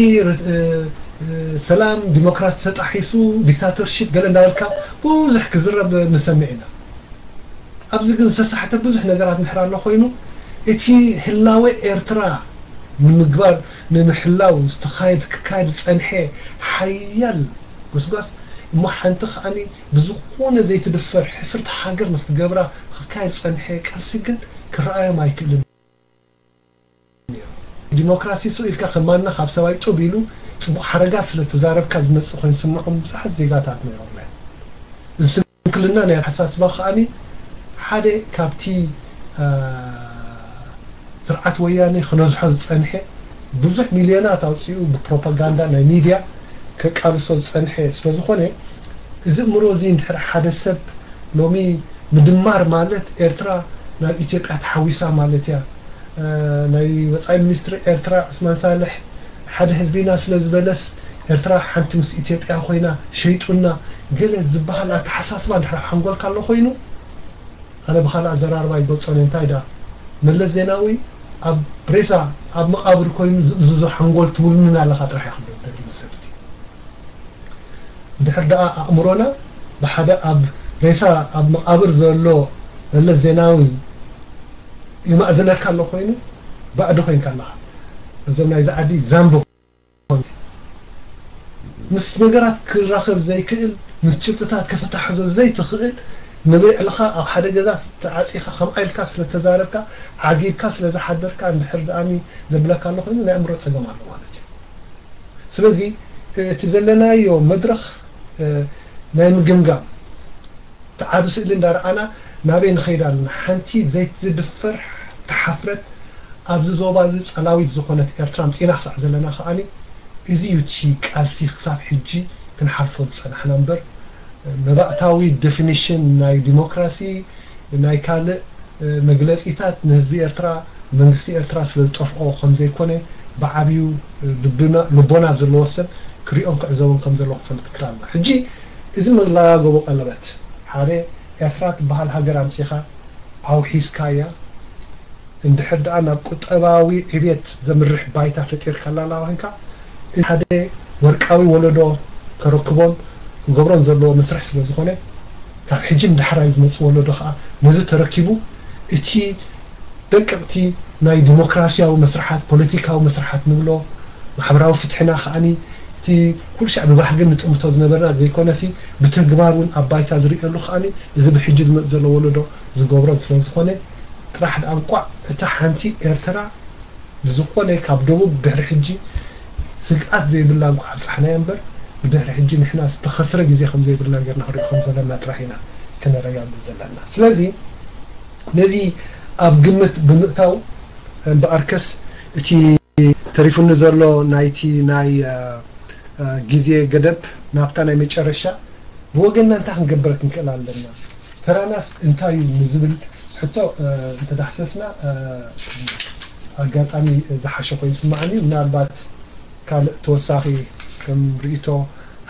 ሰላም፣ ዲሞክራሲ ተጣሒሱ፣ ዲክታተርሺፕ ገለ እንዳበልካ ብዙሕ ክዝረብ ንሰምዕ ኢና። ኣብዚ ግን ዝተሳሕተ ብዙሕ ነገራት እንድሕር ኣሎ ኮይኑ፣ እቲ ህላወ ኤርትራ ንምግባር፣ ንምሕላው ዝተኻየድ፣ ክካየድ ዝጸንሐ ሓያል ጎስጓስ እሞ ሓንቲ ከኣኒ ብዝኾነ ዘይትድፈር ሕፍርቲ ሃገር ንክትገብራ ክካየድ ዝጸንሐ ቃልሲ ግን ክረኣዮም ኣይክእልን። ዲሞክራሲ ስቕ ኢልካ ከማና ካብ ሰብኣይ ጡብ ኢሉ ጽቡቕ ሓረጋት ስለ ተዛረብካ ዝመጽእ ኮይኑ ዝስምዖም ብዙሓት ዜጋታት ነይሮም። እዚ ስንክልና ናይ ኣተሓሳስባ ከኣኒ ሓደ ካብቲ ስርዓት ወያኔ ክነዝሖ ዝጸንሐ ብዙሕ ሚልዮናት ኣውጺኡ ብፕሮፓጋንዳ ናይ ሚድያ ከቃልሶ ዝጸንሐ ስለ ዝኾነ፣ እዚ እምሮ እዚ እንድሕር ሓደ ሰብ ሎሚ ምድማር ማለት ኤርትራ ናብ ኢትዮጵያ ተሓዊሳ ማለት እያ፣ ናይ ወጻኢ ሚኒስትሪ ኤርትራ ዑስማን ሳልሕ ሓደ ህዝቢና ስለ ዝበለስ ኤርትራ ሓንቲ ምስ ኢትዮጵያ ኮይና ሸይጡና ገለ ዝበሃል ኣተሓሳስባ እንድሕር ኣብ ሓንጎልካ ኣሎ ኮይኑ፣ ኣነ ብኻልእ ኣዘራርባ ይገልጾን እየ። እንታይ ደኣ፣ መለስ ዜናዊ ኣብ ሬሳ ኣብ መቓብር ኮይኑ ዝእዝዞ ሓንጎል ትውልምና ኣለኻ ጥራሕ እየ ክብሎ ዝደሊ ንሰብ እዚ። እንድሕር ደኣ ኣእምሮና ብሓደ ኣብ ሬሳ ኣብ መቓብር ዘሎ መለስ ዜናዊ ይማእዝነካ ኣሎ ኮይኑ፣ ባእዲ ኮይንካ ኣለኻ። እዞም ናይዚ ዓዲ ዛምቦ ምስ ነገራት ክራኸብ ዘይክእል፣ ምስ ጭብጥታት ከተታሕዞ ዘይትኽእል፣ ንብዕልኻ ኣብ ሓደ ገዛ ተዓጺኻ ከምኣ ኢልካ ስለ ተዛረብካ፣ ዓጊብካ ስለ ዝሓደርካ፣ እንድሕር ደኣኒ ዘብለካ ኣሎ ኮይኑ ናይ ኣእምሮ ጸገም ኣሎ ማለት እዩ። ስለዚ እቲ ዘለናዮ መድረኽ ናይ ምግምጋም እቲ ዓቢ ስእሊ እንዳረኣና ናበይ ንኸይድ ኣለና? ሓንቲ ዘይትድፈር ተሓፍረት ኣብዚ ዞባ እዚ ጸላዊት ዝኾነት ኤርትራ ኣምጺእና ክሳዕ ዘለና ከኣኒ እዚ እዩ እቲ ቃልሲ ክሳብ ሕጂ ክንሓልፎ ዝጸናሕና እምበር መባእታዊ ዴፊኒሽን ናይ ዲሞክራሲ ናይ ካልእ መግለጺታት ንህዝቢ ኤርትራ መንግስቲ ኤርትራ ስለ ዝጠፍኦ ከም ዘይኮነ ብዓብዩ ልቦና ዘለዎ ሰብ ክሪኦን ክዕዘቦን ከም ዘለዎ ክፈልጥ ክላልና ሕጂ እዚ መላጋገቦ ቀለበት ሓደ ኤርትራ ትበሃል ሃገር ኣምጺኻ ኣውሒስካያ እንድሕር ደኣ ናብ ቁጠባዊ ዕብየት ዘምርሕ ባይታ ፈጢርካላ ኣለኻ ኮይንካ፣ እቲ ሓደ ወርቃዊ ወለዶ ከረክቦን ክገብሮን ዘለዎ መስርሕ ስለ ዝኾነ፣ ካብ ሕጂ ንዳሕራይ ዝመጽእ ወለዶ ከኣ ነዚ ተረኪቡ እቲ ደቀቕቲ ናይ ዲሞክራሲያዊ መስርሓት፣ ፖለቲካዊ መስርሓት ንብሎ፣ ማሕበራዊ ፍትሕና ከኣኒ እቲ ኩሉ ሻዕ ብባህግን ንጥምቶ ዝነበርና ዘይኮነሲ ብተግባር እውን ኣብ ባይታ ዝርእየሉ ከኣኒ እዚ ብሕጂ ዝመጽእ ዘሎ ወለዶ ዝገብሮን ስለ ዝኾነ ጥራሕ ደኣ እንቋዕ እታ ሓንቲ ኤርትራ ብዝኾነ ካብ ደቡብ ድሕሪ ሕጂ ስግኣት ዘይብላ እንቋዕ ኣብጻሕናያ እምበር ብድሕሪ ሕጂ ንሕና ዝተኸስረ ግዜ ከም ዘይብልና ጌርና ክንሪኦ ከም ዘለና ጥራሕ ኢና ከነረጋግጽ ዘለና። ስለዚ ነዚ ኣብ ግምት ብምእታው እምበኣርከስ እቲ ተሪፉኒ ዘሎ ናይቲ ናይ ግዜ ገደብ ናብታ ናይ መጨረሻ ብወገንና እንታይ ክንገብር ክንክእል ኣለና፣ ተራናስ እንታይ እዩ ንዝብል ሕቶ እንተዳሕሰስና ኣጋጣሚ ዝሓሸ ኮይኑ ይስምዓኒ። ምናልባት ካልእ ተወሳኺ ከም ርእይቶ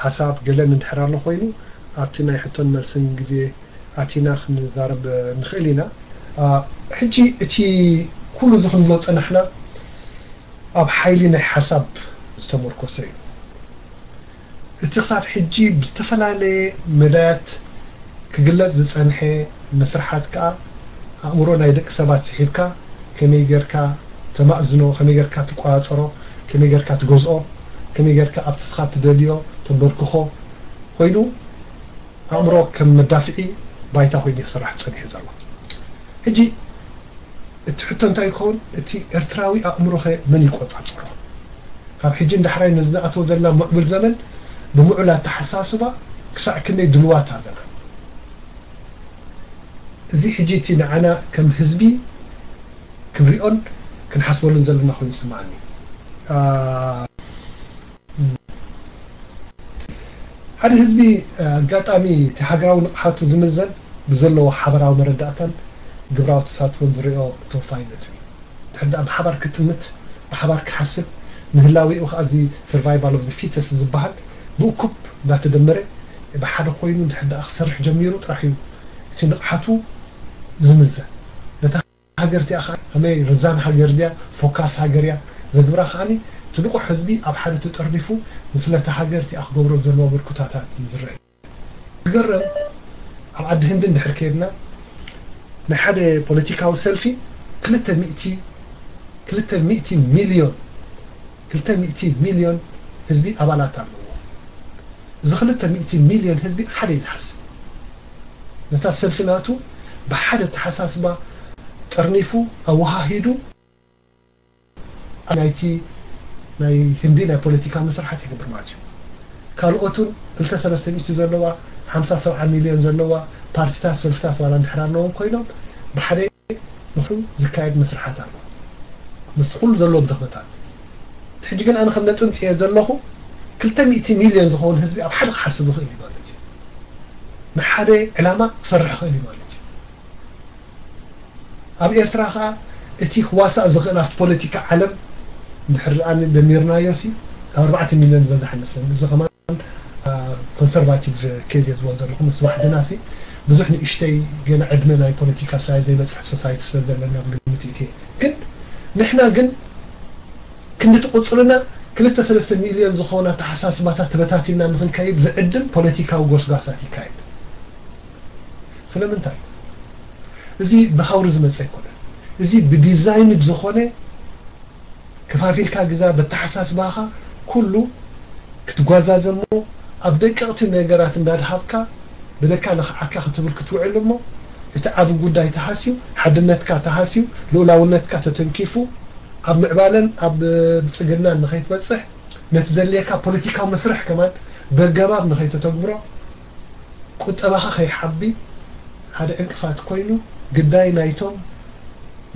ሓሳብ ገለን እንድሕር ኣሎ ኮይኑ ኣብቲ ናይ ሕቶን መልስን ግዜ ኣቲና ክንዛረብ ንኽእል ኢና። ሕጂ እቲ ኩሉ እዚ ክንብሎ ጸናሕና ኣብ ሓይሊ ናይ ሓሳብ ዝተመርኮሰ እዩ። እቲ ክሳብ ሕጂ ብዝተፈላለየ መዳያት ክግለጽ ዝጸንሐ መስርሓት ከኣ ኣእምሮ ናይ ደቂ ሰባት ስሒብካ ከመይ ጌርካ ተማእዝኖ፣ ከመይ ጌርካ ትቆጻጸሮ፣ ከመይ ጌርካ ትገዝኦ፣ ከመይ ጌርካ ኣብቲ ንስኻ ትደልዮ ተንበርክኾ ኮይኑ ኣእምሮ ከም መዳፍዒ ባይታ ኮይኑ ክስራሕ ጸኒሑ ዘሎ። ሕጂ እቲ ሕቶ እንታይ ይኸውን? እቲ ኤርትራዊ ኣእምሮኸ መን ይቆጻጸሮ? ካብ ሕጂ ንዳሕራይ ነዚ ንኣትዎ ዘለና ምዕቡል ዘመን ብምዑል ኣተሓሳስባ ክሳዕ ክንደይ ድልዋት ኣለና? እዚ ሕጂ እቲ ንዓና ከም ህዝቢ ክንሪኦን ክንሓስበሉን ዘለና ኮይኑ ይስምዓኒ። ሓደ ህዝቢ ኣጋጣሚ እቲ ሃገራዊ ንቕሓቱ ዝምዘን ብዘለዎ ሓበራዊ መረዳእታን ግብራዊ ተሳትፎን ዝሪኦ ተወፋይነቱ እዩ። ድሕር ደኣ ብሓባር ክጥምት፣ ብሓባር ክሓስብ፣ ንህላዌኡ ከዓ እዚ survival of the fittest ዝበሃል ብእኩብ እንዳተደመረ ብሓደ ኮይኑ ድሕር ደኣ ክሰርሕ ጀሚሩ ጥራሕ እዩ እቲ ንቕሓቱ ዝምዘን። ነታ ሃገር እቲኣ ከዓ ከመይ ረዛን ሃገር ድያ፣ ፎካስ ሃገር እያ ዘግብራ ከዓኒ እቲ ንቑሕ ህዝቢ ኣብ ሓደ ተጠርኒፉ ንስለ እታ ሃገር እቲኣ ክገብሮ ዘለዎ ምልክታታት እዩ ዝረአ። ዝገርም፣ ኣብ ዓዲ ህንዲ እንድሕር ከይድና ናይ ሓደ ፖለቲካዊ ሰልፊ ክልተ ሚእቲ ክልተ ሚእቲ ሚልዮን ክልተ ሚእቲ ሚልዮን ህዝቢ ኣባላት ኣለዎ። እዚ ክልተ ሚእቲ ሚልዮን ህዝቢ ሓደ እዩ ዝሓስብ። ነታ ሰልፊ ናቱ ብሓደ ኣተሓሳስባ ጠርኒፉ ኣወሃሂዱ ናይቲ ናይ ህንዲ ናይ ፖለቲካ መስርሓት ይገብር ማለት እዩ። ካልኦቱን ክልተ ሰለስተ ሚእቲ ዘለዋ ሓምሳ ሰብዓ ሚልዮን ዘለዋ ፓርቲታት ሰልፍታት ዋላ እንድሕር ኣለዎም ኮይኖም ብሓደ ንሱ ዝካየድ መስርሓት ኣሎ ምስቲ ኩሉ ዘለዎም ድኽመታት። ሕጂ ግን ኣነ ከም ነጥንፅየ ዘለኹ ክልተ ሚእቲ ሚልዮን ዝኸውን ህዝቢ ኣብ ሓደ ክሓስብ ይኽእል እዩ ማለት እዩ። ንሓደ ዕላማ ክሰርሕ ይኽእል እዩ ማለት እዩ። ኣብ ኤርትራ ከዓ እቲ ክዋሳእ ዝኽእል ኣብቲ ፖለቲካ ዓለም እንድሕር ደኣ ደሚርናዮ ሲ ካብ ኣርባዕተ ሚልዮን ዝበዝሕ ኣይመስለኒ። እዚ ከማን ኮንሰርቫቲቭ ኬዝ እየ ዝበል ዘለኹ ምስ ዋሕድና ሲ ብዙሕ ንእሽተይ ገና ዕድመ ናይ ፖለቲካ እስራኤል ዘይበፅሕ ሶሳይቲ ስለ ዘለና ብግምት እቲ ግን ንሕና ግን ክንድቲ ቁፅርና ክልተ ሰለስተ ሚልዮን ዝኾነ ኣተሓሳስባታት ተበታቲና ንክንከይድ ዝዕድም ፖለቲካዊ ጎስጓሳት ይካየድ። ስለምንታይ? እዚ ብሃውሪ ዝመፀ ኣይኮነን። እዚ ብዲዛይንድ ዝኾነ ከፋፊልካ ግዛ በተሓሳስባኻ ኩሉ ክትጓዛዘ እሞ ኣብ ደቀቕቲ ነገራት እንዳድሃብካ ብደካ ለኽዓካ ክትብል ክትውዕል እሞ እቲ ዓቢ ጉዳይ ተሃስዩ ሓድነትካ ተሃስዩ ልኡላውነትካ ተተንኪፉ ኣብ ምዕባለን ኣብ ብልጽግናን ንኸይትበጽሕ ነቲ ዘድልየካ ፖለቲካዊ መስርሕ ከማን በገባብ ንኸይተተግብሮ ቁጠባኻ ከይሓቢ ሓደ ዕንቅፋት ኮይኑ ግዳይ ናይቶም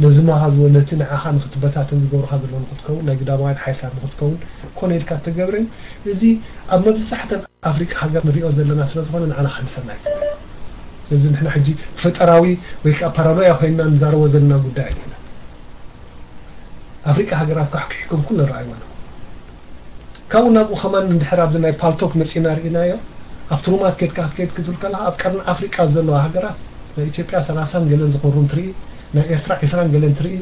ነዚ መሃዝዎ ነቲ ንዓኻ ንክትበታተን ዝገብሩኻ ዘለዉ ንክትከውን ናይ ግዳማውያን ሓይልታት ንክትከውን ኮነ ኢልካ እተገብረ እዩ። እዚ ኣብ መብዛሕተን ኣፍሪቃ ሃገር ንሪኦ ዘለና ስለ ዝኾነ ንዓና ከሕምሰና ኣይክእልን። ስለዚ ንሕና ሕጂ ፈጠራዊ ወይ ከዓ ፓራኖያ ኮይንና ንዛረቦ ዘለና ጉዳይ ኣይኮነን። ኣፍሪቃ ሃገራት ኳሕኩሒኩም ኩሉ ንረኣይዎ ኣለኹ። ካብኡ ናብኡ ከማን እንድሕር ኣብዚ ናይ ፓልቶክ መፂና ርኢናዮ ኣብቲ ሩማት ኬድካ ክትከይድ ክትብል ከለካ ኣብ ቀርኒ ኣፍሪቃ ዘለዋ ሃገራት ናይ ኢትዮጵያ ሰላሳን ገለን ዝኾኑ ሩም ትርኢ ናይ ኤርትራ ዒስራን ገለን ትርኢ